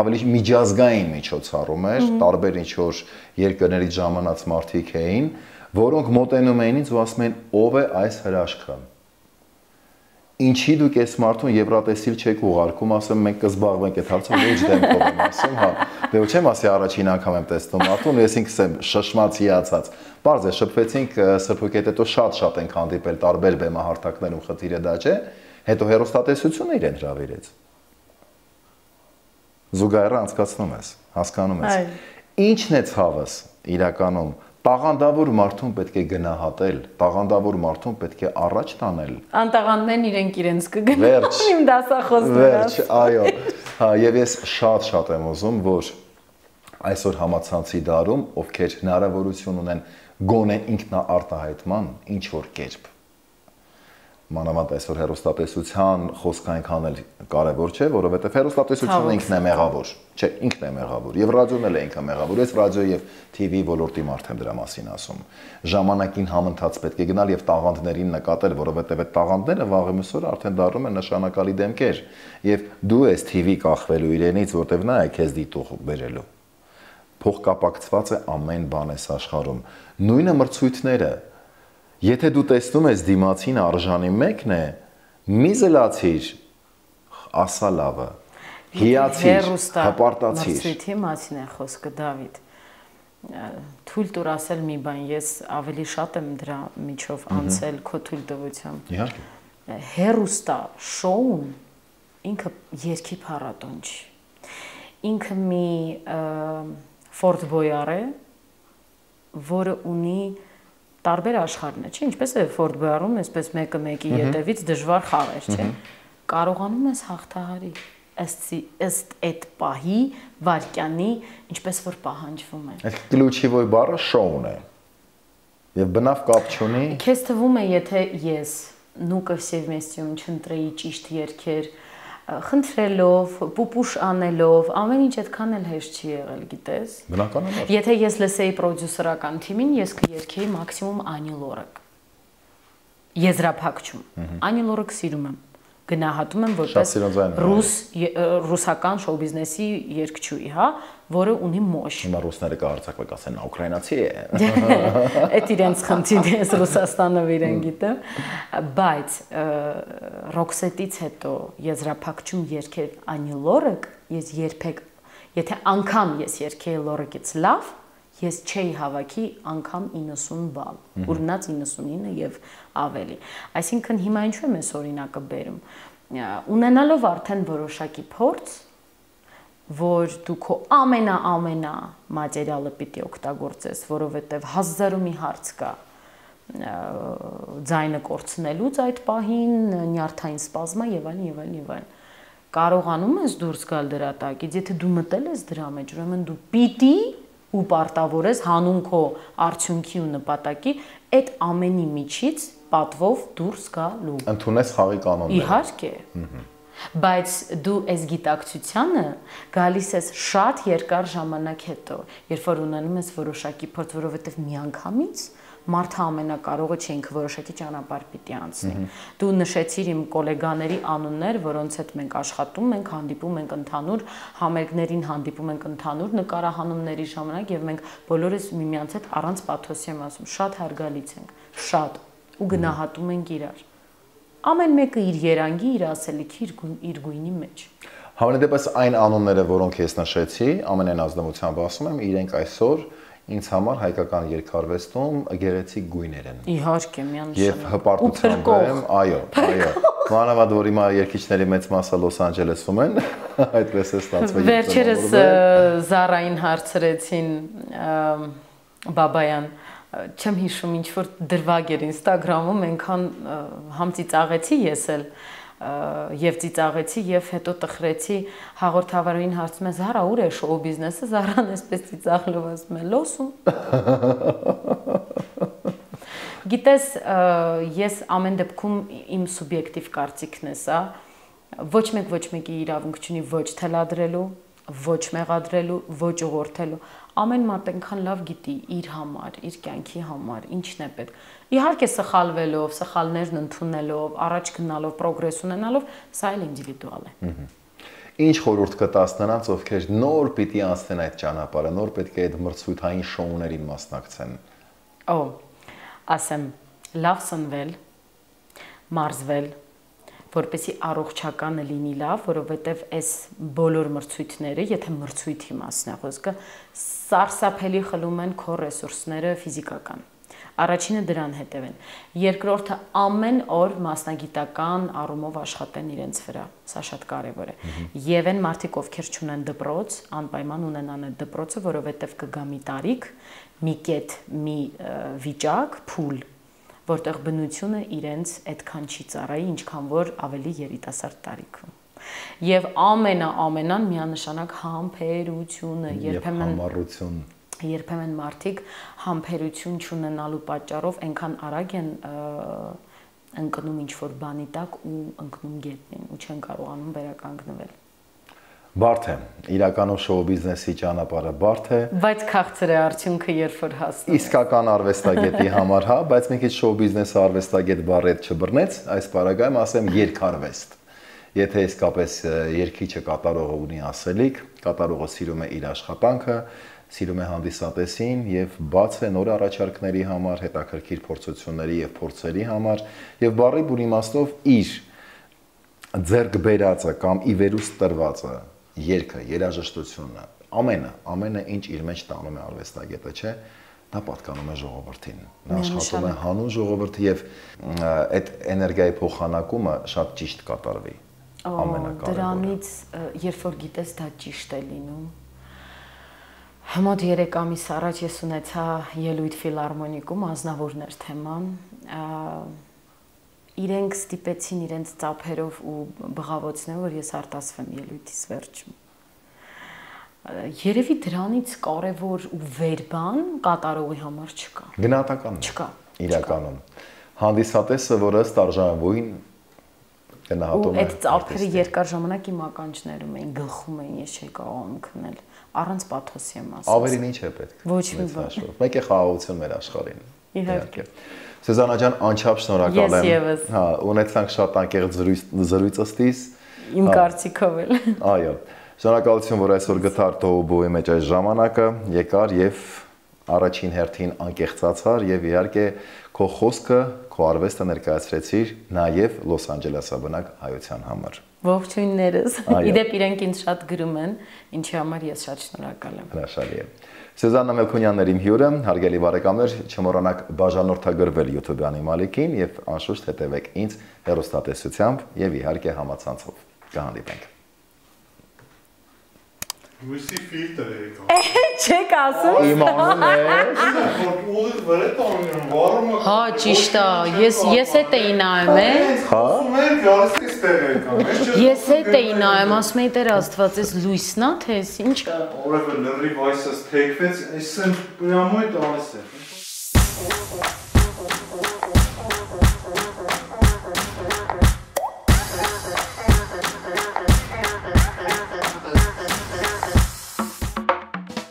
ավելի միջազգային միջոցառում էր, տարբեր ինչ-որ երկրներից ժամանած մարդիկ էին, որոնք մոտենում էին ինձ ու ասում էին, ով է այս հրաշքը։ Ինչի դուք այս մարդուն եվրատեսիլ չեք ուղարկում, ասեմ մենք կզբաղվենք այդ հարցով, ոչ դեմքով եմ ասում, հա։ Դե ոչ եմ ասի առաջին անգամ եմ տեսնում մարդուն, ես ինքս եմ շշմած հիացած։ Պարզ է, շփվեցինք Սրփուկի հետ, հետո շատ-շատ ենք հանդիպել տարբեր բեմահարթակներում, խնդիրը դա չէ, հետո հեռուստատեսությունը իրեն հրավիրեց։ Զուգահեռը անցկացնում ես, հասկանում ես։ Ինչն է ցավս իրականում տաղանդավոր մարդուն պետք է գնահատել, տաղանդավոր մարդուն պետք է առաջ տանել։ Անտաղանդներն իրենք իրենց կգնահատեն իմ դասախոսները։ Վերջ, այո։ Հա, եւ ես շատ-շատ եմ ուզում, որ այսօր համացանցի դարում, ովքեր հնարավորություն ունեն գոնե ինքնաարտահայտման ինչ որ կերպ։ Մանավանդ այսօր հեռուստատեսության խոսք այնքան էլ կարևոր չէ, որովհետև հեռուստատեսությունը ինքն է մեղավոր, չէ, ինքն է մեղավոր, եւ ռադիոն էլ է ինքը մեղավոր, ես ռադիո եւ T V ոլորտի մարդ եմ դրա մասին ասում։ Ժամանակին համընթաց պետք է գնալ եւ տաղանդներին նկատել, որովհետև այդ տաղանդները վաղը մսօր արդեն դառնում են նշանակալի դեմքեր, եւ դու ես T V կախվելու իրենից, որտեվ նա է քեզ դիտող բերելու։ Փոխկապակցված է ամեն բան այս աշխարհում։ Նույնը մրցույթները Եթե դու տեսնում ես դիմացին արժանի մեկն է, մի զլացիր, ասա լավը, հիացիր, հպարտացիր։ Մրցույթի մասին է խոսքը, Դավիթ, թույլ տուր ասել մի բան, ես ավելի շատ եմ դրա միջով անցել քո թույլտվությամբ։ Իհարկե։ Հեռուստա շոուն ինքը երկի փառատոն չի։ Ինքը մի Ֆորդ Բոյար է, որը ունի տարբեր աշխարհներ, չէ՞, ինչպես է Ֆորդ Բոյարում, այսպես մեկը մեկի ետևից դժվար խաղեր, չէ՞։ Կարողանում ես հաղթահարի ըստ այդ պահի, վարկյանի, ինչպես որ պահանջվում է։ Այդ ключевой բառը շոուն է։ Եվ բնավ կապ չունի։ Քեզ թվում է, եթե ես նուկը սևմեստիում չընտրեի ճիշտ երգեր, խնդրելով, պուպուշ անելով, ամեն ինչ այդքան էլ հեշտ չի եղել, գիտես։ Բնականաբար։ Եթե ես լսեի պրոդյուսերական թիմին, ես կերգեի մաքսիմում Անի Լորակ։ Եզրափակչում։ Անի Լորակ սիրում եմ։ Գնահատում եմ որպես ռուս ռուսական շոու բիզնեսի երգչուհի, հա, որը ունի մոշ։ Հիմա ռուսները կհարցակվեն, ասեն, նա ուկրաինացի է։ Այդ իրենց խնդիրն է, Ռուսաստանով իրեն գիտեմ, բայց Ռոքսետից հետո եզրափակչում երգեր Անի Լորակ, ես երբեք, եթե անգամ ես երգեի Լորակից լավ, ես չէի հավաքի անգամ իննսուն բալ, ուրնաց իննսունինը եւ ավելի։ Այսինքն հիմա ինչու եմ այս օրինակը բերում։ Ունենալով արդեն որոշակի փորձ, որ դու քո ամենա-ամենա մատերիալը պիտի օգտագործես, որովհետեւ հազարու մի հարց կա ձայնը կորցնելուց այդ պահին, նյարդային սպազմա եւ այլն եւ այլն եւ այլն։ Կարողանում ես դուրս գալ դրա տակից, եթե դու մտել ես դրա մեջ, ուրեմն դու պիտի ու պարտավոր ես հանուն քո արդյունքի ու նպատակի այդ ամենի միջից պատվով դուրս գալու։ Ընդունես խաղի կանոնները։ Իհարկե։ Բայց դու այս գիտակցությանը գալիս ես շատ երկար ժամանակ հետո, երբ որ ունենում ես որոշակի փորձ, որովհետև միանգամից մարդը ամենակարողը չէ, ինքը որոշակի ճանապարհ պիտի անցնի։ Դու նշեցիր իմ գոլեգաների անուններ, որոնց հետ մենք աշխատում ենք, հանդիպում ենք ընդհանուր համերգներին, հանդիպում ենք ընդհանուր նկարահանումների ժամանակ եւ մենք բոլորս միմյանց հետ առանց պաթոսի եմ ասում, շատ հարգալից ենք, շատ ու գնահատում ենք իրար։ Ամեն մեկը իր երանգի, իր ասելիքի, իր գույնի մեջ։ Համենայնդեպս այն անունները, որոնք ես նշեցի, ամենայն ազնվությամբ ասում եմ, իրենք այսօր ինձ համար հայկական երկարվեստում գեղեցիկ գույներ են։ Իհարկե, միանշանակ։ Եվ հպարտությամբ եմ, այո, այո։ Մանավանդ որ հիմա երկիչների մեծ մասը Լոս Անջելեսում են, այդպես է ստացվել։ Վերջերս Զարային հարցրեցին Բաբայան, չեմ հիշում ինչ որ դրվագ էր Instagram-ում, այնքան համ ծիծաղեցի ես էլ եւ ծիծաղեցի եւ հետո տխրեցի հաղորդավարին հարցում է Զարա ուր է շոու բիզնեսը, Զարան էսպես ծիծաղելով ասում է Լոսում։ Գիտես, ես ամեն դեպքում իմ սուբյեկտիվ կարծիքն է սա, ոչ մեկ ոչ մեկի իրավունք չունի ոչ թելադրելու, ոչ մեղադրելու, ոչ ուղղորդելու, ամեն մարդ այնքան լավ գիտի իր համար, իր կյանքի համար, ինչն է պետք։ Իհարկե սխալվելով, սխալներն ընդունելով, առաջ գնալով, պրոգրես ունենալով, սա էլ ինդիվիդուալ է։ Ինչ խորհուրդ կտաս նրանց, ովքեր նոր պիտի անցնեն այդ ճանապարհը, նոր պետք է այդ մրցույթային շոուներին մասնակցեն։ Օ, ասեմ, լավ սնվել, մարզվել, որպեսի առողջականը լինի լավ, որովհետև այս բոլոր մրցույթները, եթե մրցույթի մասն է խոսքը, սարսափելի խլում են քո ռեսուրսները ֆիզիկական։ Առաջինը դրան հետևեն։ Երկրորդը ամեն օր մասնագիտական առումով աշխատեն իրենց վրա։ Սա շատ կարևոր է։ Եվ այն մարդիկ, ովքեր չունեն դպրոց, անպայման ունենան այդ դպրոցը, որովհետև կգա մի տարիք, մի կետ, մի վիճակ, փուլ, որտեղ բնությունը իրենց այդքան չի ծառայի, ինչքան որ ավելի երիտասարդ տարիքում։ Եվ ամենա-ամենան միանշանակ համբերությունը, երբեմն համառություն, երբեմն մարդիկ համբերություն չունենալու պատճառով այնքան արագ են ընկնում ինչ-որ բանի տակ ու ընկնում գետնին ու չեն կարողանում վերականգնվել։ Բարդ է, իրականում շոու բիզնեսի ճանապարհը բարդ է, բայց քաղցր է արդյունքը, երբ որ հասնում։ Իսկական արվեստագետի համար, հա, բայց մի քիչ շոու բիզնեսը արվեստագետ բառը չբռնեց, այս բaragայում ասեմ երկարվեստ։ Եթե իսկապես երգիչը կատարողը ունի ասելիք, կատարողը սիրում է իր աշխատանքը, սիրում է հանդիսատեսին եւ բաց է նոր առաջարկների համար, հետաքրքիր փորձությունների եւ փորձերի համար եւ բառի բուն իմաստով իր ձեռք բերածը կամ ի վերուստ տրվածը, երգը, երաժշտությունը, ամենը, ամենը ինչ իր մեջ տանում է արվեստագետը, չէ, դա պատկանում է ժողովրդին։ Նա աշխատում է հանուն ժողովրդի եւ այդ էներգիայի փոխանակումը շատ ճիշտ կատարվի։ Ամենակարևորը։ Դրանից երբ որ գիտես դա ճիշտ է լինում, Մոտ երեք ամիս առաջ ես ունեցա ելույթ ֆիլհարմոնիկում, Ազնավուրներ թեման, իրենք ստիպեցին իրենց ծափերով ու բղավոցներով, որ ես արտասվեմ ելույթից վերջում։ Երևի դրանից կարևոր ու վեր բան կատարողի համար չկա։ Գնահատական չկա։ Իրականում հանդիսատեսը, որը ըստ արժանավույն գնահատում է։ Ու այդ ծափերը երկար ժամանակ իմ ականջներում էին, գլխում էին, ես չէի կարողանում քնել։ Առանց պաթոսի եմ ասում։ Ավելին ինչ է պետք։ Ոչ մի բան։ Մեկ է խաղաղություն մեր աշխարհին։ Իհարկե։ Սեզանա ջան, անչափ շնորհակալ եմ։ Ես եւս։ Հա, ունեցանք շատ անկեղծ զրույց ըստիս։ Իմ կարծիքով էլ։ Այո։ Շնորհակալություն, որ այսօր գտար Տոուբոյի մեջ այս ժամանակը, եկար եւ առաջին հերթին անկեղծացար եւ իհարկե քո խոսքը, քո արվեստը ներկայացրեցիր նաեւ Լոս Անջելեսաբնակ հայության համար։ Ողջույններս։ Իդեպ իրենք ինձ շատ գրում են, ինչի համար ես շատ շնորհակալ եմ։ Հրաշալի է։ Սյուզաննա Մելքոնյանն էր իմ հյուրը, հարգելի բարեկամներ, չմոռանաք բաժանորդագրվել YouTube-անի մալիկին եւ անշուշտ հետեւեք ինձ հեռուստատեսությամբ եւ իհարկե համացանցով։ Կհանդիպենք։ Լույսի ֆիլտր եկա։ Չեք ասում։ Իմանում ես։ Ուղիղ վրա տանում, վառումը։ Հա, ճիշտ է։ Ես ես հետ էի նայում, է։ Հա։ Մեր գարստի ստեղ եկա։ Ես հետ էի նայում, ասում էի Տեր Աստված, էս լույսն է, թե էս ինչ։ Օրը լրիվ այսս թեքվեց, այսեն պրամոյ տալիս է։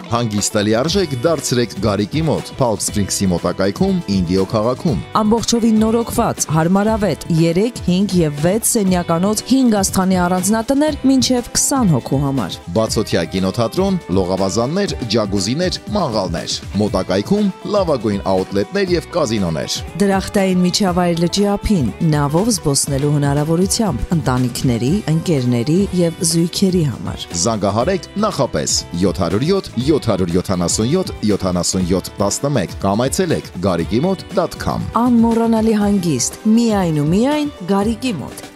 Հանգիստ լիարժեք դարձրեք Գարիկի մոտ, Palm Springs-ի մոտակայքում, Ինդիո քաղաքում։ Ամբողջովին նորոգված, հարմարավետ երեք, հինգ եւ վեց սենյականոց հինգ աստղանի առանձնատներ մինչեւ քսան հոգու համար։ Բացօթյա կինոթատրոն, լողավազաններ, ջագուզիներ, մանգալներ։ Մոտակայքում լավագույն աուտլետներ եւ կազինոներ։ Դրախտային միջավայր լճի ափին, նավով զբոսնելու հնարավորությամբ ընտանիքների, ընկերների եւ զույգերի համար։ Զանգահարեք նախապես յոթ հարյուր յոթ յոթ հարյուր յոթանասունյոթ յոթանասունյոթ տասնմեկ կամ այցելեք garikimot dot com։ Անմոռանալի հանգիստ, միայն ու միայն Գարիկի մոտ։